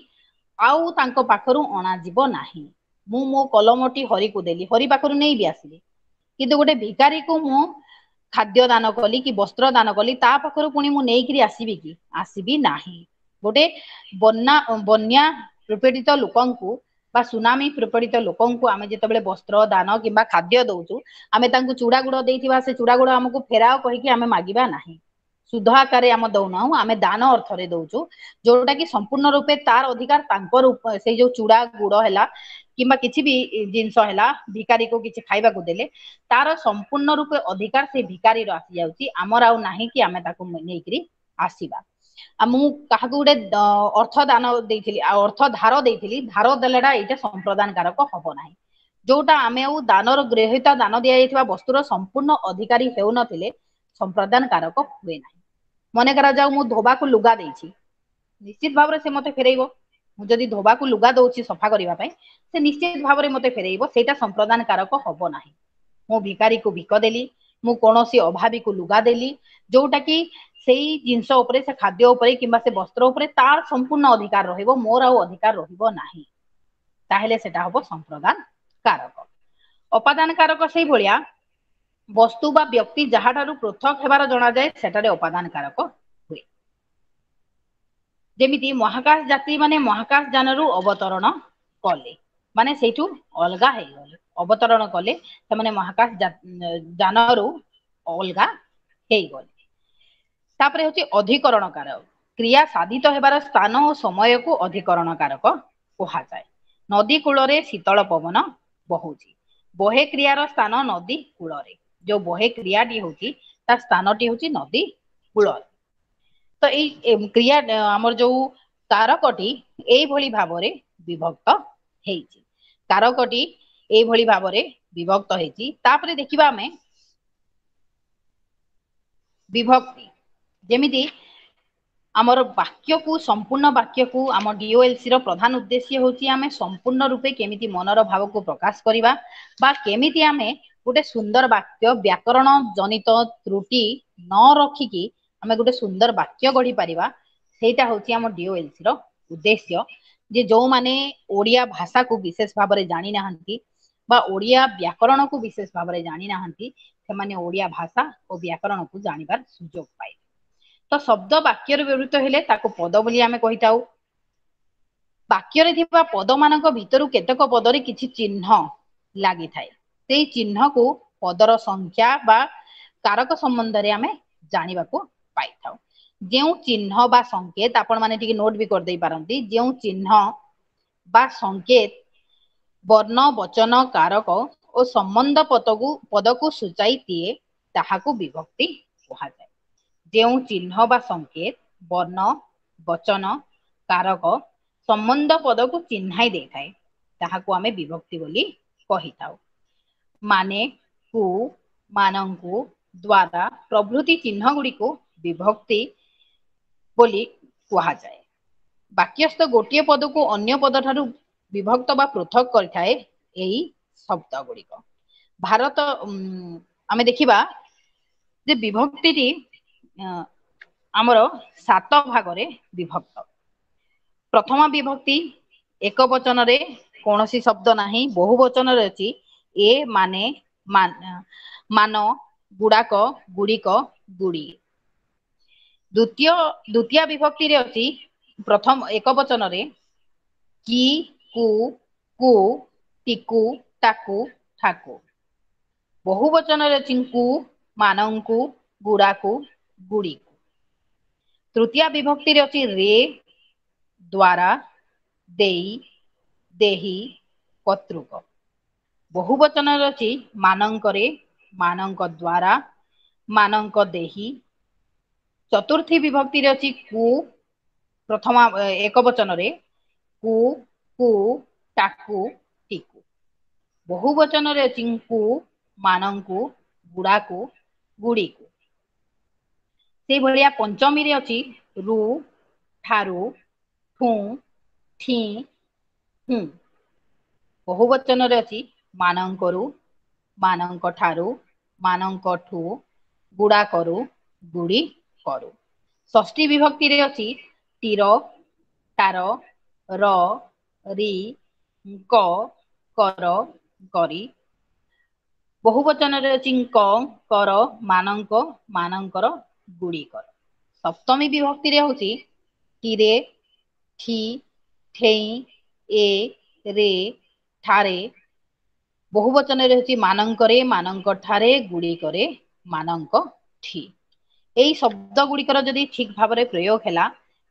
ଆଉ ତାଙ୍କ ପାଖରୁ ଅଣାଯିବ ନାହିଁ। ମୁଁ ମୋ କଲମଟି ହରିକୁ ଦେଲି, ହରି ପାଖରୁ ନେଇ ବି ଆସିଲି, କିନ୍ତୁ ଗୋଟେ ଭିକାରୀକୁ ମୁଁ ଖାଦ୍ୟ ଦାନ କଲି କି ବସ୍ତ୍ର ଦାନ କଲି, ତା ପାଖରୁ ପୁଣି ମୁଁ ନେଇକିରି ଆସିବି କି? ଆସିବି ନାହିଁ। ଗୋଟେ ବନ୍ୟା ପ୍ରପୀଡ଼ିତ ଲୋକଙ୍କୁ ବା ସୁନାମି ପ୍ରପୀଡ଼ିତ ଲୋକଙ୍କୁ ଆମେ ଯେତେବେଳେ ବସ୍ତ୍ର ଦାନ କିମ୍ବା ଖାଦ୍ୟ ଦଉଛୁ, ଆମେ ତାଙ୍କୁ ଚୁଡା ଗୁଡ ଦେଇଥିବା, ସେ ଚୁଡା ଗୁଡ ଆମକୁ ଫେରାଅ କହିକି ଆମେ ମାଗିବା ନାହିଁ। ସୁଧ ଆକାରରେ ଆମେ ଦଉନାହୁଁ, ଆମେ ଦାନ ଅର୍ଥରେ ଦଉଛୁ, ଯୋଉଟା କି ସମ୍ପୂର୍ଣ୍ଣ ରୂପେ ତାର ଅଧିକାର ତାଙ୍କ ରୂପ। ସେଇ ଯୋଉ ଚୁଡା ଗୁଡ ହେଲା କିମ୍ବା କିଛି ବି ଜିନିଷ ହେଲା, ଭିକାରୀକୁ କିଛି ଖାଇବାକୁ ଦେଲେ ତାର ସମ୍ପୂର୍ଣ୍ଣ ରୂପେ ଅଧିକାର ସେ ଭିକାରୀର ଆସିଯାଉଛି, ଆମର ଆଉ ନାହିଁ କି ଆମେ ତାକୁ ନେଇକିରି ଆସିବା। ଆଉ ମୁଁ କାହାକୁ ଗୋଟେ ଅର୍ଥ ଦାନ ଦେଇଥିଲି ଆଉ ଅର୍ଥ ଧାର ଦେଇଥିଲି, ଧାର ଦେଲାଟା ଏଇଟା ସମ୍ପ୍ରଦାନ କାରକ ହବ ନାହିଁ। ଯୋଉଟା ଆମେ ଆଉ ଦାନର ଗୃହୀତା ଦାନ ଦିଆଯାଇଥିବା ବସ୍ତୁର ସମ୍ପୂର୍ଣ୍ଣ ଅଧିକାରୀ ହେଉନଥିଲେ ସମ୍ପ୍ରଦାନ କାରକ ହୁଏ ନାହିଁ। ମନେ କରାଯାଉ ମୁଁ ଧୋବାକୁ ଲୁଗା ଦେଇଛି, ନିଶ୍ଚିତ ଭାବରେ ସେ ମତେ ଫେରେଇବ। ମୁଁ ଯଦି ଧୋବାକୁ ଲୁଗା ଦଉଛି ସଫା କରିବା ପାଇଁ, ସେ ନିଶ୍ଚିତ ଭାବରେ ମତେ ଫେରେଇବ, ସେଇଟା ସମ୍ପ୍ରଦାନ କାରକ ହବ ନାହିଁ। ମୁଁ ଭିକାରୀକୁ ଭିକ ଦେଲି, ମୁଁ କୌଣସି ଅଭାବୀକୁ ଲୁଗା ଦେଲି, ଯୋଉଟା କି ସେଇ ଜିନିଷ ଉପରେ, ସେ ଖାଦ୍ୟ ଉପରେ କିମ୍ବା ସେ ବସ୍ତ୍ର ଉପରେ ତାର ସମ୍ପୂର୍ଣ୍ଣ ଅଧିକାର ରହିବ, ମୋର ଆଉ ଅଧିକାର ରହିବ ନାହିଁ, ତାହେଲେ ସେଟା ହବ ସମ୍ପ୍ରଦାନ କାରକ। ଅପାଦାନ କାରକ ସେଇଭଳିଆ ବସ୍ତୁ ବା ବ୍ୟକ୍ତି ଯାହାଠାରୁ ପୃଥକ ହେବାର ଜଣାଯାଏ ସେଠାରେ ଅପାଦାନ କାରକ ହୁଏ। ଯେମିତି ମହାକାଶ ଯାତ୍ରୀ ମାନେ ମହାକାଶ ଯାନରୁ ଅବତରଣ କଲେ, ମାନେ ସେଇଠୁ ଅଲଗା ହେଇଗଲେ, ଅବତରଣ କଲେ, ସେମାନେ ମହାକାଶ ଯାନରୁ ଅଲଗା ହେଇଗଲେ। ତାପରେ ହଉଛି ଅଧିକରଣ କାରକ। କ୍ରିୟା ସାଧିତ ହେବାର ସ୍ଥାନ ଓ ସମୟକୁ ଅଧିକରଣ କାରକ କୁହାଯାଏ। ନଦୀ କୂଳରେ ଶୀତଳ ପବନ ବହୁଛି। ବହେ କ୍ରିୟାର ସ୍ଥାନ ନଦୀ କୂଳରେ। ଯୋଉ ବହେ କ୍ରିୟାଟି ହଉଛି ତା ସ୍ଥାନଟି ହଉଛି ନଦୀ କୂଳରେ। ତ ଏଇ କ୍ରିୟା ଆମର ଯୋଉ କାରକଟି ଏଇଭଳି ଭାବରେ ବିଭକ୍ତ ହେଇଛି। କାରକଟି ଏଇଭଳି ଭାବରେ ବିଭକ୍ତ ହେଇଛି। ତାପରେ ଦେଖିବା ଆମେ ବିଭକ୍ତି। ଯେମିତି ଆମର ବାକ୍ୟକୁ, ସମ୍ପୂର୍ଣ୍ଣ ବାକ୍ୟକୁ, ଆମ ଡିଓଏଲସି ର ପ୍ରଧାନ ଉଦ୍ଦେଶ୍ୟ ହଉଛି ଆମେ ସମ୍ପୂର୍ଣ୍ଣ ରୂପେ କେମିତି ମନର ଭାବକୁ ପ୍ରକାଶ କରିବା ବା କେମିତି ଆମେ ଗୋଟେ ସୁନ୍ଦର ବାକ୍ୟ ବ୍ୟାକରଣ ଜନିତ ତ୍ରୁଟି ନ ରଖିକି ଆମେ ଗୋଟେ ସୁନ୍ଦର ବାକ୍ୟ ଗଢି ପାରିବା, ସେଇଟା ହଉଛି ଆମ ଡିଓଏଲସି ର ଉଦ୍ଦେଶ୍ୟ। ଯେ ଯୋଉମାନେ ଓଡିଆ ଭାଷାକୁ ବିଶେଷ ଭାବରେ ଜାଣି ନାହାନ୍ତି ବା ଓଡିଆ ବ୍ୟାକରଣକୁ ବିଶେଷ ଭାବରେ ଜାଣି ନାହାନ୍ତି, ସେମାନେ ଓଡିଆ ଭାଷା ଓ ବ୍ୟାକରଣକୁ ଜାଣିବାର ସୁଯୋଗ ପାଇବେ। ତ ଶବ୍ଦ ବାକ୍ୟରେ ବ୍ୟବହୃତ ହେଲେ ତାକୁ ପଦ ବୋଲି ଆମେ କହିଥାଉ। ବାକ୍ୟରେ ଥିବା ପଦ ମାନଙ୍କ ଭିତରୁ କେତେକ ପଦରେ କିଛି ଚିହ୍ନ ଲାଗିଥାଏ, ସେଇ ଚିହ୍ନକୁ ପଦର ସଂଖ୍ୟା ବା କାରକ ସମ୍ବନ୍ଧରେ ଆମେ ଜାଣିବାକୁ ପାଇଥାଉ। ଯେଉଁ ଚିହ୍ନ ବା ସଂକେତ, ଆପଣ ମାନେ ଟିକେ ନୋଟ ବି କରିଦେଇ ପାରନ୍ତି, ଯେଉଁ ଚିହ୍ନ ବା ସଂକେତ ବର୍ଣ୍ଣ, ବଚନ, କାରକ ଓ ସମ୍ବନ୍ଧ ପଦକୁ ସୂଚାଇ ଦିଏ ତାହାକୁ ବିଭକ୍ତି କୁହାଯାଏ। ଯେଉଁ ଚିହ୍ନ ବା ସଂକେତ ବର୍ଣ୍ଣ, ବଚନ, କାରକ, ସମ୍ବନ୍ଧ ପଦକୁ ଚିହ୍ନାଇ ଦେଇଥାଏ ତାହାକୁ ଆମେ ବିଭକ୍ତି ବୋଲି କହିଥାଉ। ମାନେ, କୁ, ମାନଙ୍କୁ, ଦ୍ଵାରା ପ୍ରଭୃତି ଚିହ୍ନ ଗୁଡିକୁ ବିଭକ୍ତି ବୋଲି କୁହାଯାଏ। ବାକ୍ୟସ୍ଥ ଗୋଟିଏ ପଦକୁ ଅନ୍ୟ ପଦ ଠାରୁ ବିଭକ୍ତ ବା ପୃଥକ କରିଥାଏ ଏଇ ଶବ୍ଦ ଗୁଡିକ। ଭାରତ ଆମେ ଦେଖିବା ଯେ ବିଭକ୍ତିଟି ଆମର 7 ଭାଗରେ ବିଭକ୍ତ। ପ୍ରଥମ ବିଭକ୍ତି ଏକ ବଚନରେ କୌଣସି ଶବ୍ଦ ନାହିଁ, ବହୁ ବଚନରେ ଅଛି ଏ, ମାନେ, ମାନ, ଗୁଡାକ, ଗୁଡିକ, ଗୁଡିଏ। ଦ୍ୱିତୀୟ ବିଭକ୍ତିରେ ଅଛି ପ୍ରଥମ ଏକ ବଚନରେ କି, କୁ, କୁ, ଟିକୁ, ତାକୁ, ଠାକୁ। ବହୁ ବଚନରେ ଅଛି ଙ୍କୁ, ମାନଙ୍କୁ, ଗୁଡାକୁ, ଗୁଡିକୁ। ତୃତୀୟ ବିଭକ୍ତିରେ ଅଛି ରେ, ଦ୍ଵାରା, ଦେଇ, ଦେହି, କର୍ତ୍ତୃକ। ବହୁ ବଚନରେ ଅଛି ମାନଙ୍କରେ, ମାନଙ୍କ ଦ୍ଵାରା, ମାନଙ୍କ ଦେହି। ଚତୁର୍ଥୀ ବିଭକ୍ତିରେ ଅଛି କୁ, ପ୍ରଥମ ଏକ ବଚନରେ କୁ, କୁ, ତାକୁ, ଟିକୁ। ବହୁ ବଚନରେ ଅଛି ଙ୍କୁ, ମାନଙ୍କୁ, ଗୁଡାକୁ, ଗୁଡିକୁ। ସେଇଭଳିଆ ପଞ୍ଚମୀରେ ଅଛି ରୁ, ଠାରୁ, ଠୁଁ, ଠି, ହୁଁ। ବହୁବଚନରେ ଅଛି ମାନଙ୍କରୁ, ମାନଙ୍କ ଠାରୁ, ମାନଙ୍କଠୁ, ଗୁଡାକରୁ, ଗୁଡି କରୁ। ଷଷ୍ଠୀ ବିଭକ୍ତିରେ ଅଛି ତୀର, ତାର, ର, ରି, ଙ୍କ, କର, କରି। ବହୁବଚନରେ ଅଛି ଙ୍କ, କର, ମାନଙ୍କ, ମାନଙ୍କର, ଗୁଡିକର। ସପ୍ତମୀ ବିଭକ୍ତିରେ ହଉଛି ତୀରେ, ଠି, ଠେଇଁ, ଏ, ରେ, ଠାରେ। ବହୁବଚନରେ ହଉଛି ମାନଙ୍କରେ, ମାନଙ୍କ ଠାରେ, ଗୁଡିକରେ, ମାନଙ୍କ ଠି। ଏଇ ଶବ୍ଦ ଗୁଡିକର ଯଦି ଠିକ ଭାବରେ ପ୍ରୟୋଗ ହେଲା,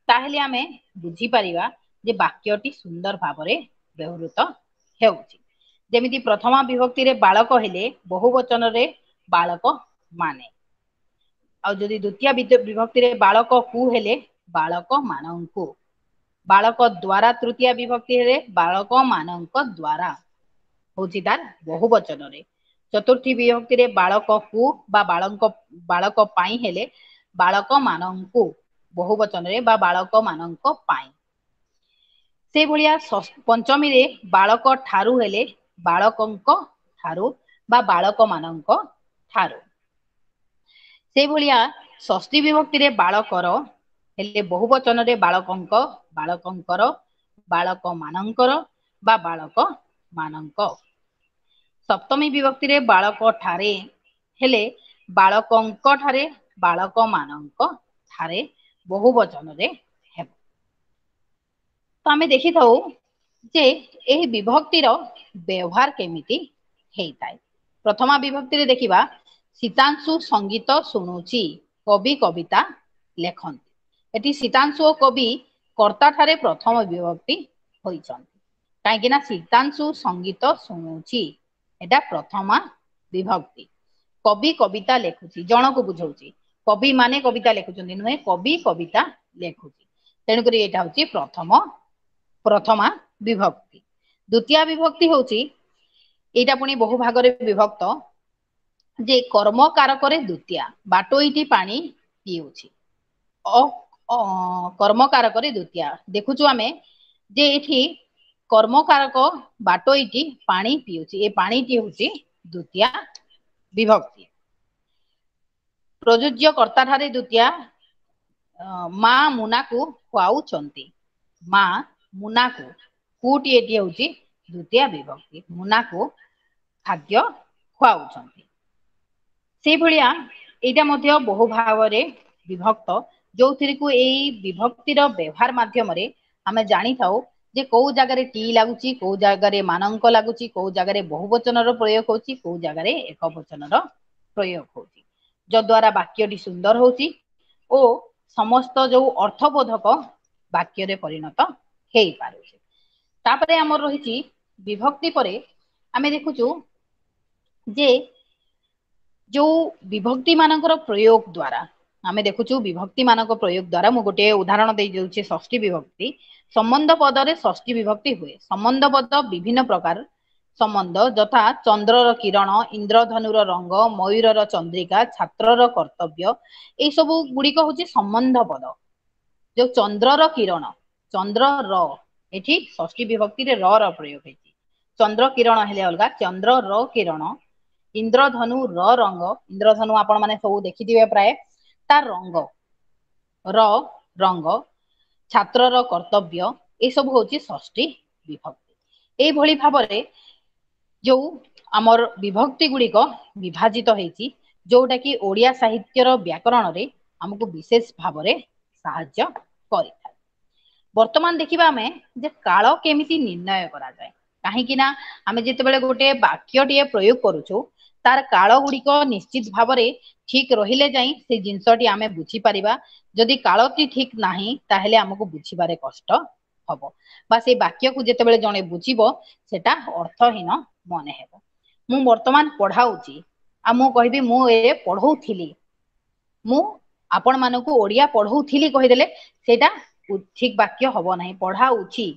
ତାହେଲେ ଆମେ ବୁଝିପାରିବା ଯେ ବାକ୍ୟଟି ସୁନ୍ଦର ଭାବରେ ବ୍ୟବହୃତ ହେଉଛି। ଯେମିତି ପ୍ରଥମା ବିଭକ୍ତିରେ ବାଳକ ହେଲେ ବହୁବଚନରେ ବାଳକ ମାନେ, ଆଉ ଯଦି ଦ୍ୱିତୀୟ ବିଭକ୍ତିରେ ବାଳକ କୁ ହେଲେ ବାଳକ ମାନଙ୍କୁ, ବାଳକ ଦ୍ଵାରା ତୃତୀୟ ବିଭକ୍ତି ହେଲେ ବାଳକ ମାନଙ୍କ ଦ୍ଵାରା ହଉଛି ତାର ବହୁବଚନରେ। ଚତୁର୍ଥୀ ବିଭକ୍ତିରେ ବାଳକ କୁ ବା ବାଳକ ପାଇଁ ହେଲେ ବାଳକ ମାନଙ୍କୁ ବହୁବଚନରେ ବା ବାଳକ ମାନଙ୍କ ପାଇଁ। ସେଇଭଳିଆ ପଞ୍ଚମୀରେ ବାଳକ ଠାରୁ ହେଲେ ବାଳକଙ୍କ ଠାରୁ ବା ବାଳକ ମାନଙ୍କ ଠାରୁ। ସେଇଭଳିଆ ଷଷ୍ଠୀ ବିଭକ୍ତିରେ ବାଳକର ହେଲେ ବହୁବଚନରେ ବାଳକଙ୍କ, ବାଳକଙ୍କର, ବାଳକ ମାନଙ୍କର ବା ବାଳକ ମାନଙ୍କ। ସପ୍ତମୀ ବିଭକ୍ତିରେ ବାଳକ ଠାରେ ହେଲେ ବାଳକଙ୍କ ଠାରେ, ବାଳକ ମାନଙ୍କ ଠାରେ ବହୁବଚନରେ ହେବ। ତ ଆମେ ଦେଖିଥାଉ ଯେ ଏହି ବିଭକ୍ତିର ବ୍ୟବହାର କେମିତି ହେଇଥାଏ। ପ୍ରଥମା ବିଭକ୍ତିରେ ଦେଖିବା ସୀତାଂଶୁ ସଙ୍ଗୀତ ଶୁଣୁଛି, କବି କବିତା ଲେଖନ୍ତି। ଏଠି ସୀତାଂଶୁ ଓ କବି କର୍ତ୍ତା ଠାରେ ପ୍ରଥମ ବିଭକ୍ତି ହୋଇଛନ୍ତି, କାହିଁକି ନା ସୀତାଂଶୁ ସଙ୍ଗୀତ ଶୁଣୁଛି ଏଟା ପ୍ରଥମା ବିଭକ୍ତି। କବି କବିତା ଲେଖୁଛି, ଜଣକୁ ବୁଝଉଛି, କବି ମାନେ କବିତା ଲେଖୁଛନ୍ତି ନୁହେଁ, କବି କବିତା ଲେଖୁଛି, ତେଣୁକରି ଏଇଟା ହଉଛି ପ୍ରଥମା ବିଭକ୍ତି। ଦ୍ୱିତୀୟ ବିଭକ୍ତି ହଉଛି, ଏଇଟା ପୁଣି ବହୁ ଭାଗରେ ବିଭକ୍ତ, ଯେ କର୍ମ କାରକରେ ଦ୍ୱିତୀୟା, ବାଟୋଇଟି ପାଣି ପିଉଛି, କର୍ମକାରକରେ ଦ୍ୱିତୀୟା। ଦେଖୁଛୁ ଆମେ ଯେ ଏଠି କର୍ମକାରକ ବାଟୋଇଟି ପାଣି ପିଉଛି, ଏ ପାଣିଟି ହଉଛି ଦ୍ୱିତୀୟା ବିଭକ୍ତି। ପ୍ରଯୁଜ୍ୟ କର୍ତ୍ତା ଠାରେ ଦ୍ୱିତୀୟା, ମା ମୁନାକୁ ଖୁଆଉଛନ୍ତି, ମା ମୁନାକୁ, କୁଟି ଏଠି ହଉଛି ଦ୍ୱିତୀୟା ବିଭକ୍ତି, ମୁନାକୁ ଖାଦ୍ୟ ଖୁଆଉଛନ୍ତି। ସେଇଭଳିଆ ଏଇଟା ମଧ୍ୟ ବହୁ ଭାବରେ ବିଭକ୍ତ, ଯୋଉଥିରେ ଏଇ ବିଭକ୍ତିର ବ୍ୟବହାର ମାଧ୍ୟମରେ ଆମେ ଜାଣିଥାଉ ଯେ କୋଉ ଜାଗାରେ ଟି ଲାଗୁଛି, କୋଉ ଜାଗାରେ ମାନଙ୍କ ଲାଗୁଛି, କୋଉ ଜାଗାରେ ବହୁବଚନର ପ୍ରୟୋଗ ହଉଛି, କୋଉ ଜାଗାରେ ଏକବଚନର ପ୍ରୟୋଗ ହଉଛି, ଯଦ୍ୱାରା ବାକ୍ୟଟି ସୁନ୍ଦର ହଉଛି ଓ ସମସ୍ତ ଯୋଉ ଅର୍ଥବୋଧକ ବାକ୍ୟରେ ପରିଣତ ହେଇପାରୁଛି। ତାପରେ ଆମର ରହିଛି ବିଭକ୍ତି ପରେ ଆମେ ଦେଖୁଛୁ ଯେ ଯୋଉ ବିଭକ୍ତି ମାନଙ୍କର ପ୍ରୟୋଗ ଦ୍ଵାରା ଆମେ ଦେଖୁଛୁ ବିଭକ୍ତି ମାନଙ୍କ ପ୍ରୟୋଗ ଦ୍ଵାରା ମୁଁ ଗୋଟେ ଉଦାହରଣ ଦେଇ ଦଉଛି ଷଷ୍ଠୀ ବିଭକ୍ତି। ସମ୍ବନ୍ଧ ପଦରେ ଷଷ୍ଠୀ ବିଭକ୍ତି ହୁଏ। ସମ୍ବନ୍ଧ ପଦ ବିଭିନ୍ନ ପ୍ରକାର ସମ୍ବନ୍ଧ, ଯଥା ଚନ୍ଦ୍ରର କିରଣ, ଇନ୍ଦ୍ରଧନୁର ରଙ୍ଗ, ମୟୂରର ଚନ୍ଦ୍ରିକା, ଛାତ୍ରର କର୍ତ୍ତବ୍ୟ, ଏଇ ସବୁ ଗୁଡିକ ହଉଛି ସମ୍ବନ୍ଧ ପଦ। ଯୋଉ ଚନ୍ଦ୍ରର କିରଣ, ଚନ୍ଦ୍ରର, ଏଠି ଷଷ୍ଠୀ ବିଭକ୍ତିରେ ର ର ପ୍ରୟୋଗ ହେଇଛି। ଚନ୍ଦ୍ର କିରଣ ହେଲେ ଅଲଗା, ଚନ୍ଦ୍ର ର କିରଣ, ଇନ୍ଦ୍ରଧନୁ ର ରଙ୍ଗ, ଇନ୍ଦ୍ରଧନୁ ଆପଣ ମାନେ ସବୁ ଦେଖିଥିବେ ପ୍ରାୟ, ତାର ରଙ୍ଗ, ର ରଙ୍ଗ, ଛାତ୍ରର କର୍ତ୍ତବ୍ୟ, ଏସବୁ ହଉଛି ଷଷ୍ଠୀ ବିଭକ୍ତି। ଏଇଭଳି ଭାବରେ ଯୋଉ ଆମର ବିଭକ୍ତି ଗୁଡିକ ବିଭାଜିତ ହେଇଛି, ଯୋଉଟା କି ଓଡ଼ିଆ ସାହିତ୍ୟର ବ୍ୟାକରଣରେ ଆମକୁ ବିଶେଷ ଭାବରେ ସାହାଯ୍ୟ କରିଥାଏ। ବର୍ତ୍ତମାନ ଦେଖିବା ଆମେ ଯେ କାଳ କେମିତି ନିର୍ଣ୍ଣୟ କରାଯାଏ। କାହିଁକି ନା ଆମେ ଯେତେବେଳେ ଗୋଟେ ବାକ୍ୟଟିଏ ପ୍ରୟୋଗ କରୁଛୁ, ତାର କାଳ ଗୁଡିକ ନିଶ୍ଚିତ ଭାବରେ ଠିକ ରହିଲେ ଯାଇ ସେ ଜିନିଷଟି ଆମେ ବୁଝିପାରିବା। ଯଦି କାଳଟି ଠିକ ନାହିଁ, ତାହେଲେ ଆମକୁ ବୁଝିବାରେ କଷ୍ଟ ହବ, ବା ସେଇ ବାକ୍ୟକୁ ଯେତେବେଳେ ଜଣେ ବୁଝିବ ସେଟା ଅର୍ଥହୀନ ମନେ ହେବ। ମୁଁ ବର୍ତ୍ତମାନ ପଢାଉଛି, ଆଉ ମୁଁ କହିବି ମୁଁ ଏ ପଢଉଥିଲି, ମୁଁ ଆପଣ ମାନଙ୍କୁ ଓଡିଆ ପଢଉଥିଲି କହିଦେଲେ ସେଇଟା ଠିକ ବାକ୍ୟ ହବ ନାହିଁ। ପଢାଉଛି,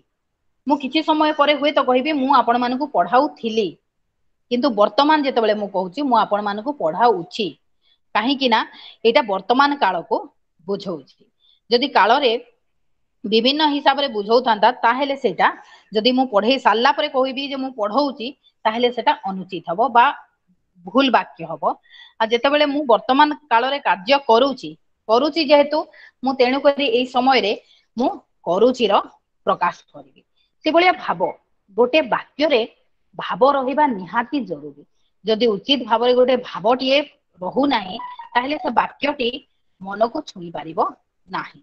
ମୁଁ କିଛି ସମୟ ପରେ ହୁଏତ କହିବି ମୁଁ ଆପଣ ମାନଙ୍କୁ ପଢାଉଥିଲି, କିନ୍ତୁ ବର୍ତ୍ତମାନ ଯେତେବେଳେ ମୁଁ କହୁଛି ମୁଁ ଆପଣ ମାନଙ୍କୁ ପଢାଉଛି, କାହିଁକି ନା ଏଇଟା ବର୍ତ୍ତମାନ କାଳକୁ ବୁଝଉଛି। ଯଦି କାଳରେ ବିଭିନ୍ନ ହିସାବରେ ବୁଝଉଥାନ୍ତା, ତାହେଲେ ସେଇଟା ଯଦି ମୁଁ ପଢେଇ ସାରିଲା ପରେ କହିବି ଯେ ମୁଁ ପଢଉଛି, ତାହେଲେ ସେଟା ଅନୁଚିତ ହବ ବା ଭୁଲ ବାକ୍ୟ ହବ। ଆଉ ଯେତେବେଳେ ମୁଁ ବର୍ତ୍ତମାନ କାଳରେ କାର୍ଯ୍ୟ କରୁଛି, କରୁଛି ଯେହେତୁ ମୁଁ, ତେଣୁକରି ଏଇ ସମୟରେ ମୁଁ କରୁଚିର ପ୍ରକାଶ କରିବି। ସେଭଳିଆ ଭାବ, ଗୋଟେ ବାକ୍ୟରେ ଭାବ ରହିବା ନିହାତି ଜରୁରୀ। ଯଦି ଉଚିତ ଭାବରେ ଗୋଟେ ଭାବଟିଏ ରହୁନାହିଁ, ତାହେଲେ ସେ ବାକ୍ୟଟି ମନକୁ ଛୁଇଁ ପାରିବ ନାହିଁ।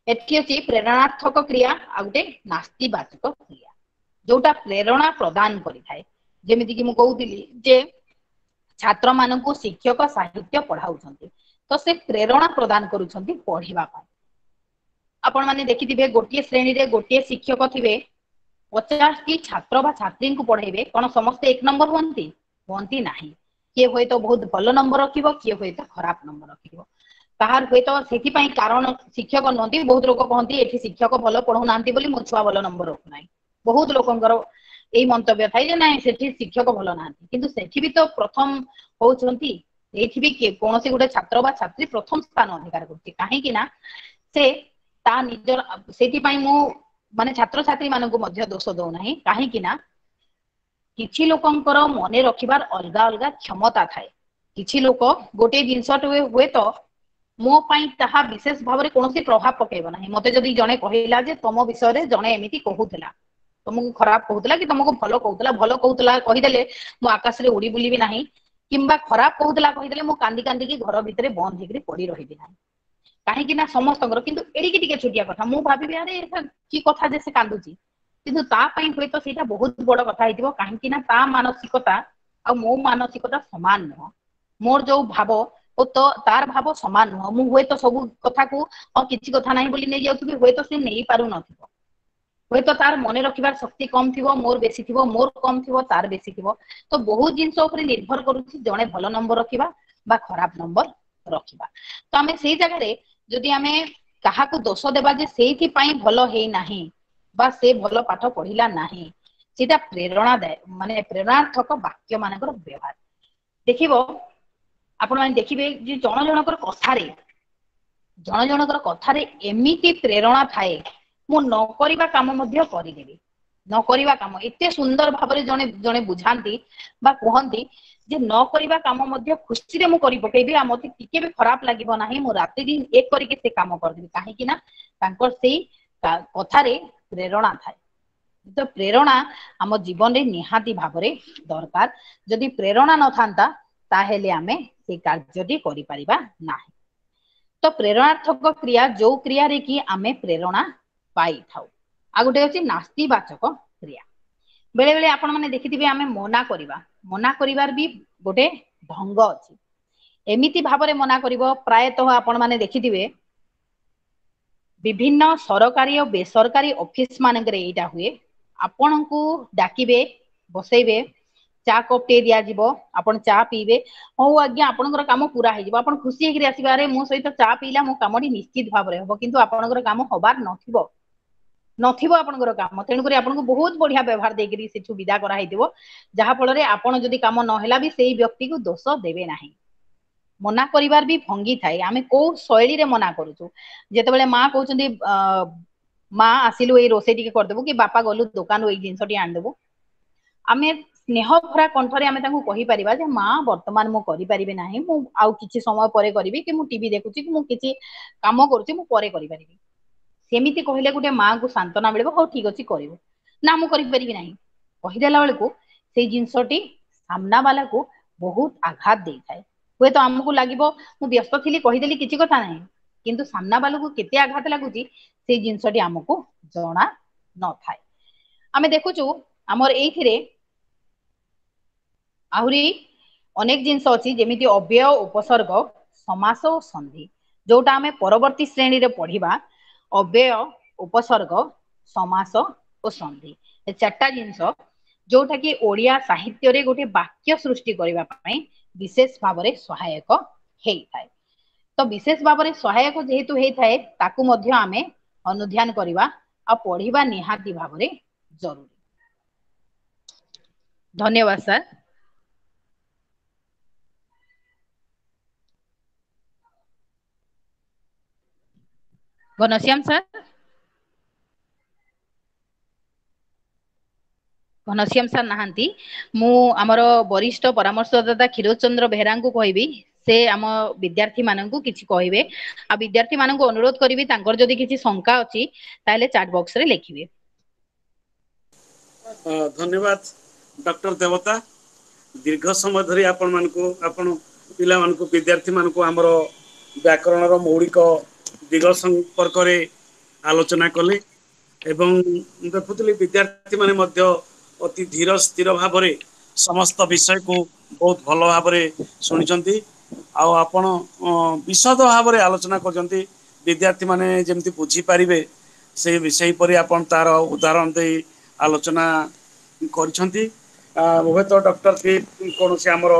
ଏଠି ଅଛି ପ୍ରେରଣାତ୍ମକ କ୍ରିୟା ଆଉ ଗୋଟେ ନାସ୍ତିବାଚକ କ୍ରିୟା, ଯୋଉଟା ପ୍ରେରଣା ପ୍ରଦାନ କରିଥାଏ। ଯେମିତିକି ମୁଁ କହୁଥିଲି ଯେ ଛାତ୍ର ମାନଙ୍କୁ ଶିକ୍ଷକ ସାହିତ୍ୟ ପଢାଉଛନ୍ତି, ତ ସେ ପ୍ରେରଣା ପ୍ରଦାନ କରୁଛନ୍ତି ପଢିବା ପାଇଁ। ଆପଣ ମାନେ ଦେଖିଥିବେ, ଗୋଟିଏ ଶ୍ରେଣୀରେ ଗୋଟିଏ ଶିକ୍ଷକ ଥିବେ, 50ଟି ଛାତ୍ର ବା ଛାତ୍ରୀଙ୍କୁ ପଢେଇବେ, କଣ ସମସ୍ତେ ଏକ ନମ୍ବର ହୁଅନ୍ତି? ହୁଅନ୍ତି ନାହିଁ। କିଏ ହୁଏତ ବହୁତ ଭଲ ନମ୍ବର ରଖିବ, କିଏ ହୁଏତ ଖରାପ ନମ୍ବର ରଖିବ। କାହାର ହୁଏତ ସେଥିପାଇଁ କାରଣ ଶିକ୍ଷକ ନୁହନ୍ତି। ବହୁତ ଲୋକ କହନ୍ତି ଏଠି ଶିକ୍ଷକ ଭଲ ପଢଉନାହାନ୍ତି ବୋଲି ମୋ ଛୁଆ ଭଲ ନମ୍ବର ରଖୁନାହିଁ। ବହୁତ ଲୋକଙ୍କର ଏଇ ମନ୍ତବ୍ୟ ଥାଏ ଯେ ନାଇଁ, ସେଠି ଶିକ୍ଷକ ଭଲ ନାହାନ୍ତି। କିନ୍ତୁ ସେଠି ବି ତ ପ୍ରଥମ ହଉଛନ୍ତି, ଏଇଠି ବି କୌଣସି ଗୋଟେ ଛାତ୍ର ବା ଛାତ୍ରୀ ପ୍ରଥମ ସ୍ଥାନ ଅଧିକାର କରୁଛି, କାହିଁକି ନା ସେ ତା ନିଜର। ସେଇଥିପାଇଁ ମୁଁ ମାନେ ଛାତ୍ରଛାତ୍ରୀ ମାନଙ୍କୁ ମଧ୍ୟ ଦୋଷ ଦଉନାହିଁ, କାହିଁକି ନା କିଛି ଲୋକଙ୍କର ମନେ ରଖିବାର ଅଲଗା ଅଲଗା କ୍ଷମତା ଥାଏ। କିଛି ଲୋକ ଗୋଟେ ଜିନିଷଟେ ହୁଏତ ମୋ ପାଇଁ ତାହା ବିଶେଷ ଭାବରେ କୌଣସି ପ୍ରଭାବ ପକେଇବ ନାହିଁ। ମତେ ଯଦି ଜଣେ କହିଲା ଯେ ତମ ବିଷୟରେ ଜଣେ ଏମିତି କହୁଥିଲା, ତମକୁ ଖରାପ କହୁଥିଲା କି ତମକୁ ଭଲ କହୁଥିଲା, ଭଲ କହୁଥିଲା କହିଦେଲେ ମୁଁ ଆକାଶରେ ଉଡି ବୁଲିବି ନାହିଁ, କିମ୍ବା ଖରାପ କହୁଥିଲା କହିଦେଲେ ମୁଁ କାନ୍ଦି କାନ୍ଦିକି ଘର ଭିତରେ ବନ୍ଦ ହେଇକିରି ପଡି ରହିବି ନାହିଁ। କାହିଁକି ନା ସମସ୍ତଙ୍କର କିନ୍ତୁ ଏଡ଼ିକି ଟିକେ ଛୋଟିଆ କଥା ମୁଁ ଭାବିବି, ଆରେ କି କଥା ଯେ ସେ କାନ୍ଦୁଛି? କିନ୍ତୁ ତା ପାଇଁ ହୁଏତ ସେଇଟା ବହୁତ ବଡ କଥା ହେଇଥିବ, କାହିଁକି ନା ତା ମାନସିକତା ଆଉ ମୋ ମାନସିକତା ସମାନ ନୁହଁ। ମୋର ଯୋଉ ଭାବ ଓ ତ ତାର ଭାବ ସମାନ ନୁହଁ। ମୁଁ ହୁଏତ ସବୁ କଥାକୁ ହଁ କିଛି କଥା ନାହିଁ ବୋଲି ନେଇଯାଉଥିବି, ହୁଏତ ସେ ନେଇ ପାରୁନଥିବ। ହୁଏତ ତାର ମନେ ରଖିବାର ଶକ୍ତି କମ ଥିବ, ମୋର ବେଶୀ ଥିବ, ମୋର କମ ଥିବ, ତାର ବେଶୀ ଥିବ। ତ ବହୁତ ଜିନିଷ ଉପରେ ନିର୍ଭର କରୁଛି ଜଣେ ଭଲ ନମ୍ବର ରଖିବା ବା ଖରାପ ନମ୍ବର ରଖିବା। ତ ଆମେ ସେଇ ଜାଗାରେ ଯଦି ଆମେ କାହାକୁ ଦୋଷ ଦେବା ଯେ ସେଇଥିପାଇଁ ଭଲ ହେଇନାହିଁ ବା ସେ ଭଲ ପାଠ ପଢିଲା ନାହିଁ, ସେଇଟା ପ୍ରେରଣା ଦାୟ ମାନେ ପ୍ରେରଣାର୍ଥକ ବାକ୍ୟ ମାନଙ୍କର ବ୍ୟବହାର। ଦେଖିବ, ଆପଣ ମାନେ ଦେଖିବେ ଯେ ଜଣ ଜଣଙ୍କର କଥାରେ, ଜଣ ଜଣଙ୍କର କଥାରେ ଏମିତି ପ୍ରେରଣା ଥାଏ, ମୁଁ ନ କରିବା କାମ ମଧ୍ୟ କରିଦେବି। ନ କରିବା କାମ ଏତେ ସୁନ୍ଦର ଭାବରେ ଜଣେ ଜଣେ ବୁଝାନ୍ତି ବା କୁହନ୍ତି ଯେ ନ କରିବା କାମ ମଧ୍ୟ ଖୁସିରେ ମୁଁ କରି ପକେଇବି, ଆଉ ମତେ ଟିକେ ବି ଖରାପ ଲାଗିବ ନାହିଁ, ମୁଁ ରାତି ଦିନ ଏକ କରିକି ସେ କାମ କରିଦେବି। କାହିଁକି ନା ତାଙ୍କର ସେଇ କଥାରେ ପ୍ରେରଣା ଥାଏ। ତ ପ୍ରେରଣା ଆମ ଜୀବନରେ ନିହାତି ଭାବରେ ଦରକାର। ଯଦି ପ୍ରେରଣା ନଥାନ୍ତା, ତାହେଲେ ଆମେ ସେଇ କାର୍ଯ୍ୟଟି କରିପାରିବା ନାହିଁ। ତ ପ୍ରେରଣାର୍ଥକ କ୍ରିୟା ଯୋଉ କ୍ରିୟାରେ କି ଆମେ ପ୍ରେରଣା ପାଇଥାଉ। ଆଉ ଗୋଟେ ଅଛି ନାସ୍ତିବାଚକ କ୍ରିୟା। ବେଳେ ବେଳେ ଆପଣ ମାନେ ଦେଖିଥିବେ, ଆମେ ମନା କରିବା, ମନା କରିବାର ବି ଗୋଟେ ଢଙ୍ଗ ଅଛି। ଏମିତି ଭାବରେ ମନା କରିବ, ପ୍ରାୟତଃ ଆପଣ ମାନେ ଦେଖିଥିବେ ବିଭିନ୍ନ ସରକାରୀ ଓ ବେସରକାରୀ ଅଫିସ ମାନଙ୍କରେ ଏଇଟା ହୁଏ। ଆପଣଙ୍କୁ ଡାକିବେ, ବସେଇବେ, ଚା କପ୍ ଟେ ଦିଆଯିବ, ଆପଣ ଚା ପିଇବେ। ହଉ ଆଜ୍ଞା, ଆପଣଙ୍କର କାମ ପୁରା ହେଇଯିବ। ଆପଣ ଖୁସି ହେଇକିରି ଆସିବେ, ଆରେ ମୋ ସହିତ ଚା ପିଇଲା, ମୋ କାମଟି ନିଶ୍ଚିତ ଭାବରେ ହବ। କିନ୍ତୁ ଆପଣଙ୍କର କାମ ହବାର ନଥିବ, ନଥିବ ଆପଣଙ୍କର କାମ। ତେଣୁକରି ଆପଣଙ୍କୁ ବହୁତ ବଢିଆ ବ୍ୟବହାର ଦେଇକିରି ସେଠୁ ବିଦା କରାହେଇଥିବ, ଯାହା ଫଳରେ ଆପଣ ଯଦି କାମ ନହେଲା ବି ସେଇ ବ୍ୟକ୍ତିକୁ ଦୋଷ ଦେବେ ନାହିଁ। ମନା କରିବାର ବି ଭଙ୍ଗି ଥାଏ, ଆମେ କୋଉ ଶୈଳୀରେ ମନା କରୁଛୁ। ଯେତେବେଳେ ମା କହୁଛନ୍ତି, ମା ଆସିଲୁ ଏଇ ରୋଷେଇ ଟିକେ କରିଦେବୁ, କି ବାପା ଗଲୁ ଦୋକାନରୁ ଏଇ ଜିନିଷଟି ଆଣିଦେବୁ, ଆମେ ସ୍ନେହ ଭରା କଣ୍ଠରେ ଆମେ ତାଙ୍କୁ କହିପାରିବା ଯେ ମା, ବର୍ତ୍ତମାନ ମୁଁ କରିପାରିବି ନାହିଁ, ମୁଁ ଆଉ କିଛି ସମୟ ପରେ କରିବି, କି ମୁଁ ଟିଭି ଦେଖୁଛି, କି ମୁଁ କିଛି କାମ କରୁଛି, ମୁଁ ପରେ କରିପାରିବି। ସେମିତି କହିଲେ ଗୋଟେ ମାଙ୍କୁ ସାନ୍ତ୍ୱନା ମିଳିବ, ହଉ ଠିକ ଅଛି କରିବୁ। ନା, ମୁଁ କରିପାରିବି ନାହିଁ କହିଦେଲା ବେଳକୁ ସେଇ ଜିନିଷଟି ସାମ୍ନା ବାଲାକୁ ବହୁତ ଆଘାତ ଦେଇଥାଏ। ହୁଏତ ଆମକୁ ଲାଗିବ ମୁଁ ବ୍ୟସ୍ତ ଥିଲି, କହିଦେଲି, କିଛି କଥା ନାହିଁ, କିନ୍ତୁ ସାମ୍ନା ବାଲାକୁ କେତେ ଆଘାତ ଲାଗୁଛି ସେଇ ଜିନିଷଟି ଆମକୁ ଜଣା ନଥାଏ। ଆମେ ଦେଖୁଛୁ ଆମର ଏଇଥିରେ ଆହୁରି ଅନେକ ଜିନିଷ ଅଛି, ଯେମିତି ଅବ୍ୟୟ, ଉପସର୍ଗ, ସମାସ ଓ ସନ୍ଧି, ଯୋଉଟା ଆମେ ପରବର୍ତ୍ତୀ ଶ୍ରେଣୀରେ ପଢିବା। ଅବ୍ୟୟ, ଉପସର୍ଗ, ସମାସ ଓ ସନ୍ଧି, ଏ ଚାରିଟା ଜିନିଷ ଯୋଉଟା କି ଓଡିଆ ସାହିତ୍ୟରେ ଗୋଟେ ବାକ୍ୟ ସୃଷ୍ଟି କରିବା ପାଇଁ ବିଶେଷ ଭାବରେ ସହାୟକ ହେଇଥାଏ। ତ ବିଶେଷ ଭାବରେ ସହାୟକ ଯେହେତୁ ହେଇଥାଏ, ତାକୁ ମଧ୍ୟ ଆମେ ଅନୁଧ୍ୟାନ କରିବା ଆଉ ପଢିବା ନିହାତି ଭାବରେ ଜରୁରୀ। ଧନ୍ୟବାଦ sir. Ghanshyam sir. Ghanshyam sir ନାହାନ୍ତି, ମୁଁ ଆମର ବରିଷ୍ଠ ପରାମର୍ଶଦାତା କ୍ଷୀରୋଦ ଚନ୍ଦ୍ର ବେହେରାଙ୍କୁ କହିବି ସେ ଆମ ବିଦ୍ୟାର୍ଥୀ ମାନଙ୍କୁ କିଛି କହିବେ। ଆଉ ବିଦ୍ୟାର୍ଥୀ ମାନଙ୍କୁ ଅନୁରୋଧ କରିବି ତାଙ୍କର ଯଦି କିଛି ଶଙ୍କା ଅଛି ତାହେଲେ ଚାଟ ବକ୍ସ ରେ ଲେଖିବେ। ଧନ୍ୟବାଦ ଡକ୍ଟର ଦେବତା। ଦୀର୍ଘ ସମୟ ଧରି ଆପଣ ମାନଙ୍କୁ, ଆପଣ ପିଲାମାନଙ୍କୁ, ବିଦ୍ୟାର୍ଥୀ ମାନଙ୍କୁ ଆମର ବ୍ୟାକରଣର ମୌଳିକ ଦିଗ ସମ୍ପର୍କରେ ଆଲୋଚନା କଲେ ଏବଂ ଦେଖୁଥିଲି ବିଦ୍ୟାର୍ଥୀ ମାନେ ମଧ୍ୟ ଅତି ଧୀର ସ୍ଥିର ଭାବରେ ସମସ୍ତ ବିଷୟକୁ ବହୁତ ଭଲ ଭାବରେ ଶୁଣିଛନ୍ତି। ଆଉ ଆପଣ ବିଶଦ ଭାବରେ ଆଲୋଚନା କରିଛନ୍ତି, ବିଦ୍ୟାର୍ଥୀ ମାନେ ଯେମିତି ବୁଝିପାରିବେ ସେହିପରି ଆପଣ ତାର ଉଦାହରଣ ଦେଇ ଆଲୋଚନା କରିଛନ୍ତି। ହୁଏତ ଡକ୍ଟର କୌଣସି ଆମର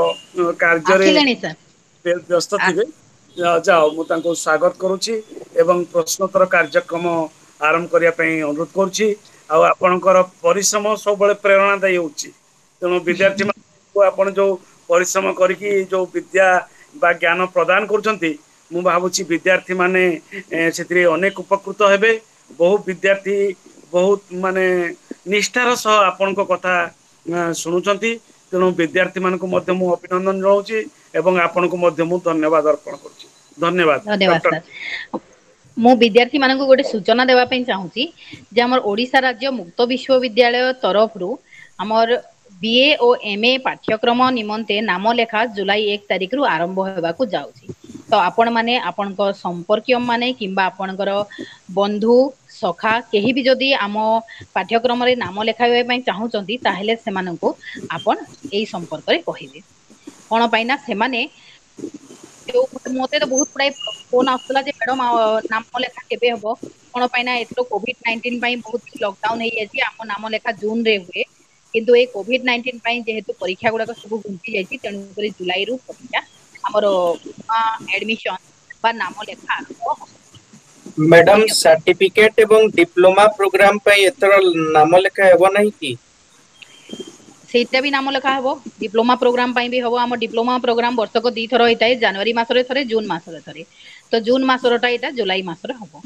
କାର୍ଯ୍ୟରେ ଆସିଲେଣି ସାର୍। ବ୍ୟସ୍ତ ଥିବେ, ଯାଅ ମୁଁ ତାଙ୍କୁ ସ୍ୱାଗତ କରୁଛି ଏବଂ ପ୍ରଶ୍ନୋତ୍ତର କାର୍ଯ୍ୟକ୍ରମ ଆରମ୍ଭ କରିବା ପାଇଁ ଅନୁରୋଧ କରୁଛି। ଆଉ ଆପଣଙ୍କର ପରିଶ୍ରମ ସବୁବେଳେ ପ୍ରେରଣାଦାୟୀ ହେଉଛି, ତେଣୁ ବିଦ୍ୟାର୍ଥୀ ମାନଙ୍କୁ ଆପଣ ଯୋଉ ପରିଶ୍ରମ କରିକି ଯୋଉ ବିଦ୍ୟା ବା ଜ୍ଞାନ ପ୍ରଦାନ କରୁଛନ୍ତି, ମୁଁ ଭାବୁଛି ବିଦ୍ୟାର୍ଥୀ ମାନେ ସେଥିରେ ଅନେକ ଉପକୃତ ହେବେ। ବହୁ ବିଦ୍ୟାର୍ଥୀ ବହୁତ ମାନେ ନିଷ୍ଠାର ସହ ଆପଣଙ୍କ କଥା ଶୁଣୁଛନ୍ତି, ତେଣୁ ବିଦ୍ୟାର୍ଥୀ ମାନଙ୍କୁ ମଧ୍ୟ ମୁଁ ଅଭିନନ୍ଦନ ଜଣାଉଛି ଏବଂ ଆପଣଙ୍କୁ ମଧ୍ୟ ମୁଁ ଧନ୍ୟବାଦ ଅର୍ପଣ କରୁଛି। ଧନ୍ୟବାଦ ଧନ୍ୟବାଦ ଡକ୍ଟର। ସାର୍। ମୁଁ ବିଦ୍ୟାର୍ଥୀ ମାନଙ୍କୁ ଗୋଟେ ସୂଚନା ଦେବା ପାଇଁ ଚାହୁଁଛି ଯେ ଆମର ଓଡିଶା ରାଜ୍ୟ ମୁକ୍ତ ବିଶ୍ୱବିଦ୍ୟାଳୟ ତରଫରୁ ଆମର ବି ଏ ଓ ଏମ ଏ ପାଠ୍ୟକ୍ରମ ନିମନ୍ତେ ନାମ ଲେଖା ଜୁଲାଇ 1 ତାରିଖରୁ ଆରମ୍ଭ ହେବାକୁ ଯାଉଛି। ତ ଆପଣ ମାନେ ଆପଣଙ୍କ ସମ୍ପର୍କୀୟ ମାନେ କିମ୍ବା ଆପଣଙ୍କର ବନ୍ଧୁ ସଖା କେହି ବି ଯଦି ଆମ ପାଠ୍ୟକ୍ରମରେ ନାମ ଲେଖାଇବା ପାଇଁ ଚାହୁଁଛନ୍ତି, ତାହେଲେ ସେମାନଙ୍କୁ ଆପଣ ଏଇ ସମ୍ପର୍କରେ କହିବେ। କଣ ପାଇଁ ନା ସେମାନେ ମତେ ତ ବହୁତ ଗୁଡାଏ ଫୋନ ଆସୁଥିଲା ଯେ ମ୍ୟାଡମ ନାମ ଲେଖା କେବେ ହବ, କଣ ପାଇଁ ନା ଏଥର କୋଭିଡ-19 ପାଇଁ ବହୁତ ଲକଡାଉନ ହେଇଯାଇଛି, ଆମ ନାମ ଲେଖା ଜୁନ ରେ ହୁଏ, କିନ୍ତୁ ଏଇ କୋଭିଡ-19 ପାଇଁ ଯେହେତୁ ପରୀକ୍ଷା ଗୁଡାକ ସବୁ ଘୁଞ୍ଚି ଯାଇଛି, ତେଣୁକରି ଜୁଲାଇରୁ ପରୀକ୍ଷା ଆମର ଆଡମିସନ ବା ନାମ ଲେଖା ଆରମ୍ଭ ହବ। ମ୍ୟାଡାମ ସାର୍ଟିଫିକେଟ ଏବଂ ଡିପ୍ଲୋମା ପ୍ରୋଗ୍ରାମ ପାଇଁ ଏଥର ନାମ ଲେଖା ହେବ ନାହିଁ କି? ସେଇଟା ବି ନାମ ଲେଖା ହବ, ଡିପ୍ଲୋମା ପ୍ରୋଗ୍ରାମ ପାଇଁ ବି ହବ। ଆମ ଡିପ୍ଲୋମା ପ୍ରୋଗ୍ରାମ ବର୍ଷକ 2ଥର ହେଇଥାଏ, ଜାନୁଆରୀ ମାସରେ ଥରେ, ଜୁନ ମାସରେ ଥରେ। ତ ଜୁନ ମାସରଟା ଏଇଟା ଜୁଲାଇ ମାସରେ ହବ।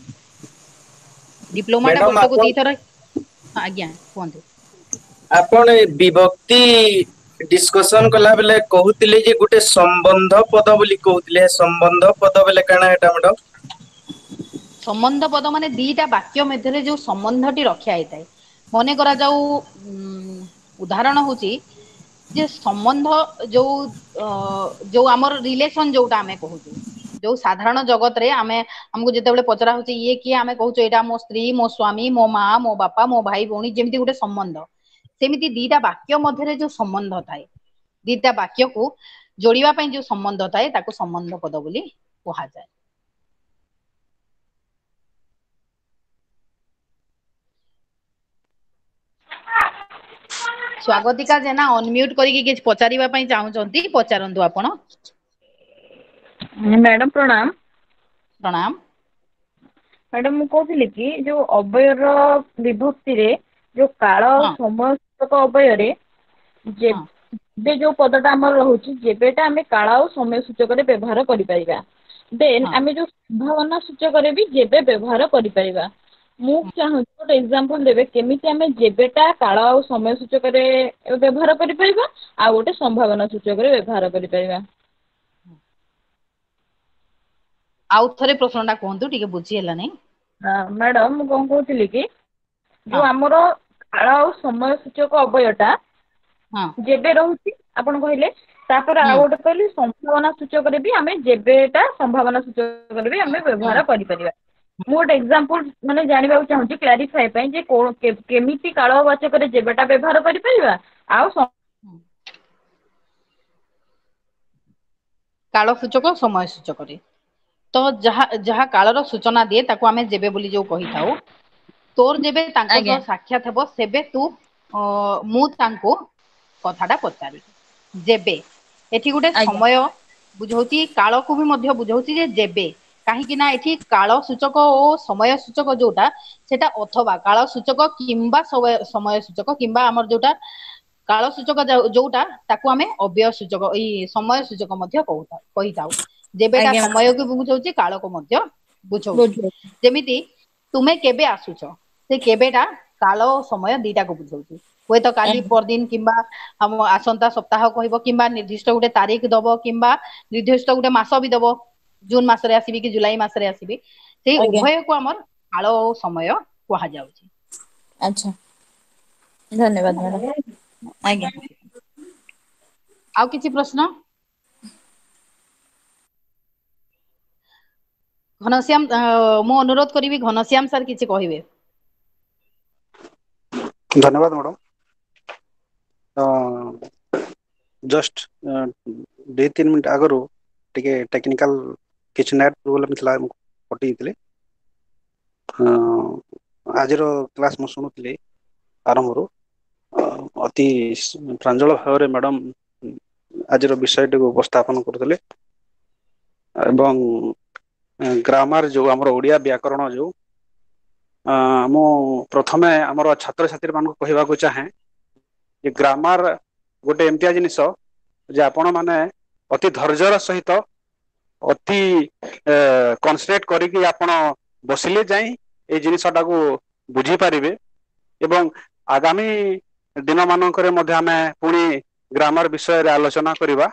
ଡିପ୍ଲୋମାଟା ମ୍ୟାଡାମ ବର୍ଷକୁ ଆପଣ 2ଥର। ଆଜ୍ଞା କୁହନ୍ତୁ। ଆପଣ ଏ ବିଭକ୍ତି ଡିସ୍କସନ କଲା ବେଳେ କହୁଥିଲେ ଯେ ଗୋଟେ ସମ୍ବନ୍ଧ ପଦ ବୋଲି କହୁଥିଲେ, ସମ୍ବନ୍ଧ ପଦ ବୋଲେ କାଣା ଏଟା ମ୍ୟାଡାମ? ସମ୍ବନ୍ଧ ପଦ ମାନେ ଦିଟା ବାକ୍ୟ ମଧ୍ୟରେ ଯୋଉ ସମ୍ବନ୍ଧଟି ରକ୍ଷା ହେଇଥାଏ। ମନେ କରାଯାଉ ଉଦାହରଣ ହଉଛି ଯେ ସମ୍ବନ୍ଧ ଯୋଉ ଆମର ରିଲେସନ ଯୋଉଟା ଆମେ କହୁଛୁ, ଯୋଉ ସାଧାରଣ ଜଗତରେ ଆମକୁ ଯେତେବେଳେ ପଚରା ହଉଛି ଇଏ କିଏ, ଆମେ କହୁଛୁ ଏଇଟା ମୋ ସ୍ତ୍ରୀ, ମୋ ସ୍ଵାମୀ, ମୋ ମା, ମୋ ବାପା, ମୋ ଭାଇ ଭଉଣୀ, ଯେମିତି ଗୋଟେ ସମ୍ବନ୍ଧ। ସେମିତି ଦିଟା ବାକ୍ୟ ମଧ୍ୟରେ ଯୋଉ ସମ୍ବନ୍ଧ ଥାଏ, ଦିଟା ବାକ୍ୟକୁ ଯୋଡ଼ିବା ପାଇଁ ଯୋଉ ସମ୍ବନ୍ଧ ଥାଏ, ତାକୁ ସମ୍ବନ୍ଧ ପଦ ବୋଲି କୁହାଯାଏ। ସ୍ୱାଗତିକା ଜେନା ଅନମ୍ୟୁଟ କରିକି କିଛି ପଚାରିବା ପାଇଁ ଚାହୁଁଛନ୍ତି, ପଚାରନ୍ତୁ ଆପଣ। ମ୍ୟାଡାମ ପ୍ରଣାମ। ପ୍ରଣାମ। ମ୍ୟାଡାମ ମୁଁ କହୁଥିଲି କି ଯୋଉ ଅବ୍ୟୟର ବିଭକ୍ତିରେ ଯୋଉ କାଳ ସମୟ ସୂଚକ ଅବ୍ୟୟରେ ଯେବେ ଯୋଉ ପଦଟା ଆମର ରହୁଛି, ଯେବେଟା ଆମେ କାଳ ଆଉ ସମୟ ସୂଚକରେ ବ୍ୟବହାର କରିପାରିବା। ଦେନ୍ ଆମେ ଯୋଉ ସମ୍ଭାବନା ସୂଚକରେ ବି ଯେବେ ବ୍ୟବହାର କରିପାରିବା। ମୁଁ ଚାହୁଁଛି ଗୋଟେ ଏକ୍ସାମ୍ପଲ ଦେବେ କେମିତି ଆମେ ଯେବେଟା କାଳ ଆଉ ସମୟ ସୂଚକରେ ବ୍ୟବହାର କରିପାରିବା ଆଉ ଗୋଟେ ସମ୍ଭାବନା ସୂଚକରେ ବ୍ୟବହାର କରିପାରିବା। ଆଉ ଥରେ ପ୍ରଶ୍ନଟା କୁହନ୍ତୁ, ଟିକେ ବୁଝି ହେଲା ନାହିଁ। ମ୍ୟାଡାମ ମୁଁ କଣ କହୁଥିଲି କି ଯୋଉ ଆମର କାଳ ଆଉ ସମୟ ସୂଚକ ଅବ୍ୟୟଟା ଯେବେ ରହୁଛି ଆପଣ କହିଲେ, ତାପରେ ଆଉ ଗୋଟେ କହିଲେ ସମ୍ଭାବନା ସୂଚକରେ ବି ଆମେ ଯେବେଟା ସମ୍ଭାବନା ସୂଚକରେ ବି ଆମେ ବ୍ୟବହାର କରିପାରିବା। ମୁଁ ଗୋଟେ ଏକ୍ସାମ୍ପଲ ମାନେ ଜାଣିବାକୁ ଚାହୁଁଛି କ୍ଲାରିଫାଏ ପାଇଁ ଯେ କେମିତି କାଳବାଚକରେ ଯେବେଟା ବ୍ୟବହାର କରିପାରିବା ଆଉ କାଳ ସୂଚକ ସମୟ ସୂଚକରେ ତ ଯାହା କାଳର ସୂଚନା ଦିଏ ତାକୁ ଆମେ ଯେବେ ବୋଲି ଯୋଉ କହିଥାଉ। ତୋର ଯେବେ ତାଙ୍କ ସହ ସାକ୍ଷାତ ହେବ ସେବେ ତୁ ମୁଁ ତାଙ୍କୁ କଥାଟା ପଚାରିବି। ଯେବେ ଏଠି ଗୋଟେ ସମୟ ବୁଝଉଛି, କାଳକୁ ବି ମଧ୍ୟ ବୁଝଉଛି ଯେ ଯେବେ, କାହିଁକି ନା ଏଠି କାଳ ସୂଚକ ଓ ସମୟ ସୂଚକ ଯୋଉଟା ସେଟା ଅଥବା କାଳ ସୂଚକ କିମ୍ବା ସମୟ ସୂଚକ କିମ୍ବା ଆମର ଯୋଉଟା କାଳ ସୂଚକ ଯୋଉଟା ତାକୁ ଆମେ ଅବ୍ୟୟ ସୂଚକ ଏଇ ସମୟ ସୂଚକ ମଧ୍ୟ କହିଥାଉ। ଯେବେଟା ସମୟକୁ ବୁଝଉଛି କାଳକୁ ମଧ୍ୟ ବୁଝଉଛି। ଯେମିତି ତୁମେ କେବେ ଆସୁଛ, ସେ କେବେଟା କାଳ ଓ ସମୟ ଦିଟାକୁ ବୁଝଉଛି। ହୁଏତ କାଲି ପରଦିନ କିମ୍ବା ଆମ ଆସନ୍ତା ସପ୍ତାହ କହିବ, କିମ୍ବା ନିର୍ଦ୍ଦିଷ୍ଟ ଗୋଟେ ତାରିଖ ଦବ, କିମ୍ବା ନିର୍ଦ୍ଦିଷ୍ଟ ଗୋଟେ ମାସ ବି ଦବ, ଜୁନ ମାସରେ ଆସିବି କି ଜୁଲାଇ ମାସରେ ଆସିବି। ସେଇ ଉଭୟକୁ ଆମର କାଳ ଓ ସମୟ କୁହାଯାଉଛି। ଆଚ୍ଛା, ଧନ୍ୟବାଦ ମ୍ୟାଡାମ। ଆଜ୍ଞା, ଆଉ କିଛି ପ୍ରଶ୍ନ? ଘନଶ୍ୟାମ, ମୁଁ ଅନୁରୋଧ କରିବି ଘନଶ୍ୟାମ ସାର୍ କିଛି କହିବେ। ଧନ୍ୟବାଦ ମ୍ୟାଡାମ। ଜଷ୍ଟ 2-3 ମିନିଟ ଆଗରୁ ଟିକେ ଟେକ୍ନିକାଲ କିଛି ନେଟ୍ ପ୍ରୋବ୍ଲେମ ଥିଲା, ମୁଁ କଟିଯାଇଥିଲି। ଆଜିର କ୍ଲାସ ମୁଁ ଶୁଣୁଥିଲି ଆରମ୍ଭରୁ। ଅତି ପ୍ରାଞ୍ଜଳ ଭାବରେ ମ୍ୟାଡାମ ଆଜିର ବିଷୟଟିକୁ ଉପସ୍ଥାପନ କରୁଥିଲେ ଏବଂ ଗ୍ରାମାର ଯୋଉ ଆମର ଓଡ଼ିଆ ବ୍ୟାକରଣ ଯୋଉ, ମୁଁ ପ୍ରଥମେ ଆମର ଛାତ୍ରଛାତ୍ରୀ ମାନଙ୍କୁ କହିବାକୁ ଚାହେଁ ଯେ ଗ୍ରାମାର ଗୋଟେ ଏମିତିଆ ଜିନିଷ ଯେ ଆପଣ ମାନେ ଅତି ଧୈର୍ଯ୍ୟର ସହିତ ଅତି କନସେନ୍ଟ୍ରେଟ କରିକି ଆପଣ ବସିଲେ ଯାଇ ଏଇ ଜିନିଷଟାକୁ ବୁଝିପାରିବେ। ଏବଂ ଆଗାମୀ ଦିନ ମାନଙ୍କରେ ମଧ୍ୟ ଆମେ ପୁଣି ଗ୍ରାମାର ବିଷୟରେ ଆଲୋଚନା କରିବା।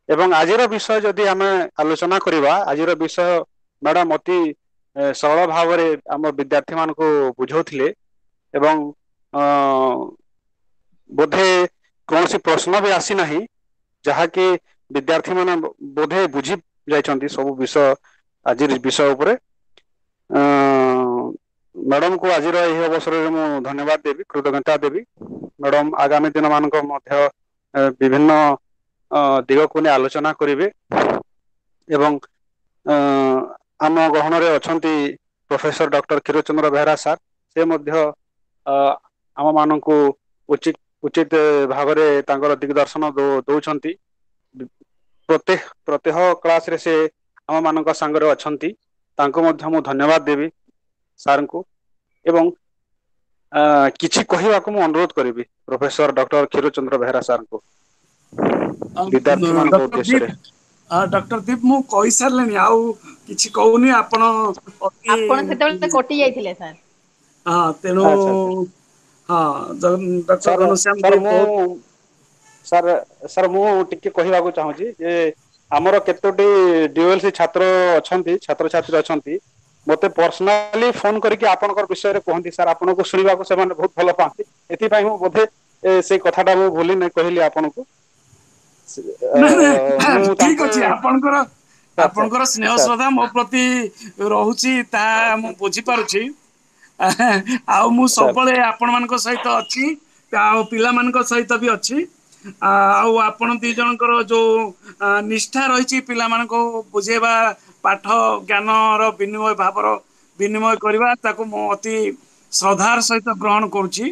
ଏବଂ ଆଜିର ବିଷୟ ଯଦି ଆମେ ଆଲୋଚନା କରିବା, ଆଜିର ବିଷୟ ମ୍ୟାଡାମ ଅତି ସରଳ ଭାବରେ ଆମ ବିଦ୍ୟାର୍ଥୀ ମାନଙ୍କୁ ବୁଝାଉଥିଲେ ଏବଂ ବୋଧେ କୌଣସି ପ୍ରଶ୍ନ ବି ଆସିନାହିଁ, ଯାହାକି ବିଦ୍ୟାର୍ଥୀ ମାନେ ବୋଧେ ବୁଝି ଯାଇଛନ୍ତି ସବୁ ବିଷୟ ଆଜିର ବିଷୟ ଉପରେ। ମ୍ୟାଡାମକୁ ଆଜିର ଏହି ଅବସରରେ ମୁଁ ଧନ୍ୟବାଦ ଦେବି, କୃତଜ୍ଞତା ଦେବି। ମ୍ୟାଡାମ ଆଗାମୀ ଦିନ ମାନଙ୍କ ମଧ୍ୟ ବିଭିନ୍ନ ଦିଗକୁ ନେଇ ଆଲୋଚନା କରିବେ। ଏବଂ ଆମ ଗହଣରେ ଅଛନ୍ତି professor doctor Kshirachandra Behera sir, ସେ ମଧ୍ୟ ଆମ ମାନଙ୍କୁ ଉଚିତ ଉଚିତ ଭାବରେ ତାଙ୍କର ଦିଗଦର୍ଶନ ଦଉଛନ୍ତି। ପ୍ରତ୍ୟେହ କ୍ଲାସରେ ସେ ଆମ ମାନଙ୍କ ସାଙ୍ଗରେ ଅଛନ୍ତି, ତାଙ୍କୁ ମଧ୍ୟ ମୁଁ ଧନ୍ୟବାଦ ଦେବି ସାର୍ଙ୍କୁ। ଏବଂ କିଛି କହିବାକୁ ମୁଁ ଅନୁରୋଧ କରିବି ପ୍ରଫେସର ଡକ୍ଟର କ୍ଷୀରଚନ୍ଦ୍ର ବେହେରା ସାର୍ଙ୍କୁ ବିଦ୍ୟାର୍ଥୀ ମାନଙ୍କ ଉଦ୍ଦେଶ୍ୟରେ। ଡକ୍ଟର ଦୀପ, ମୁଁ କହିସାରିଲିଣି, ଆଉ କିଛି କହୁନି। ଆପଣ ଆପଣ ସେତେବେଳେ କଟି ଯାଇଥିଲେ ସାର୍। ହଁ, ତେଣୁ ହଁ, ଡକ୍ଟର ଘନଶ୍ୟାମ ସାର୍, ସାର୍ ମୁଁ ଟିକେ କହିବାକୁ ଚାହୁଁଛି ଯେ ଆମର କେତୋଟି ଡିଓଏଲସି ଛାତ୍ର ଅଛନ୍ତି, ଛାତ୍ରଛାତ୍ରୀ ଅଛନ୍ତି, ମତେ ପର୍ସନାଲି ଫୋନ କରିକି ଆପଣଙ୍କର ବିଷୟରେ କୁହନ୍ତି ସାର୍, ଆପଣଙ୍କୁ ଶୁଣିବାକୁ ସେମାନେ ବହୁତ ଭଲ ପାଆନ୍ତି। ଏଥିପାଇଁ ମୁଁ ବୋଧେ ସେଇ କଥାଟା ମୁଁ ଭୁଲି ନାଇଁ କହିଲି ଆପଣଙ୍କୁ। ଠିକ ଅଛି, ଆପଣଙ୍କର ଆପଣଙ୍କର ସ୍ନେହ ଶ୍ରଦ୍ଧା ମୋ ପ୍ରତି ରହୁଛି, ତାହା ମୁଁ ବୁଝିପାରୁଛି। ଆଉ ମୁଁ ସବୁବେଳେ ଆପଣମାନଙ୍କ ସହିତ ଅଛି, ଆଉ ପିଲାମାନଙ୍କ ସହିତ ବି ଅଛି। ଆଉ ଆପଣ ଦି ଜଣଙ୍କର ଯୋଉ ନିଷ୍ଠା ରହିଛି ପିଲାମାନଙ୍କୁ ବୁଝେଇବା, ପାଠ ଜ୍ଞାନର ବିନିମୟ ଭାବର ବିନିମୟ କରିବା, ତାକୁ ମୁଁ ଅତି ଶ୍ରଦ୍ଧାର ସହିତ ଗ୍ରହଣ କରୁଛି।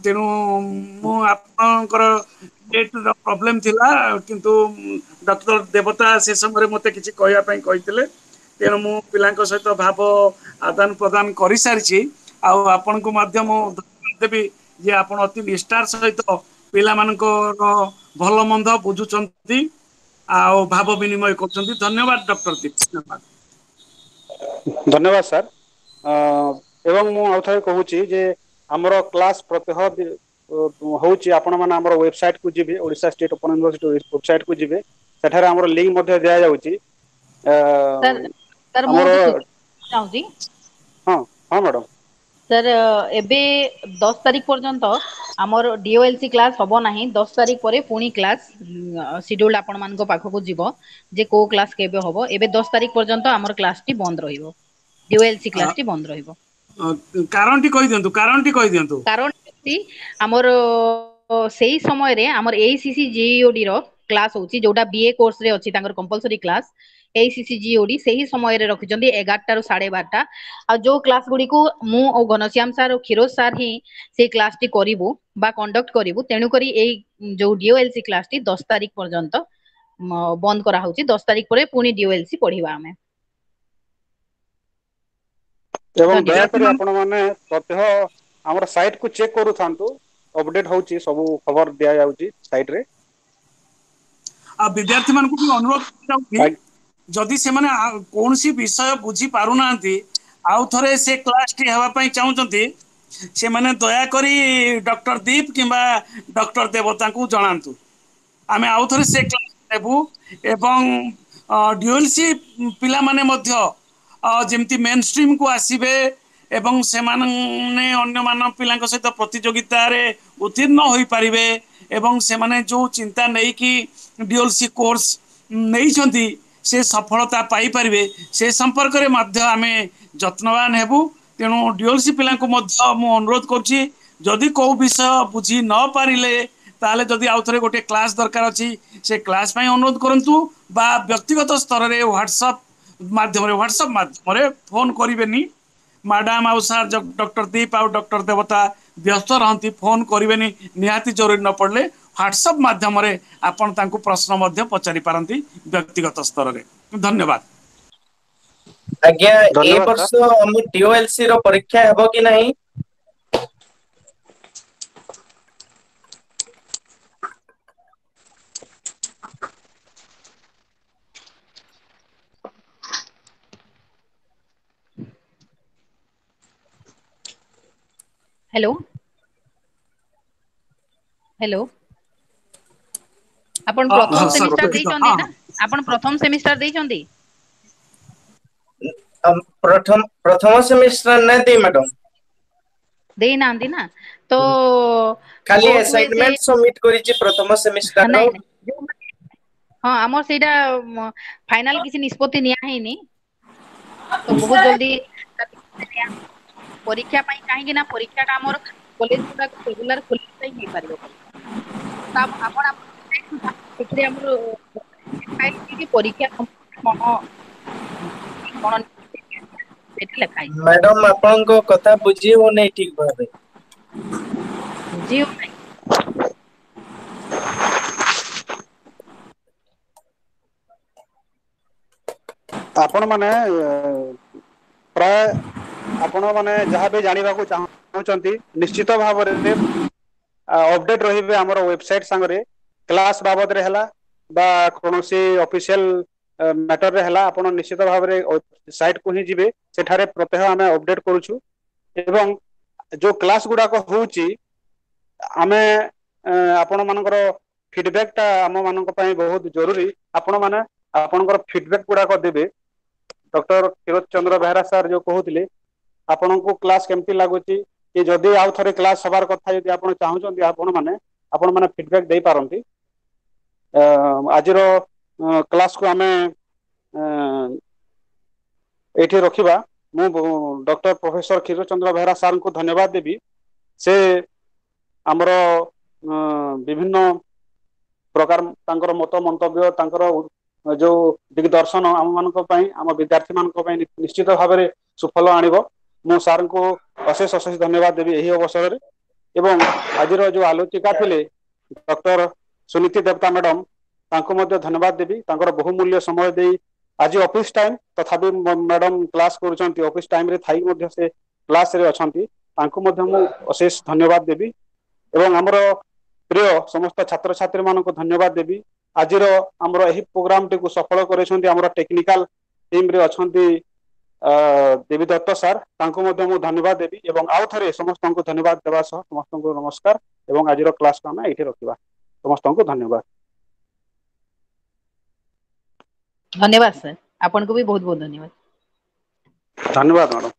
ତେଣୁ ମୁଁ ଆପଣଙ୍କର ପ୍ରୋବ୍ଲେମ ଥିଲା, କିନ୍ତୁ ଡକ୍ଟର ଦେବତା ସେ ସମୟରେ ମତେ କିଛି କହିବା ପାଇଁ କହିଥିଲେ, ତେଣୁ ମୁଁ ପିଲାଙ୍କ ସହିତ ଭାବ ଆଦାନ ପ୍ରଦାନ କରିସାରିଛି। ଆଉ ଆପଣଙ୍କୁ ମଧ୍ୟ ମୁଁ ଦେବି ଯେ ଆପଣ ଅତି ନିଷ୍ଠାର ସହିତ ପିଲାମାନଙ୍କର ଭଲ ମନ୍ଦ ବୁଝୁଛନ୍ତି ଆଉ ଭାବ ବିନିମୟ କରୁଛନ୍ତି। ଧନ୍ୟବାଦ ଡକ୍ଟର ଦୀପ। ଧନ୍ୟବାଦ। ଧନ୍ୟବାଦ ସାର୍। ଏବଂ ମୁଁ ଆଉ ଥରେ କହୁଛି ଯେ ଆମର କ୍ଲାସ ପ୍ରତ୍ୟହ ହଉଛି, ଆପଣ ମାନେ ଆମର ୱେବସାଇଟ କୁ ଯିବେ, Odisha state open university website କୁ ଯିବେ, ସେଠାରେ ଆମର ଲିଙ୍କ ମଧ୍ୟ ଦିଆଯାଉଛି। ସାର୍, ମୁଁ ଚାହୁଁଛି। ହଁ ହଁ ମ୍ୟାଡାମ। ସାର୍, ଏବେ 10 ତାରିଖ ପର୍ଯ୍ୟନ୍ତ ଆମର ଡିଓଏଲସି କ୍ଲାସ ହବ ନାହିଁ। 10 ତାରିଖ ପରେ ପୁଣି କ୍ଲାସ ସିଡ୍ୟୁଲ ଆପଣ ମାନଙ୍କ ପାଖକୁ ଯିବ ଯେ କୋଉ କ୍ଲାସ କେବେ ହବ। ଏବେ 10 ତାରିଖ ପର୍ଯ୍ୟନ୍ତ ଆମର କ୍ଲାସଟି ବନ୍ଦ ରହିବ, ଡିଓଏଲସି କ୍ଲାସଟି ବନ୍ଦ ରହିବ। କାରଣଟି କହିଦିଅନ୍ତୁ, କାରଣଟି କହିଦିଅନ୍ତୁ। କାରଣ ଆମର ସେଇ ସମୟରେ ଆମର ଏଇସିସି ଜିଓଡି ର କ୍ଲାସ ହଉଛି, ଯୋଉଟା ବିଏ କୋର୍ସ ରେ ଅଛି ତାଙ୍କର କମ୍ପଲସରୀ କ୍ଲାସ ଏଇସିସି ଜିଓଡି, ସେହି ସମୟରେ ରଖିଛନ୍ତି 11ଟାରୁ 12:30। ଆଉ ଯୋଉ କ୍ଲାସ ଗୁଡିକୁ ମୁଁ ଓ ଘନଶ୍ୟାମ ସାର୍ ଓ କ୍ଷୀରୋଜ ସାର୍ ହିଁ ସେଇ କ୍ଲାସଟି କରିବୁ ବା କଣ୍ଡକ୍ଟ କରିବୁ, ତେଣୁକରି ଏଇ ଯୋଉ ଡିଓଏଲସି କ୍ଲାସଟି 10 ତାରିଖ ପର୍ଯ୍ୟନ୍ତ ବନ୍ଦ କରାହଉଛି। 10 ତାରିଖ ପରେ ପୁଣି ଡିଓଏଲସି ପଢିବା ଆମେ। ଏବଂ ଦୟାକରି ଆପଣ ମାନେ ପ୍ରତ୍ୟହ ଆମର ସାଇଟ୍ କୁ ଚେକ୍ କରୁଥାନ୍ତୁ, ଅପଡେଟ ହଉଛି, ସବୁ ଖବର ଦିଆଯାଉଛି ସାଇଟ୍ ରେ। ଆଉ ବିଦ୍ୟାର୍ଥୀ ମାନଙ୍କୁ ବି ଅନୁରୋଧ ଯାଉଛି, ଯଦି ସେମାନେ କୌଣସି ବିଷୟ ବୁଝି ପାରୁନାହାନ୍ତି, ଆଉ ଥରେ ସେ କ୍ଲାସଟି ହେବା ପାଇଁ ଚାହୁଁଛନ୍ତି, ସେମାନେ ଦୟାକରି ଡକ୍ଟର ଦୀପ କିମ୍ବା ଡକ୍ଟର ଦେବତାଙ୍କୁ ଜଣାନ୍ତୁ। ଆମେ ଆଉ ଥରେ ସେ କ୍ଲାସ ନେବୁ ଏବଂ ଡିଓଏଲସି ପିଲାମାନେ ମଧ୍ୟ ଯେମିତି ମେନ୍ ଷ୍ଟ୍ରିମକୁ ଆସିବେ ଏବଂ ସେମାନେ ଅନ୍ୟମାନ ପିଲାଙ୍କ ସହିତ ପ୍ରତିଯୋଗିତାରେ ଉତ୍ତୀର୍ଣ୍ଣ ହୋଇପାରିବେ ଏବଂ ସେମାନେ ଯୋଉ ଚିନ୍ତା ନେଇକି ଡିଓଏଲସି କୋର୍ସ ନେଇଛନ୍ତି ସେ ସଫଳତା ପାଇପାରିବେ, ସେ ସମ୍ପର୍କରେ ମଧ୍ୟ ଆମେ ଯତ୍ନବାନ ହେବୁ। ତେଣୁ ଡିଓଏଲସି ପିଲାଙ୍କୁ ମଧ୍ୟ ମୁଁ ଅନୁରୋଧ କରୁଛି, ଯଦି କୋଉ ବିଷୟ ବୁଝି ନ ପାରିଲେ ତାହେଲେ ଯଦି ଆଉ ଥରେ ଗୋଟେ କ୍ଲାସ ଦରକାର ଅଛି ସେ କ୍ଲାସ ପାଇଁ ଅନୁରୋଧ କରନ୍ତୁ ବା ବ୍ୟକ୍ତିଗତ ସ୍ତରରେ ହ୍ୱାଟ୍ସଆପ୍ ମାଧ୍ୟମରେ ଫୋନ କରିବେନି। ମ୍ୟାଡାମ ଆଉ ସାର୍ ଡକ୍ଟର ଦୀପ ଆଉ ଡକ୍ଟର ଦେବତା ବ୍ୟସ୍ତ ରହନ୍ତି, ଫୋନ କରିବେନି ନିହାତି ଜରୁରୀ ନ ପଡ଼ିଲେ। ହ୍ୱାଟ୍ସଆପ୍ ମାଧ୍ୟମରେ ଆପଣ ତାଙ୍କୁ ପ୍ରଶ୍ନ ମଧ୍ୟ ପଚାରି ପାରନ୍ତି ବ୍ୟକ୍ତିଗତ ସ୍ତରରେ। ଧନ୍ୟବାଦ ଆଜ୍ଞା। ଏ ବର୍ଷ ଆମ ଡିଓଏଲସି ର ପରୀକ୍ଷା ହେବ କି ନାହିଁ? ହ୍ୟାଲୋ ହ୍ୟାଲୋ, ଆପଣ ପ୍ରଥମ ସେମିଷ୍ଟାର ଦେଇଛନ୍ତି ନା? ଆପଣ ପ୍ରଥମ ସେମିଷ୍ଟାର ଦେଇଛନ୍ତି? ପ୍ରଥମ ସେମିଷ୍ଟାର ନାଇଁ ଦେଇ ମ୍ୟାଡାମ। ଦେଇନାହାନ୍ତି ନା? ତ ଖାଲି ଆସାଇନମେଣ୍ଟ ସବମିଟ କରିଛି ପ୍ରଥମ ସେମିଷ୍ଟାର। ହଁ, ଆମର ସେଇଟା ଫାଇନାଲ କିଛି ନିଷ୍ପତ୍ତି ନିଆ ହେଇନି, ତ ବହୁତ ଜଲଦି ପରୀକ୍ଷା ପାଇଁ, କାହିଁକି ନା ପରୀକ୍ଷାଟା ଆମର କଲେଜ ଗୁଡାକ ରେଗୁଲାର ଖୋଲିଲେ ହିଁ ହେଇପାରିବ। ଆପଣ ସେଥିରେ ଆମର ପରୀକ୍ଷା କଣ କଣ ସେଠି ଲେଖା ହେଇଛି। ମ୍ୟାଡାମ ଆପଣଙ୍କ କଥା ବୁଝି ହଉନାହିଁ ଠିକ ଭାବେ। ବୁଝି ହଉନାହିଁ? ଆପଣ ମାନେ ପ୍ରାୟ ଆପଣ ମାନେ ଯାହାବି ଜାଣିବାକୁ ଚାହୁଁଛନ୍ତି ନିଶ୍ଚିତ ଭାବରେ ଅପଡେଟ ରହିବେ ଆମର ୱେବସାଇଟ ସାଙ୍ଗରେ। କ୍ଲାସ ବାବଦରେ ହେଲା ବା କୌଣସି ଅଫିସିଆଲ ମ୍ୟାଟରରେ ହେଲା, ଆପଣ ନିଶ୍ଚିତ ଭାବରେ ସାଇଟ କୁ ହିଁ ଯିବେ। ସେଠାରେ ପ୍ରତ୍ୟହ ଆମେ ଅପଡେଟ କରୁଛୁ ଏବଂ ଯୋଉ କ୍ଲାସ ଗୁଡାକ ହଉଛି ଆମେ ଆପଣ ମାନଙ୍କର ଫିଡବ୍ୟାକ ଟା ଆମ ମାନଙ୍କ ପାଇଁ ବହୁତ ଜରୁରୀ। ଆପଣ ମାନେ ଆପଣଙ୍କର ଫିଡବ୍ୟାକ ଗୁଡାକ ଦେବେ। ଡକ୍ଟର କ୍ଷୀରୋଦ ଚନ୍ଦ୍ର ବେହେରା ସାର୍ ଯୋଉ କହୁଥିଲେ ଆପଣଙ୍କୁ କ୍ଲାସ କେମିତି ଲାଗୁଛି, କି ଯଦି ଆଉ ଥରେ କ୍ଲାସ ହବାର କଥା ଯଦି ଆପଣ ଚାହୁଁଛନ୍ତି, ଆପଣ ମାନେ ଫିଡବ୍ୟାକ ଦେଇପାରନ୍ତି। ଆଜିର କ୍ଲାସକୁ ଆମେ ଏଇଠି ରଖିବା। ମୁଁ ଡକ୍ଟର ପ୍ରଫେସର କ୍ଷୀରୋଦ ଚନ୍ଦ୍ର ବେହେରା ସାର୍ଙ୍କୁ ଧନ୍ୟବାଦ ଦେବି। ସେ ଆମର ବିଭିନ୍ନ ପ୍ରକାର ତାଙ୍କର ମତ ମନ୍ତବ୍ୟ, ତାଙ୍କର ଯୋଉ ଦିଗଦର୍ଶନ ଆମ ମାନଙ୍କ ପାଇଁ, ଆମ ବିଦ୍ୟାର୍ଥୀ ମାନଙ୍କ ପାଇଁ ନିଶ୍ଚିତ ଭାବରେ ସୁଫଳ ଆଣିବ। ମୁଁ ସାର୍ଙ୍କୁ ଅଶେଷ ଅଶେଷ ଧନ୍ୟବାଦ ଦେବି ଏହି ଅବସରରେ। ଏବଂ ଆଜିର ଯୋଉ ଆଲୋଚିକା ଥିଲେ ଡକ୍ଟର ସୁନୀତି ଦେବତା ମ୍ୟାଡାମ, ତାଙ୍କୁ ମଧ୍ୟ ଧନ୍ୟବାଦ ଦେବି। ତାଙ୍କର ବହୁମୂଲ୍ୟ ସମୟ ଦେଇ ଆଜି ଅଫିସ ଟାଇମ ତଥାପି ମ୍ୟାଡାମ କ୍ଲାସ କରୁଛନ୍ତି, ଅଫିସ ଟାଇମରେ ଥାଇ ମଧ୍ୟ ସେ କ୍ଲାସରେ ଅଛନ୍ତି, ତାଙ୍କୁ ମଧ୍ୟ ମୁଁ ଅଶେଷ ଧନ୍ୟବାଦ ଦେବି। ଏବଂ ଆମର ପ୍ରିୟ ସମସ୍ତ ଛାତ୍ରଛାତ୍ରୀ ମାନଙ୍କୁ ଧନ୍ୟବାଦ ଦେବି। ଆଜିର ଆମର ଏହି ପ୍ରୋଗ୍ରାମଟିକୁ ସଫଳ କରିଛନ୍ତି ଆମର ଟେକ୍ନିକାଲ ଟିମରେ ଅଛନ୍ତି ଦେବୀଦତ୍ତ ସାର୍, ତାଙ୍କୁ ମଧ୍ୟ ମୁଁ ଧନ୍ୟବାଦ ଦେବି। ଏବଂ ଆଉ ଥରେ ସମସ୍ତଙ୍କୁ ଧନ୍ୟବାଦ ଦେବା ସହ ସମସ୍ତଙ୍କୁ ନମସ୍କାର। ଏବଂ ଆଜିର କ୍ଲାସକୁ ଆମେ ଏଇଠି ରଖିବା। ସମସ୍ତଙ୍କୁ ଧନ୍ୟବାଦ। ଧନ୍ୟବାଦ ସାର୍, ଆପଣଙ୍କୁ ବି ବହୁତ ବହୁତ ଧନ୍ୟବାଦ। ଧନ୍ୟବାଦ ମ୍ୟାଡ଼ାମ।